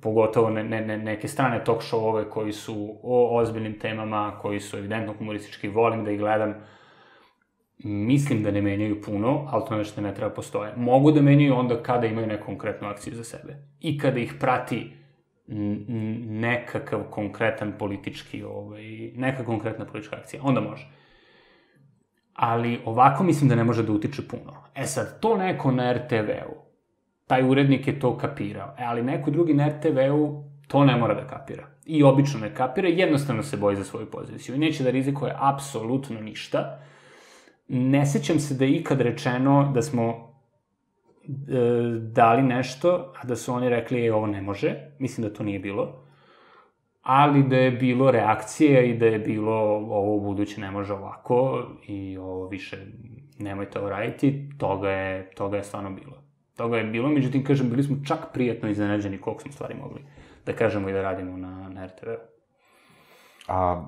pogotovo neke strane talk show-ove koji su o ozbiljnim temama, koji su evidentno humoristički, volim da ih gledam. Mislim da ne menjaju puno, ali to nešto ne treba postoje. Mogu da menjaju onda kada imaju neku konkretnu akciju za sebe. I kada ih prati nekakav konkretan politički, neka konkretna politička akcija. Onda može. ali ovako mislim da ne može da utiče puno. E sad, to neko na RTV-u, taj urednik je to kapirao, ali neko drugi na RTV-u to ne mora da kapira. I obično ne kapira, jednostavno se boji za svoju poziciju i neće da rizikuje apsolutno ništa. Ne sećam se da je ikad rečeno da smo dali nešto, a da su oni rekli ovo ne može, mislim da to nije bilo, ali da je bilo reakcije i da je bilo ovo u buduće ne može ovako i ovo više nemojte ovo raditi, toga je stvarno bilo. Toga je bilo, međutim, kažem, bili smo čak prijatno iznenađeni koliko smo stvari mogli da kažemo i da radimo na RTV-u. A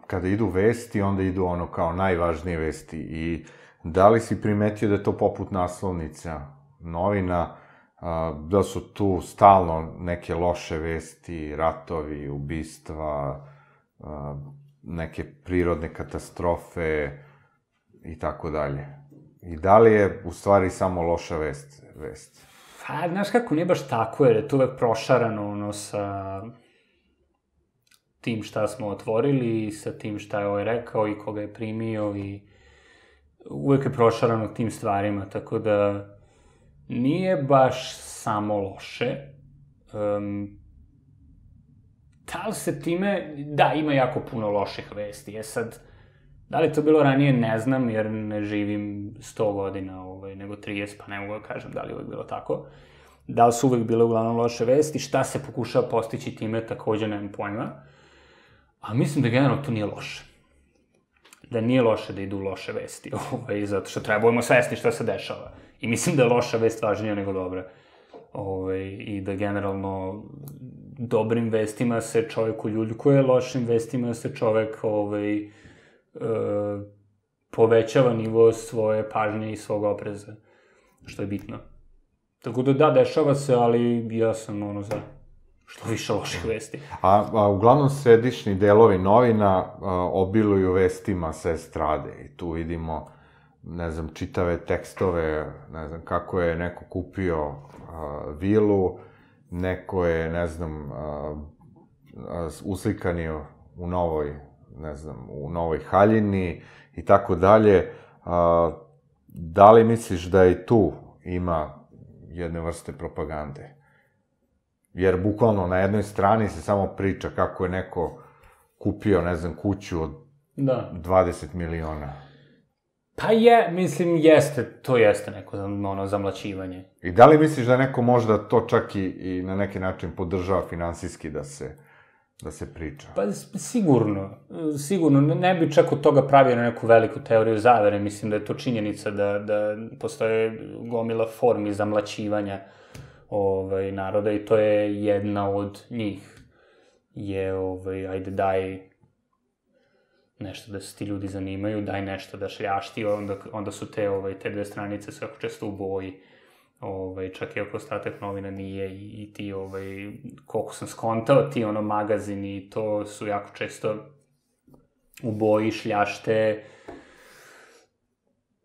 kada idu vesti, onda idu ono kao najvažnije vesti i da li si primetio da je to poput naslovnica novina, da su tu stalno neke loše vesti, ratovi, ubistva, neke prirodne katastrofe i tako dalje. I da li je u stvari samo loša vest? Pa, znaš kako, nije baš tako, jer je to uvek prošarano, ono, sa tim šta smo otvorili, sa tim šta je ovaj rekao i koga je primio i uvek je prošarano tim stvarima, tako da nije baš samo loše. Da li se time... Da, ima jako puno loših vesti. Sad, da li to bilo ranije, ne znam, jer ne živim 100 godina, nego 30, pa ne mogu da kažem da li je uvek bilo tako. Da li su uvek bile uglavnom loše vesti, šta se pokušava postići time, takođe nemam pojma. A mislim da generalno to nije loše. Da nije loše da idu loše vesti, zato što trebujemo svesti šta se dešava. I mislim da je loša vest važnija nego dobra. I da generalno dobrim vestima se čovek uljuljkuje, lošim vestima se čovek povećava nivo svoje pažnje i svog opreza, što je bitno. Tako da, dešava se, ali ja sam za što više loših vesti. A uglavnom središnji delovi novina obiluju vestima sa estrade i tu vidimo, ne znam, čitave tekstove, ne znam, kako je neko kupio vilu, neko je, ne znam, uslikanio u novoj, ne znam, u Novoj Haljini i tako dalje. Da li misliš da i tu ima jedne vrste propagande? Jer bukvalno na jednoj strani se samo priča kako je neko kupio, ne znam, kuću od 20 miliona. Pa to jeste neko zamlaćivanje. I da li misliš da neko možda to čak i na neki način podržava finansijski da se priča? Pa sigurno. Ne bi čak od toga pravio neku veliku teoriju zavere. Mislim da je to činjenica da postoje gomila formi zamlaćivanja naroda i to je jedna od njih. Ajde daj nešto da se ti ljudi zanimaju, daj nešto da šljašti, onda su te dve stranice sve jako često u boji, čak i ako ostatak novina nije i ti, koliko sam skontao, ti magazini, to su jako često u boji, šljašte,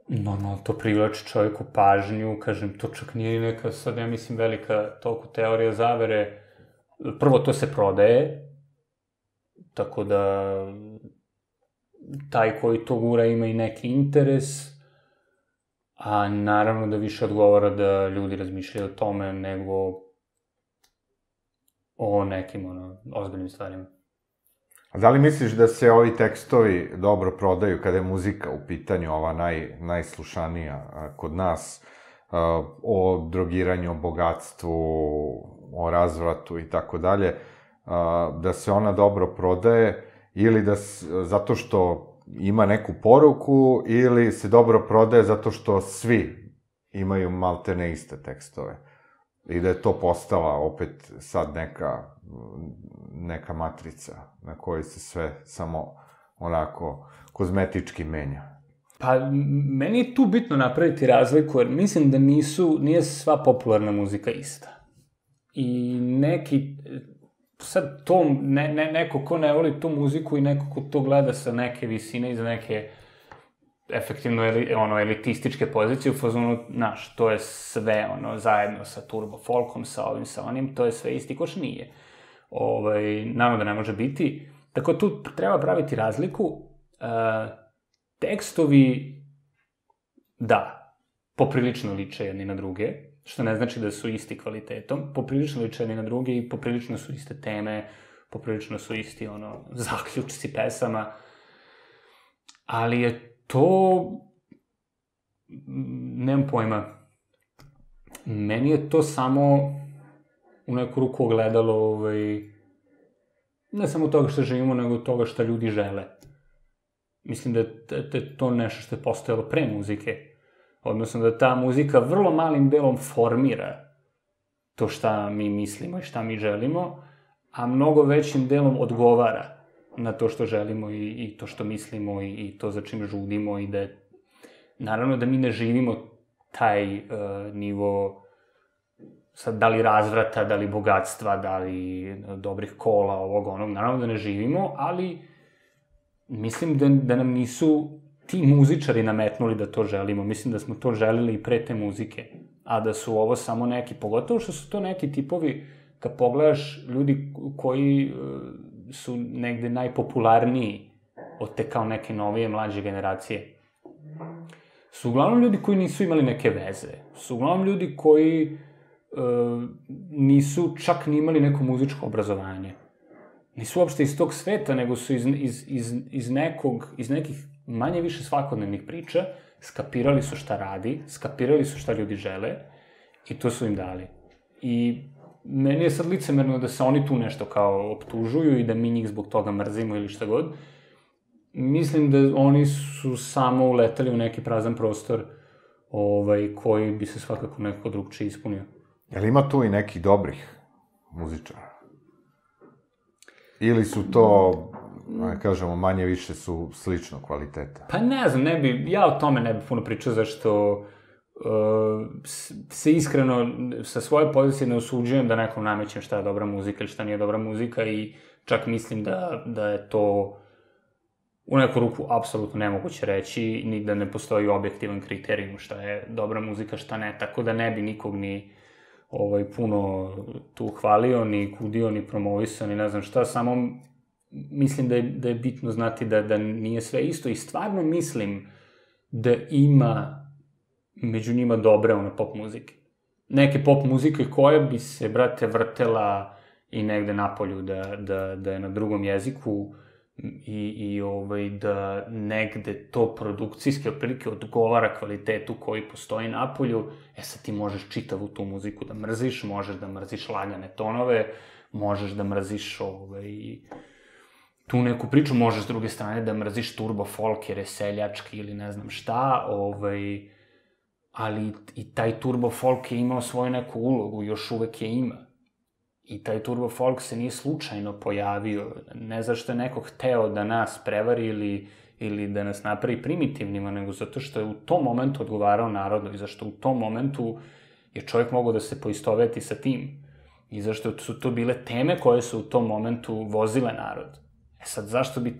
normalno to privlači čovjeku pažnju, kažem, to čak nije neka, sad ja mislim, velika toliko teorija zavere. Prvo, to se prodaje, tako da taj koji to gura ima i neki interes, a naravno da više odgovara da ljudi razmišljaju o tome nego o nekim ozbiljnim stvarima. A da li misliš da se ovi tekstovi dobro prodaju kada je muzika u pitanju, ova najslušanija kod nas, o drogiranju, o bogatstvu, o razvratu i tako dalje, da se ona dobro prodaje ili zato što ima neku poruku ili se dobro prodaje zato što svi imaju maltene iste tekstove i da je to postala opet sad neka matrica na kojoj se sve samo onako kozmetički menja. Pa, meni je tu bitno napraviti razliku, jer mislim da nije sva popularna muzika ista. I sad to, neko ko ne voli tu muziku i neko ko to gleda sa neke visine i za neke efektivno elitističke pozicije u fazonu, znaš, to je sve zajedno sa turbo folkom, sa ovim, sa onim, to je sve isti koš nije. Naravno da ne može biti. Tako tu treba praviti razliku. tekstovi, da, poprilično liče jedni na druge, što ne znači da su isti kvalitetom, poprilično liče jedni na druge i poprilično su iste teme, poprilično su isti, zaključci pesama, ali je to, nemam pojma, meni je to samo u neku ruku ogledalo, ne samo toga što živimo, nego toga što ljudi žele. Mislim da je to nešto što je postojalo pre muzike. Odnosno da ta muzika vrlo malim delom formira to šta mi mislimo i šta mi želimo, a mnogo većim delom odgovara na to što želimo i to što mislimo i to za čim žudimo i da je... Naravno da mi ne živimo taj nivo, sad, da li razvrata, da li bogatstva, da li dobrih kola, ovog, onog, naravno da ne živimo, ali mislim da nam nisu ti muzičari nametnuli da to želimo. Mislim da smo to želeli i pre te muzike, a da su ovo samo neki, pogotovo što su to neki tipovi, kad pogledaš ljudi koji su negde najpopularniji od te kao neke novije, mlađe generacije, su uglavnom ljudi koji nisu imali neke veze, su uglavnom ljudi koji nisu čak ni imali neko muzičko obrazovanje. Nisu uopšte iz tog sveta, nego su iz nekih manje više svakodnevnih priča, skapirali su šta radi, skapirali su šta ljudi žele i to su im dali. I meni je sad licemerno da se oni tu nešto kao optužuju i da mi njih zbog toga mrzimo ili šta god. Mislim da oni su samo uleteli u neki prazan prostor koji bi se svakako nekako drugčije ispunio. Jel ima tu i nekih dobrih muzičara? Ili su to, kažemo, manje više su slično kvaliteta? Pa ne znam, ja o tome ne bih puno pričao, zašto se iskreno sa svoje pozicije ne osuđujem da nekom namećem šta je dobra muzika ili šta nije dobra muzika i čak mislim da je to u neku ruku apsolutno nemoguće reći, ni da ne postoji objektivan kriterijum šta je dobra muzika, šta ne, tako da ne bi nikog ni puno tu hvalio, ni kudio, ni promovisao, ni ne znam šta, samo mislim da je bitno znati da nije sve isto i stvarno mislim da ima među njima dobre pop muzike. Neke pop muzike koje bi se, brate, vrtela i negde napolju, da je na drugom jeziku i da negde to produkcijski otprilike odgovara kvalitetu koji postoji napolju, sad ti možeš čitavu tu muziku da mrziš, možeš da mrziš lagane tonove, možeš da mrziš tu neku priču, možeš s druge strane da mrziš turbo folk jer je seljački ili ne znam šta, ali i taj turbo folk je imao svoju neku ulogu, još uvek je ima. I taj turbo folk se nije slučajno pojavio, ne zašto je neko hteo da nas prevari ili da nas napravi primitivnima, nego zato što je u tom momentu odgovarao narodu i zašto u tom momentu je čovjek mogao da se poistoveti sa tim. I zašto su to bile teme koje su u tom momentu vozile narod. Sad, zašto bi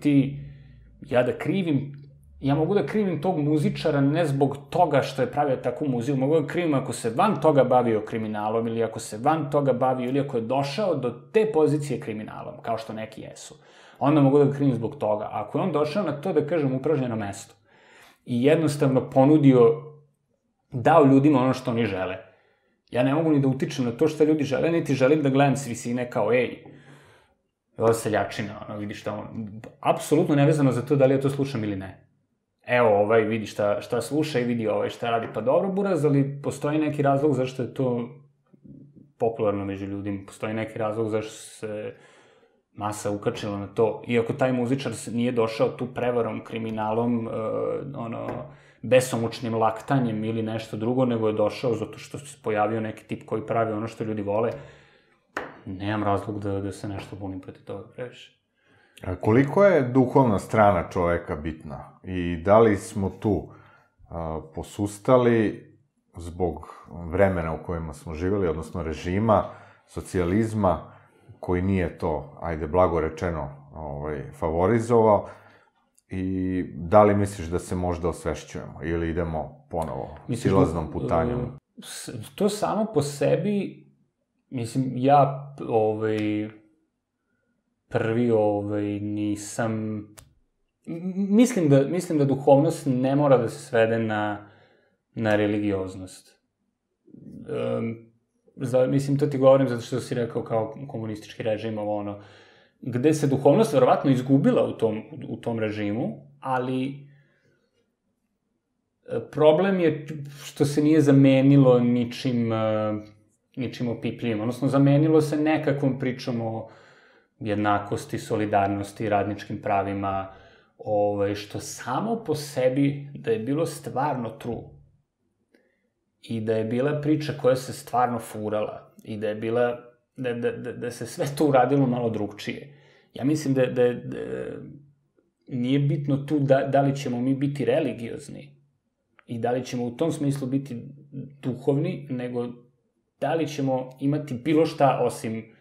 ja mogu da krivim tog muzičara ne zbog toga što je pravio takvu muziku, mogu da krivim ako se van toga bavio kriminalom ili ako se van toga bavio ili ako je došao do te pozicije kriminalom, kao što neki jesu. Onda mogu da ga krivim zbog toga. Ako je on došao na to, da kažem, upražnjeno mesto i jednostavno dao ljudima ono što oni žele. Ja ne mogu ni da utičem na to što ljudi žele, niti želim da gledam s visine kao, ovo seljačina, vidi šta on... Apsolutno nevezano za to da li ja to slušam ili ne. Evo, vidi šta sluša i vidi šta radi. Pa dobro, buraz, ali postoji neki razlog zašto je to popularno među ljudima. Postoji neki razlog zašto se masa ukačila na to. Iako taj muzičar nije došao tu prevarom, kriminalom, besomučnim laktanjem ili nešto drugo, nego je došao zato što se pojavio neki tip koji pravi ono što ljudi vole. Nemam razlog da se nešto bunim protiv toga previše. A koliko je duhovna strana čoveka bitna? I da li smo tu posustali zbog vremena u kojima smo živjeli, odnosno režima, socijalizma, koji nije to, ajde, blago rečeno, favorizovao, i da li misliš da se možda osvešćujemo ili idemo ponovo silaznom putanjom? To samo po sebi, mislim, ja prvi nisam Mislim da duhovnost ne mora da se svede na religioznost. Mislim, to ti govorim zato što si rekao kao komunistički režim, gde se duhovnost verovatno izgubila u tom režimu, ali problem je što se nije zamenilo ničim opipljivim, odnosno zamenilo se nekakvom pričom o jednakosti, solidarnosti, radničkim pravima, što samo po sebi da je bilo stvarno true i da je bila priča koja se stvarno furala i da je bila, da se sve to uradilo malo drugčije. Ja mislim da nije bitno tu da li ćemo mi biti religiozni i da li ćemo u tom smislu biti duhovni, nego da li ćemo imati bilo šta osim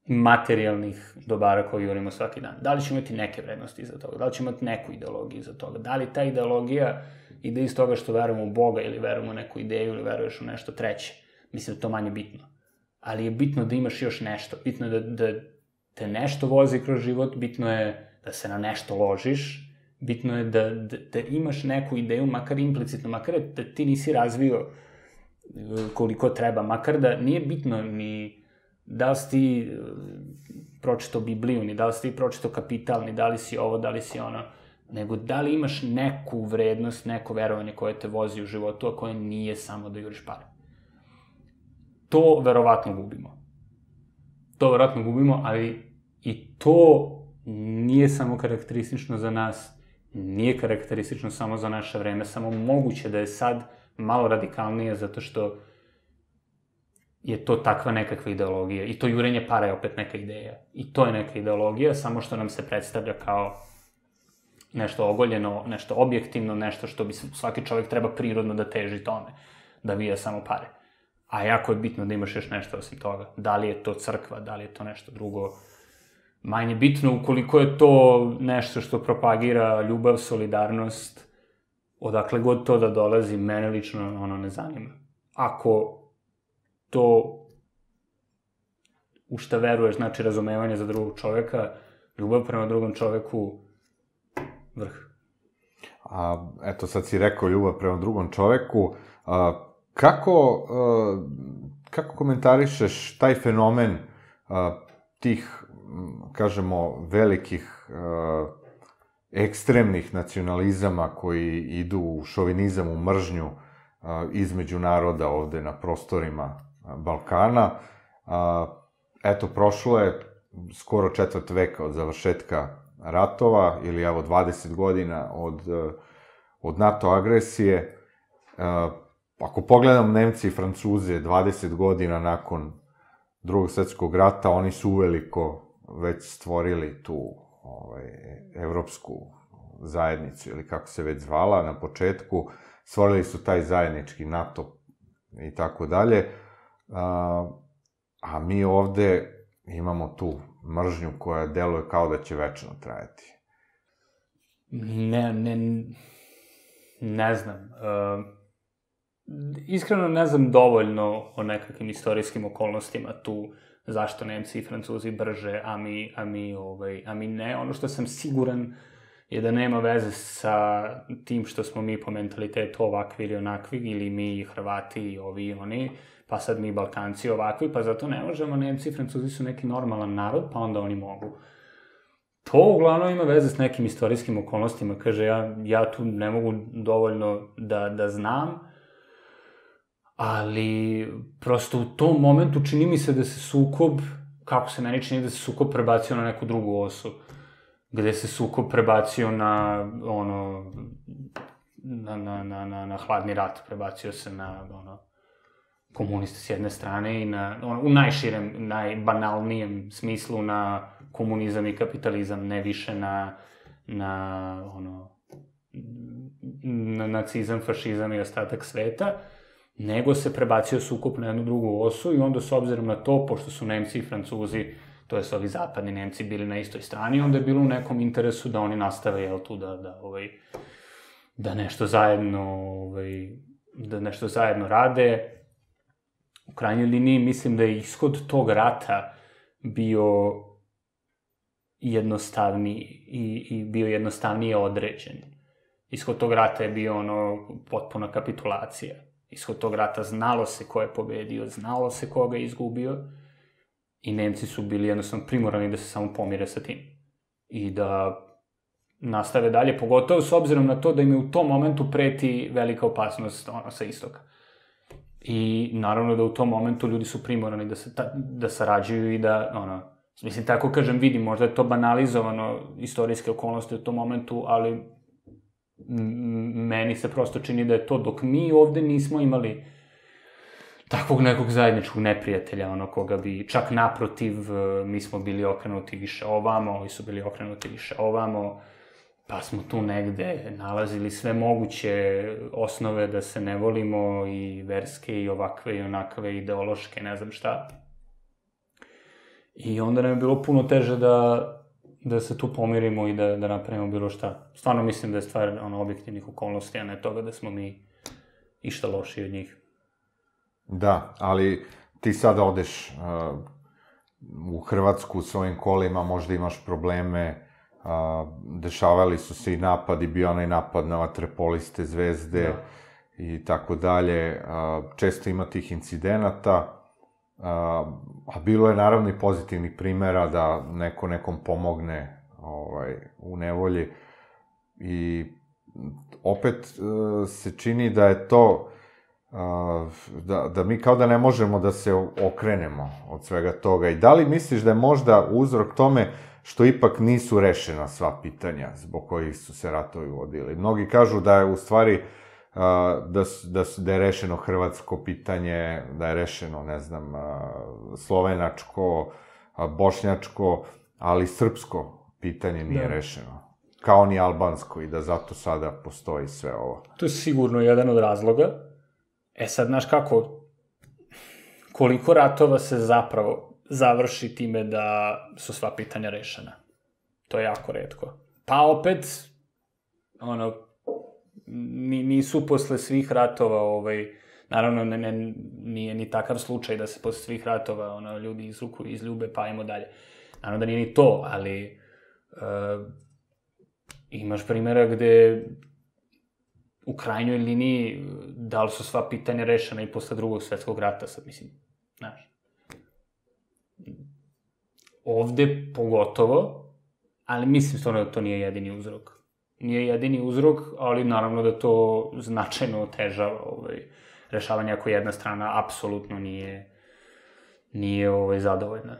materijalnih dobara koje jurimo svaki dan. Da li ćemo imati neke vrednosti iza toga, da li ćemo imati neku ideologiju iza toga, da li ta ideologija ide iz toga što verujemo u Boga ili verujemo u neku ideju ili veruješ u nešto treće. Mislim da to manje bitno. Ali je bitno da imaš još nešto. Bitno je da te nešto vozi kroz život, bitno je da se na nešto ložiš, bitno je da imaš neku ideju, makar implicitno, makar da ti nisi razvio koliko treba, makar da nije bitno ni da li si ti pročitao Bibliju, ni da li si ti pročitao Kapital, ni da li si ovo, da li si ono, nego da li imaš neku vrednost, neko verovanje koje te vozi u životu, a koje nije samo da juriš pare. To verovatno gubimo, ali i to nije samo karakteristično za nas, nije karakteristično samo za naše vreme, samo moguće da je sad malo radikalnije, zato što je to takva nekakva ideologija. I to jurenje para je opet neka ideja. I to je neka ideologija, samo što nam se predstavlja kao nešto ogoljeno, nešto objektivno, nešto što bi svaki čovek treba prirodno da teži tome, da vija samo pare. A jako je bitno da imaš još nešto osim toga. Da li je to crkva, da li je to nešto drugo. Manje bitno ukoliko je to nešto što propagira ljubav, solidarnost, odakle god to da dolazi, mene lično ne zanima. Ako to u šta veruješ znači razumevanje za drugog čoveka, ljubav prema drugom čoveku, vrh. Eto, sad si rekao ljubav prema drugom čoveku. Kako komentarišeš taj fenomen tih, kažemo, velikih ekstremnih nacionalizama koji idu u šovinizam, u mržnju između naroda ovde na prostorima Balkana? Eto, prošlo je skoro 4 veka od završetka ratova, ili evo 20 godina od NATO agresije. Ako pogledam Nemci i Francuze, 20 godina nakon Drugog svetskog rata, oni su uveliko već stvorili tu evropsku zajednicu, ili kako se već zvala na početku, stvorili su taj zajednički NATO i tako dalje, a mi ovde imamo tu mržnju koja deluje kao da će večno trajati. Ne znam. Iskreno ne znam dovoljno o nekakvim istorijskim okolnostima tu, zašto Nemci i Francuzi brže, a mi ne. Ono što sam siguran je da nema veze sa tim što smo mi po mentalitetu ovakvi ili onakvi, ili mi Hrvati i ovi i oni, pa sad mi Balkanci ovakvi, pa zato ne možemo, Nemci i Francuzi su neki normalan narod, pa onda oni mogu. To uglavnom ima veze s nekim istorijskim okolnostima, kaže, ja tu ne mogu dovoljno da znam, ali prosto u tom momentu čini mi se da se sukob, kako se meni čini da se sukob prebacio na neku drugu osu, gde se sukob prebacio na hladni rat, prebacio se na komuniste s jedne strane i u najširem, najbanalnijem smislu na komunizam i kapitalizam, ne više na nacizam, fašizam i ostatak sveta, nego se prebacio sukob na jednu drugu osu i onda s obzirom na to, pošto su Nemci i Francuzi, to je ovi zapadni Nemci, bili na istoj strani, onda je bilo u nekom interesu da oni nastave, tu da nešto zajedno rade. U krajnjoj liniji mislim da je ishod tog rata bio jednostavniji i bio jednostavnije određen. Ishod tog rata je bio potpuna kapitulacija. Ishod tog rata znalo se ko je pobedio, znalo se ko ga je izgubio i Nemci su bili jednostavno primorani da se samo pomire sa tim. I da nastave dalje, pogotovo s obzirom na to da im je u tom momentu preti velika opasnost sa istoka. I naravno da u tom momentu ljudi su primorani da sarađuju i da, mislim, tako kažem, vidim, možda je to banalizovano istorijske okolnosti u tom momentu, ali meni se prosto čini da je to, dok mi ovde nismo imali takvog nekog zajedničkog neprijatelja, koga bi, čak naprotiv, mi smo bili okrenuti više ovamo, ovi su bili okrenuti više ovamo, pa smo tu negde nalazili sve moguće osnove da se ne volimo, i verske, i ovakve, i onakve, ideološke, ne znam šta. I onda nam je bilo puno teže da se tu pomirimo i da napravimo bilo šta. Stvarno mislim da je stvar objektivnih okolnosti, a ne toga da smo mi išta loši od njih. Da, ali ti sada odeš u Hrvatsku svojim kolima, možda imaš probleme, dešavali su se i napadi, bio onaj napad na vaterpoliste Zvezde i tako dalje. Često ima tih incidenata, a bilo je naravno i pozitivnih primera da neko nekom pomogne u nevolji. I opet se čini da je to, da mi kao da ne možemo da se okrenemo od svega toga. I da li misliš da je možda uzrok tome što ipak nisu rešena sva pitanja zbog kojih su se ratovi vodili? Mnogi kažu da je u stvari da je rešeno hrvatsko pitanje, da je rešeno, ne znam, slovenačko, bošnjačko, ali srpsko pitanje nije rešeno. Kao ni albansko, i da zato sada postoji sve ovo. To je sigurno jedan od razloga. Sad, znaš kako, koliko ratova se zapravo završi time da su sva pitanja rešena? To je jako retko. Pa opet, nisu posle svih ratova, naravno nije ni takav slučaj da se posle svih ratova ljudi izljube pa ajmo dalje. Naravno da nije ni to, ali imaš primjera gde u krajnjoj liniji da li su sva pitanja rešena i posle Drugog svetskog rata, sad mislim, znaš. Ovde pogotovo, ali mislim stvarno da to nije jedini uzrok. Nije jedini uzrok, ali naravno da to značajno otežava rešavanje ako jedna strana apsolutno nije zadovoljna.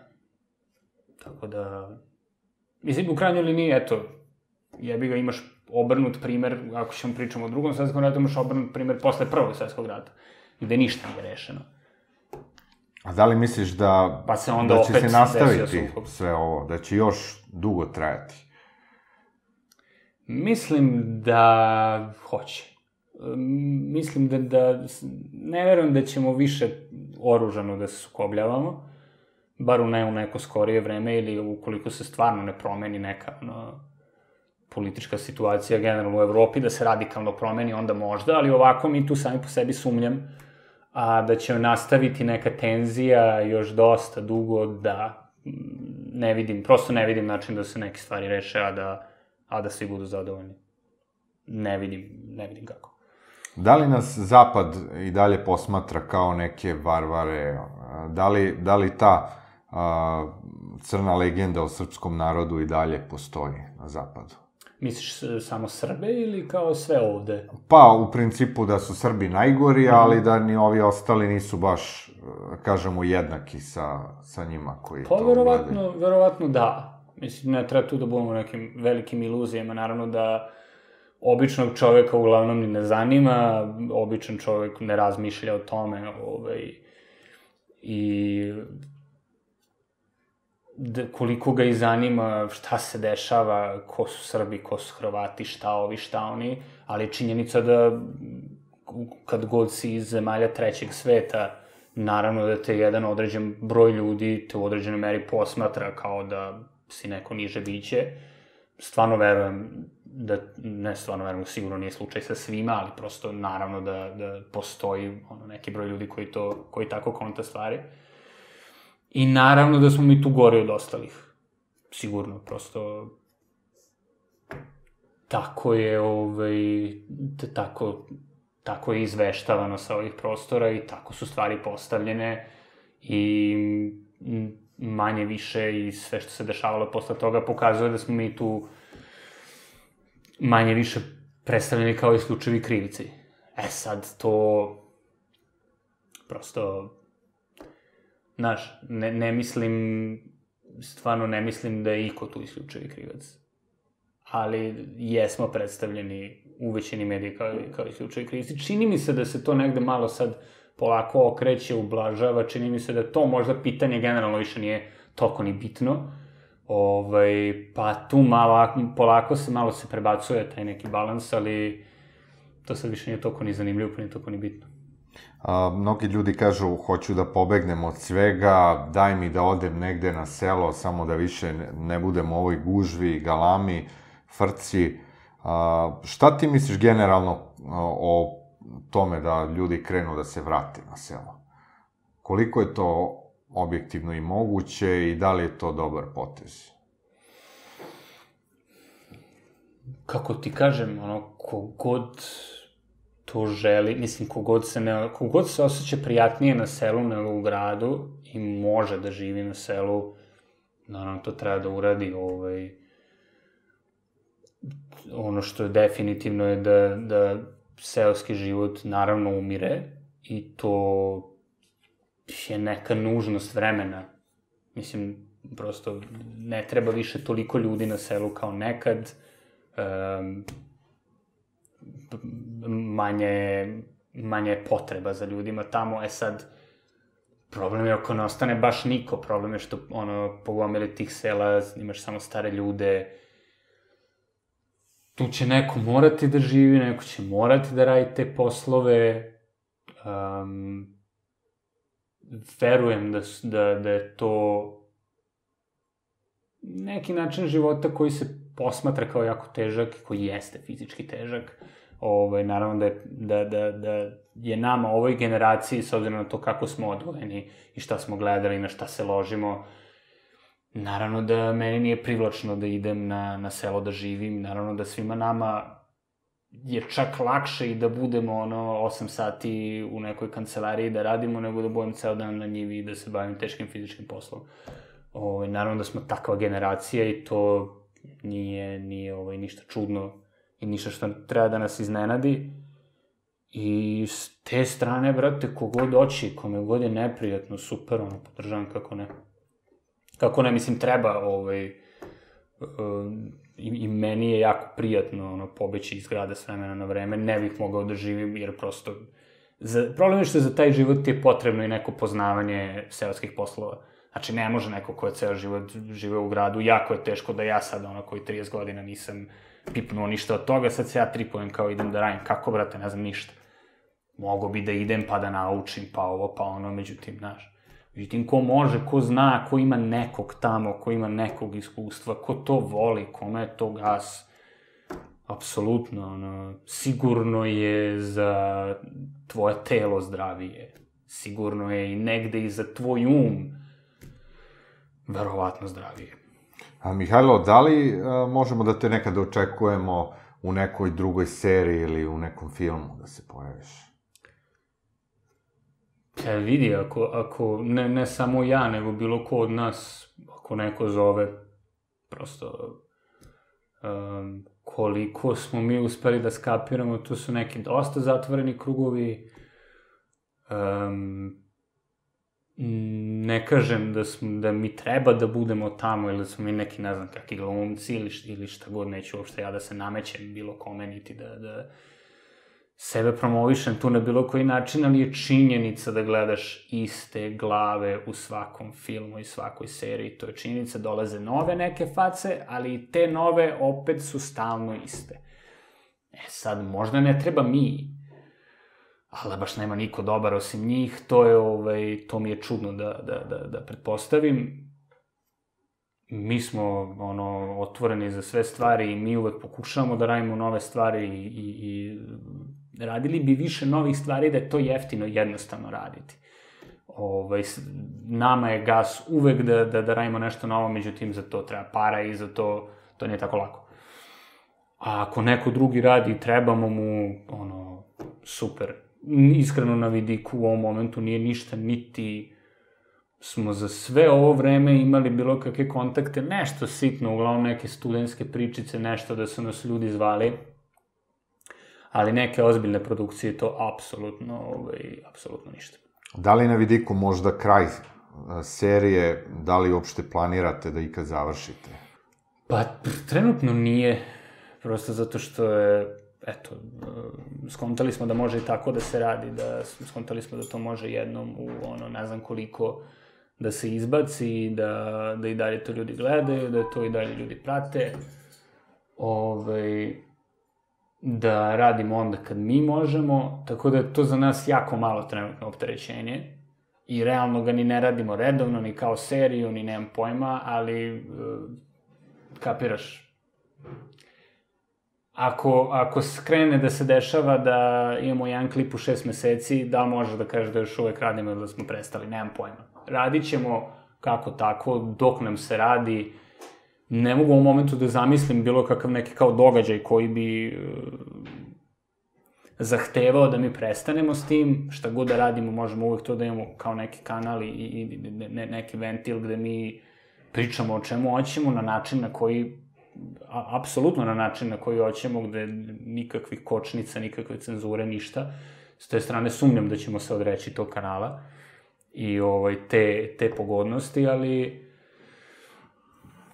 Tako da, mislim, u krajnjoj liniji, eto, jebi ga, imaš obrnut primer, ako ćemo pričamo o Drugom svetskom ratu, imaš obrnut primer posle Prvog svetskog rata, gde ništa nije rešeno. A da li misliš da će se nastaviti sve ovo, da će još dugo trajati? Mislim da hoće. Mislim da ne verujem da ćemo više oružano da se sukobljavamo, bar u neko skorije vreme, ili ukoliko se stvarno ne promeni neka politička situacija generalno u Evropi, da se radikalno promeni, onda možda, ali ovako mi tu sami po sebi sumnjam, a da će nastaviti neka tenzija još dosta dugo, da prosto ne vidim način da se neke stvari reše, a da svi budu zadovoljni. Ne vidim kako. Da li nas Zapad i dalje posmatra kao neke varvare? Da li ta crna legenda o srpskom narodu i dalje postoji na Zapadu? Misliš samo Srbe ili kao sve ovde? Pa, u principu da su Srbi najgori, ali da ni ovi ostali nisu baš, kažemo, jednaki sa njima koji to gledaju. Pa, verovatno da. Mislim, ne treba tu da budemo nekim velikim iluzijama. Naravno da običnog čoveka uglavnom ni ne zanima, običan čovek ne razmišlja o tome, i koliko ga i zanima šta se dešava, ko su Srbi, ko su Hrvati, šta ovi, šta oni, ali činjenica da kad god si iz zemalja trećeg sveta, naravno da te jedan određen broj ljudi te u određenoj meri posmatra kao da si neko niže biće. Stvarno verujem sigurno nije slučaj sa svima, ali prosto naravno da postoji neki broj ljudi koji tako konta stvari. I naravno da smo mi tu gori od ostalih. sigurno, prosto tako je, tako je izveštavano sa ovih prostora i tako su stvari postavljene i manje više i sve što se dešavalo posle toga pokazuje da smo mi tu manje više predstavljeni kao isključivi krivici. Sad to prosto, znaš, stvarno ne mislim da je iko tu isključivi krivac. Ali jesmo predstavljeni u većini medija kao isključivi krivci. Čini mi se da se to negde malo sad polako okreće, ublažava, čini mi se da to možda pitanje generalno više nije toliko ni bitno. Pa tu polako se prebacuje taj neki balans, ali to sad više nije toliko ni zanimljivo, pa nije toliko ni bitno. Mnogi ljudi kažu, hoću da pobegnem od svega, daj mi da odem negde na selo, samo da više ne budem u ovoj gužvi, galami, frci. Šta ti misliš generalno o tome da ljudi krenu da se vrate na selo? Koliko je to objektivno i moguće i da li je to dobar potez? Kako ti kažem, kogod to želi, mislim, kogod se osjeća prijatnije na selu nego u gradu i može da živi na selu, naravno to treba da uradi. Ono što je definitivno je da seoski život naravno umire i to je neka nužnost vremena. Mislim, prosto ne treba više toliko ljudi na selu kao nekad, manje potreba za ljudima tamo. Sad, problem je ako ne ostane baš niko, problem je što, pogomili tih sela, imaš samo stare ljude, tu će neko morati da živi, neko će morati da radi te poslove. Verujem da je to neki način života koji se posmatra kao jako težak i koji jeste fizički težak. Naravno da je nama, ovoj generaciji, s obzirom na to kako smo odgojeni i šta smo gledali, na šta se ložimo, naravno da meni nije privlačno da idem na selo da živim, naravno da svima nama je čak lakše i da budemo 8 sati u nekoj kancelariji da radimo, nego da budem ceo dan na njivi i da se bavim teškim fizičkim poslom. Naravno da smo takva generacija i to nije ništa čudno i ništa što treba da nas iznenadi. I s te strane, brate, kogod oći, kome god je neprijatno, super, podržavam, kako ne. Kako ne, mislim, treba, i meni je jako prijatno, pobeći iz grada s vremena na vreme, ne bih mogao da živim, jer prosto, problem je što za taj život je potrebno i neko poznavanje seoskih poslova. Znači, ne može neko ko je ceo život živeo u gradu, jako je teško da ja sad, koji 30 godina nisam pipnuo ništa od toga, sad se ja tripujem kao idem da radim. Kako, brate, ne znam ništa. Mogo bi da idem pa da naučim, pa ovo, pa ono, međutim, znaš. Međutim, ko može, ko zna, ko ima nekog tamo, ko ima nekog iskustva, ko to voli, kome je to gas, apsolutno, sigurno je za tvoje telo zdravije. Sigurno je i negde i za tvoj verovatno zdravije. Mihajlo, da li možemo da te nekada očekujemo u nekoj drugoj seriji ili u nekom filmu da se pojaviš? Vidi, ako ne samo ja, nego bilo ko od nas, ako neko zove, prosto koliko smo mi uspeli da skapiramo, tu su neki dosta zatvoreni krugovi. Ne kažem da mi treba da budemo tamo ili da smo mi neki, ne znam, kakvi glumci ili šta god, neću uopšte ja da se namećem bilo kome, niti da sebe promovišem tu na bilo koji način, ali je činjenica da gledaš iste glave u svakom filmu i svakoj seriji. To je činjenica, dolaze nove neke face, ali te nove opet su stalno iste. Sad, možda ne treba mi, ali baš nema niko dobar osim njih, to mi je čudno da pretpostavim. Mi smo, otvoreni za sve stvari i mi uvek pokušavamo da radimo nove stvari i radili bi više novih stvari da je to jeftino i jednostavno raditi. Nama je gas uvek da radimo nešto novo, međutim za to treba para i za to nije tako lako. A ako neko drugi radi, trebamo mu, super. Iskreno na vidiku u ovom momentu nije ništa, niti smo za sve ovo vreme imali bilo kakve kontakte, nešto sitno, uglavnom neke studentske pričice, nešto da su nas ljudi zvali, ali neke ozbiljne produkcije to apsolutno ništa. Da li na vidiku možda kraj serije, da li uopšte planirate da ikad završite? Pa, trenutno nije, prosto zato što je, skontali smo da može i tako da se radi, skontali smo da to može jednom u ne znam koliko da se izbaci, da i dalje to ljudi gledaju, da to i dalje ljudi prate, da radimo onda kad mi možemo, tako da je to za nas jako malo trenutno opterećenje i realno ga ni ne radimo redovno, ni kao seriju, ni nemam pojma, ali kapiraš. Ako skrene da se dešava da imamo jedan klip u 6 meseci, da može da kaže da još uvek radimo ili da smo prestali, nemam pojma. Radit ćemo kako tako, dok nam se radi. Ne mogu u ovom momentu da zamislim bilo kakav neki kao događaj koji bi zahtevao da mi prestanemo s tim. Šta god da radimo, možemo uvek to da imamo kao neki kanal i neki ventil gde mi pričamo o čemu hoćemo na način na koji, apsolutno na način na koji hoćemo, gde nikakvih kočnica, nikakve cenzure, ništa. S te strane sumnjam da ćemo se odreći tog kanala i te pogodnosti, ali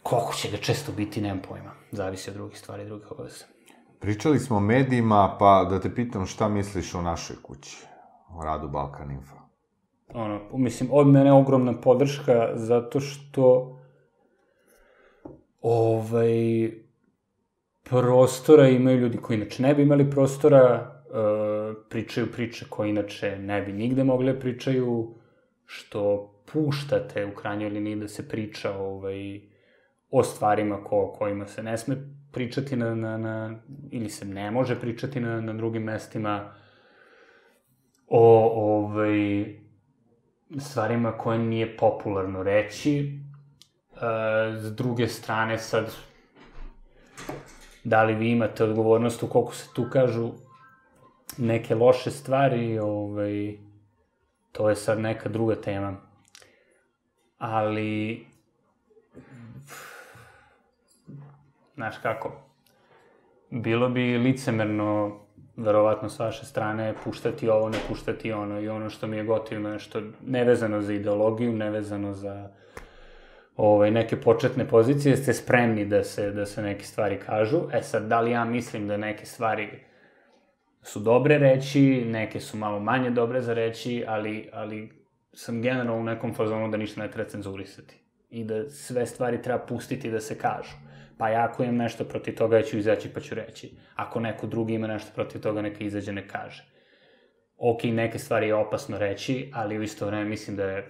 koliko će ga često biti, nemam pojma. Zavisi od drugih stvari, drugih obaveza. Pričali smo o medijima, pa da te pitam šta misliš o našoj kući, o radu Balkan Info? Mislim, od mene ogromna podrška, zato što prostora imaju ljudi koji inače ne bi imali prostora, pričaju priče koje inače ne bi nigde mogli da pričaju, što puštate u krajnjoj liniji da se priča o stvarima o kojima se ne sme pričati ili se ne može pričati na drugim mestima, o stvarima koje nije popularno reći. S druge strane, sad, da li vi imate odgovornost ukoliko se tu kažu neke loše stvari, to je sad neka druga tema. Ali, znaš kako, bilo bi licemerno, verovatno s vaše strane, puštati ovo, ne puštati ono, i ono što mi je gotivno, nešto nevezano za ideologiju, nevezano za neke početne pozicije, ste spremni da se neke stvari kažu. Sad, da li ja mislim da neke stvari su dobre reći, neke su malo manje dobre za reći, ali sam generalno u nekom fazonu da ništa ne treba cenzurisati. I da sve stvari treba pustiti da se kažu. Pa ja ako imam nešto protiv toga, ja ću izaći pa ću reći. Ako neko drugi ima nešto protiv toga, neka izađe, ne kaže. Ok, neke stvari je opasno reći, ali u isto vreme mislim da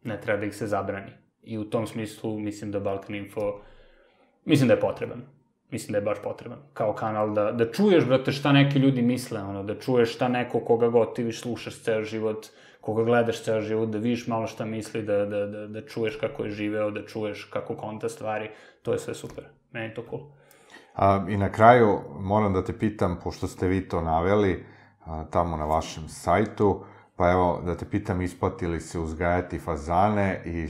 ne treba da ih se zabrani. I u tom smislu mislim da Balkan Info, mislim da je potreban. Mislim da je baš potreban. Kao kanal da čuješ, brate, šta neki ljudi misle, da čuješ šta neko koga god ti slušaš ceo život, koga gledaš ceo život, da vidiš malo šta misli, da čuješ kako je živeo, da čuješ kako konta stvari, to je sve super. Meni je to cool. I na kraju moram da te pitam, pošto ste vi to naveli tamo na vašem sajtu, pa evo da te pitam, isplati li se uzgajati fazane i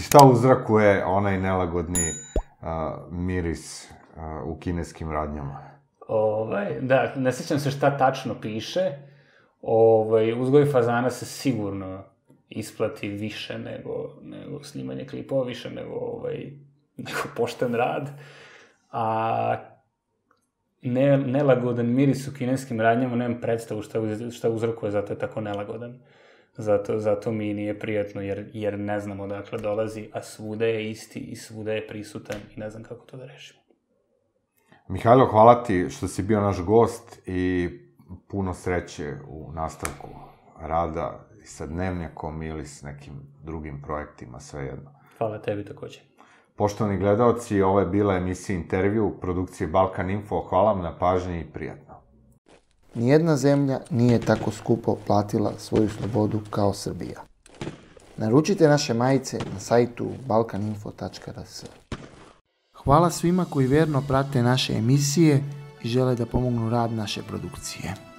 šta uzrokuje onaj nelagodni miris u kineskim radnjama? Da, ne sjećam se šta tačno piše. Uzgoj fazana se sigurno isplati više nego snimanje klipova, više nego pošten rad. A nelagodan miris u kineskim radnjama, nemam predstavu šta uzrokuje, zato je tako nelagodan. Zato mi nije prijatno, jer ne znam odakle dolazi, a svuda je isti i svuda je prisutan i ne znam kako to da rešimo. Mihajlo, hvala ti što si bio naš gost i puno sreće u nastavku rada i sa Dnevnjakom ili s nekim drugim projektima, svejedno. Hvala tebi takođe. Poštovani gledaoci, ovo je bila emisija Intervju produkcije Balkan Info. Hvala vam na pažnji i prijatno. Nijedna zemlja nije tako skupo platila svoju slobodu kao Srbija. Naručite naše majice na sajtu balkaninfo.rs. Hvala svima koji vjerno prate naše emisije i žele da pomognu rad naše produkcije.